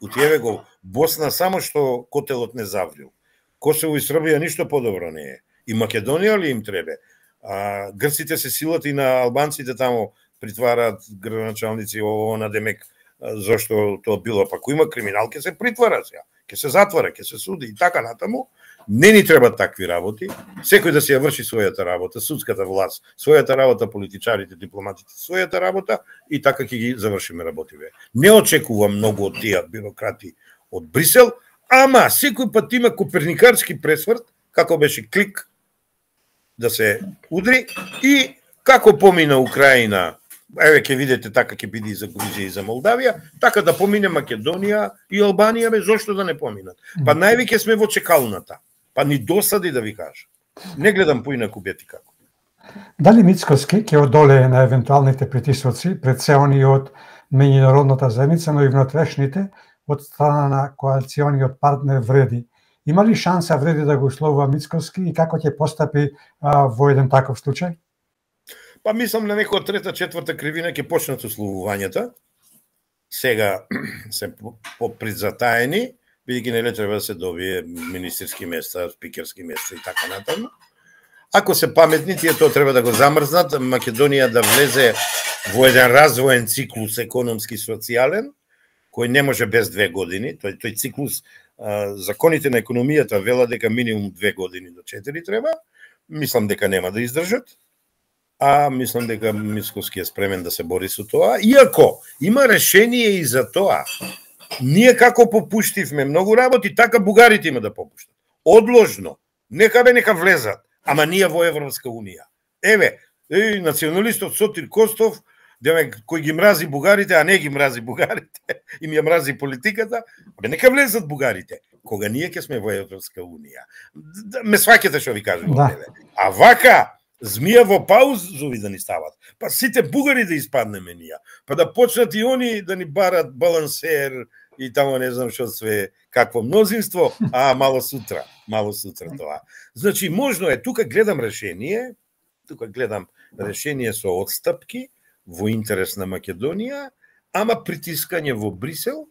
утиеве го Босна само што котелот не заврил. Косово и Србија ништо подобро не е. И Македонија ли им треба? А, грците се силат и на албанците тамо притвараат градоначалници ово на демек зашто тоа било, па кој има криминал ќе се притвара сега, ќе се затвора, ќе се суди и така натаму. Не ни требат такви работи. Секој да си ја врши својата работа, судската власт, својата работа, политичарите, дипломатите, својата работа и така ќе ги завршиме работиве. Не очекувам многу од тие бюрократи од Брисел, ама секој пат има коперникарски пресврт, како беше клик да се удри и како помина Украина. Еве ќе видите така ќе биде и за Грузија и за Молдавија, така да помине Македонија и Албанија, бе зошто да не поминат. Па највеќе сме во чекалната. Па ни досади да ви кажам. Не гледам поинаку бети како. Дали Мицкоски ќе одолее на евентуалните притисоци пред се они од меѓународната заедница, но и внатрешните од страна на коалициониот партнер Вреди? Има ли шанса Вреди да го условува Мицкоски и како ќе постапи а, во еден таков случај? Па мислам на некоја трета, четврта кривина ќе почнат условувањата. Сега се попризатаени, бидејќи нели треба да се добие министерски места, спикерски места и така натаму. Ако се паметни, тие тоа треба да го замрзнат, Македонија да влезе во еден развоен циклус економски социјален, кој не може без две години. Тој тој циклус, законите на економијата велат дека минимум две години до четири треба. Мислам дека нема да издржат. А мислам дека Мицкоски е спремен да се бори со тоа, иако има решение и за тоа. Ние како попуштивме многу работи, така бугарите има да попуштат. Одложно, нека бе нека влезат, ама ние во Европска унија. Еве, е, националистот Сотир Костов, демек кој ги мрази бугарите, а не ги мрази бугарите, им ја мрази политиката, бе нека влезат бугарите. Кога ние ќе сме во Европска унија. Ме сваќате што ви кажам. Да. А вака змија во паузови да ни стават. Па сите бугари да испаднеме ние. Па да почнат и они да ни барат балансер и тамо не знам што све, какво мнозинство, а мало сутра, мало сутра тоа. Значи, можно е, тука гледам решение, тука гледам решение со отстапки во интерес на Македонија, ама притискање во Брисел,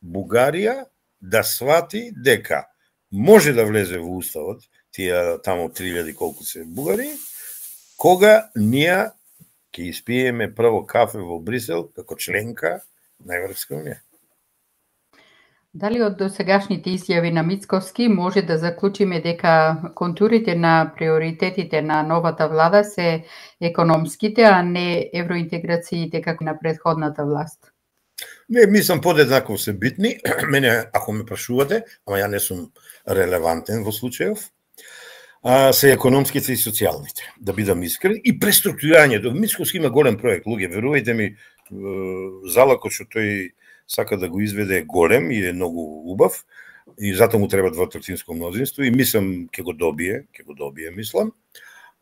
Бугарија да свати дека може да влезе во уставот, тие тамо три илјади колку се бугари, кога ние ќе испиеме прво кафе во Брисел како членка на Европска унија. Дали од досегашните изјави на Мицкоски може да заклучиме дека контурите на приоритетите на новата влада се економските, а не евроинтеграциите како на претходната власт? Не, мислам подеднакво се битни. Мене, ако ме прашувате, ама ја не сум релевантен во случајов, а, се економските и социјалните, да бидам искрен, и преструктурирањето. Мицкоски има голем проект, луѓе, верувајте ми, залакот што тој сака да го изведе е голем и е многу убав, и затоа му треба двотретинско мнозинство, и мислам ќе го добие, ќе го добие, мислам.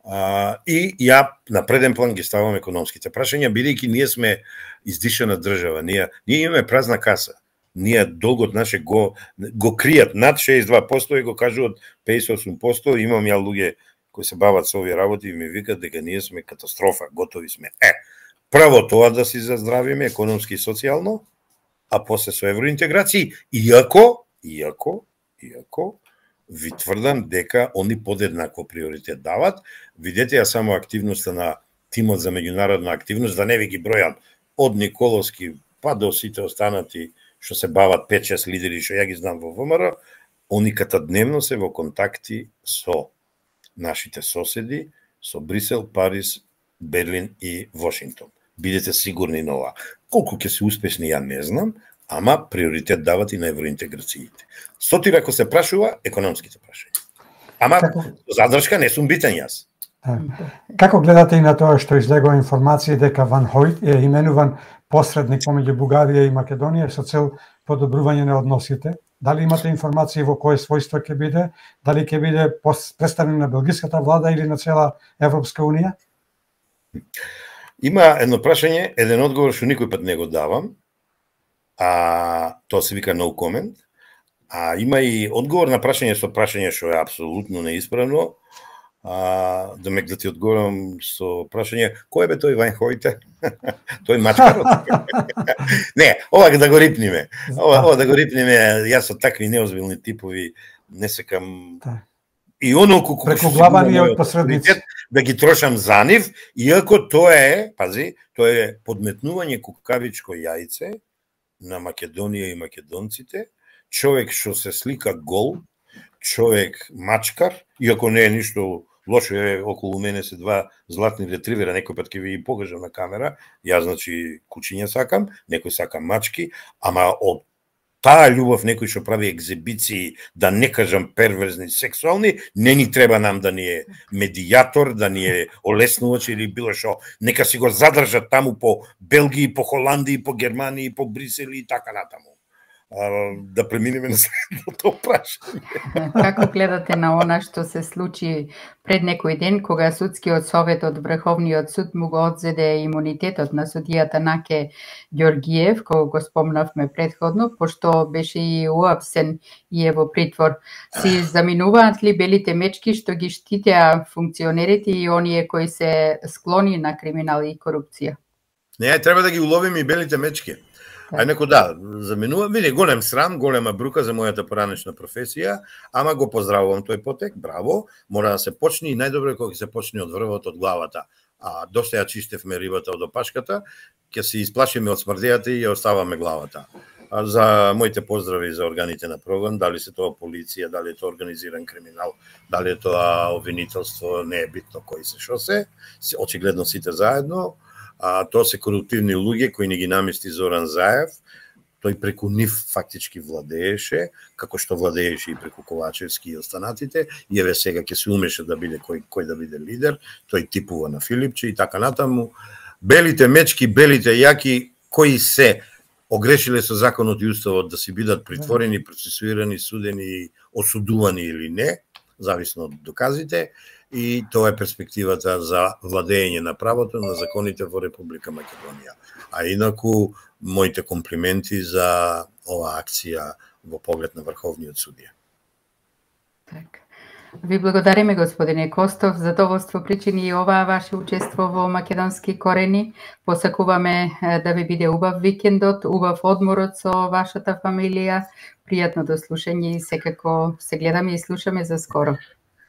А, и ја на преден план ги ставам економските прашања, бидејќи ние сме издишана држава, ние, ние имаме празна каса. ние долгот наше го го кријат над шеесет и два проценти и го кажуваат пеесет и осум проценти. Имам ја луѓе кои се бават со овие работи и ми викаат дека ние сме катастрофа, готови сме. Е, прво тоа да си заздравиме економски и социјално, а после со евроинтеграција, иако, иако, иако, ви тврдам дека они подеднакво приоритет дават. Видете ја само активноста на тимот за меѓународна активност, да не ви ги бројам од Николовски па до сите останати што се бават пет шест лидери што ја ги знам во ВМРО, они катадневно се во контакти со нашите соседи, со Брисел, Париз, Берлин и Вашингтон. Бидете сигурни на ова. Колку ќе се успешни ја не знам, ама приоритет дават и на евроинтеграциите. Сотира ако се прашува економските прашања. Ама како... задршка не сум битен јас. Како гледате и на тоа што излегува информација дека Ван Хојт е именуван посредник помеѓу Бугарија и Македонија со цел подобрување на односите? Дали имате информација во кое својство ќе биде? Дали ќе биде представник на белгиската влада или на цела Европска унија? Има едно прашање, еден одговор што никој пат не го давам, а тоа се вика no comment, а има и одговор на прашање со прашање што е апсолутно неисправно. А, да ме да ти одговорам со прашање, кој бе тој Ван Хојте? Тој мачкарот? Не, ова да го рипниме. Ова, ова да го рипниме, јас со такви неозбилни типови не секам и онолку преку глава ни од посредници да ги трошам за нив, иако тоа е, пази, тоа е подметнување кукавичко јајце на Македонија и македонците, човек што се слика гол, човек мачкар, иако не е ништо лошо, е околу мене се два златни ретривера, некој пат ќе ви ги покажам на камера, јас значи кучиња сакам, некој сака мачки, ама од таа љубов некој што прави екзибиции, да не кажам перверзни, сексуални, не ни треба нам да ни е медијатор, да ни е олеснувач или било што, нека си го задржат таму по Белгија, по Холандија, по Германија, по Брисел и така натаму. Да преминеме на следното прашање. Како гледате на она што се случи пред некој ден, кога судскиот совет од Врховниот суд му го одзеде имунитетот на судијата Наке Ѓоргиев, кој го спомнавме предходно, пошто беше и уапсен и е во притвор. Си заминуваат ли белите мечки што ги штитеа функционерите и оние кои се склони на криминал и корупција? Не, треба да ги уловиме и белите мечки. А неко да, заменува, види, голем срам, голема брука за мојата поранешна професија, ама го поздравувам тој потек, браво, мора да се почне и најдобро е кога ќе се почне од врвот, од главата. А доста ја чистевме рибата од опашката, ќе се исплашиме од смрдејата и ја оставаме главата. А за моите поздрави за органите на прогон, дали се тоа полиција, дали е тоа организиран криминал, дали е тоа обвинителство, не е битно кои се шо се, очигледно сите заедно. А тоа се коруптивни луѓе кои не ги намести Зоран Заев, тој преку нив фактички владееше, како што владееше и преку Ковачевски и останатите, и еве сега ќе се умеше да биде кој кој да биде лидер, тој типува на Филипче и така натаму. Белите мечки, белите јаки кои се огрешиле со законот и уставот да си бидат притворени, процесуирани, судени, осудувани или не, зависно од доказите. И тоа е перспективата за владење на правото на законите во Република Македонија. А инаку, моите комплименти за оваа акција во поглед на Врховниот судија. Так. Ви благодариме, господине Костов, задоволство причини и оваа ваше учество во Македонски корени. Посакуваме да ви биде убав викендот, убав одморот со вашата фамилија. Пријатно до слушање и секако се гледаме и слушаме за скоро.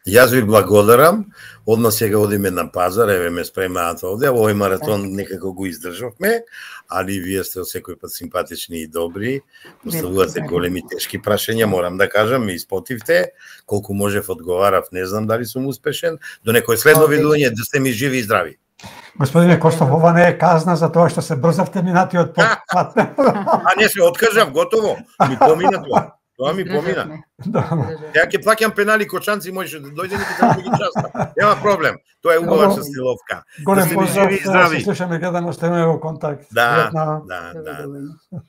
Јас ви благодарам, одма сега одиме на пазар, еве ме спремаат овде, овој маратон некако го издржавме, али вие сте секој пат симпатични и добри, поставувате големи тешки прашања, морам да кажам, ми испотивте, колку можев одговарав, не знам дали сум успешен, до некој следно видување, да сте ми живи и здрави. Господине Костов, ова не е казна за тоа што се брзавте минатиот пат. А не се откажав, готово, ми помина тоа. Тоа ми помина. Ја ќе плаќам пенали кочанци, можеше да дојде и да ги часта. Нема проблем. Тоа е убава стиловка. Голем поздрав, се слушаме, гледано, сте во контакт. Да, да, да.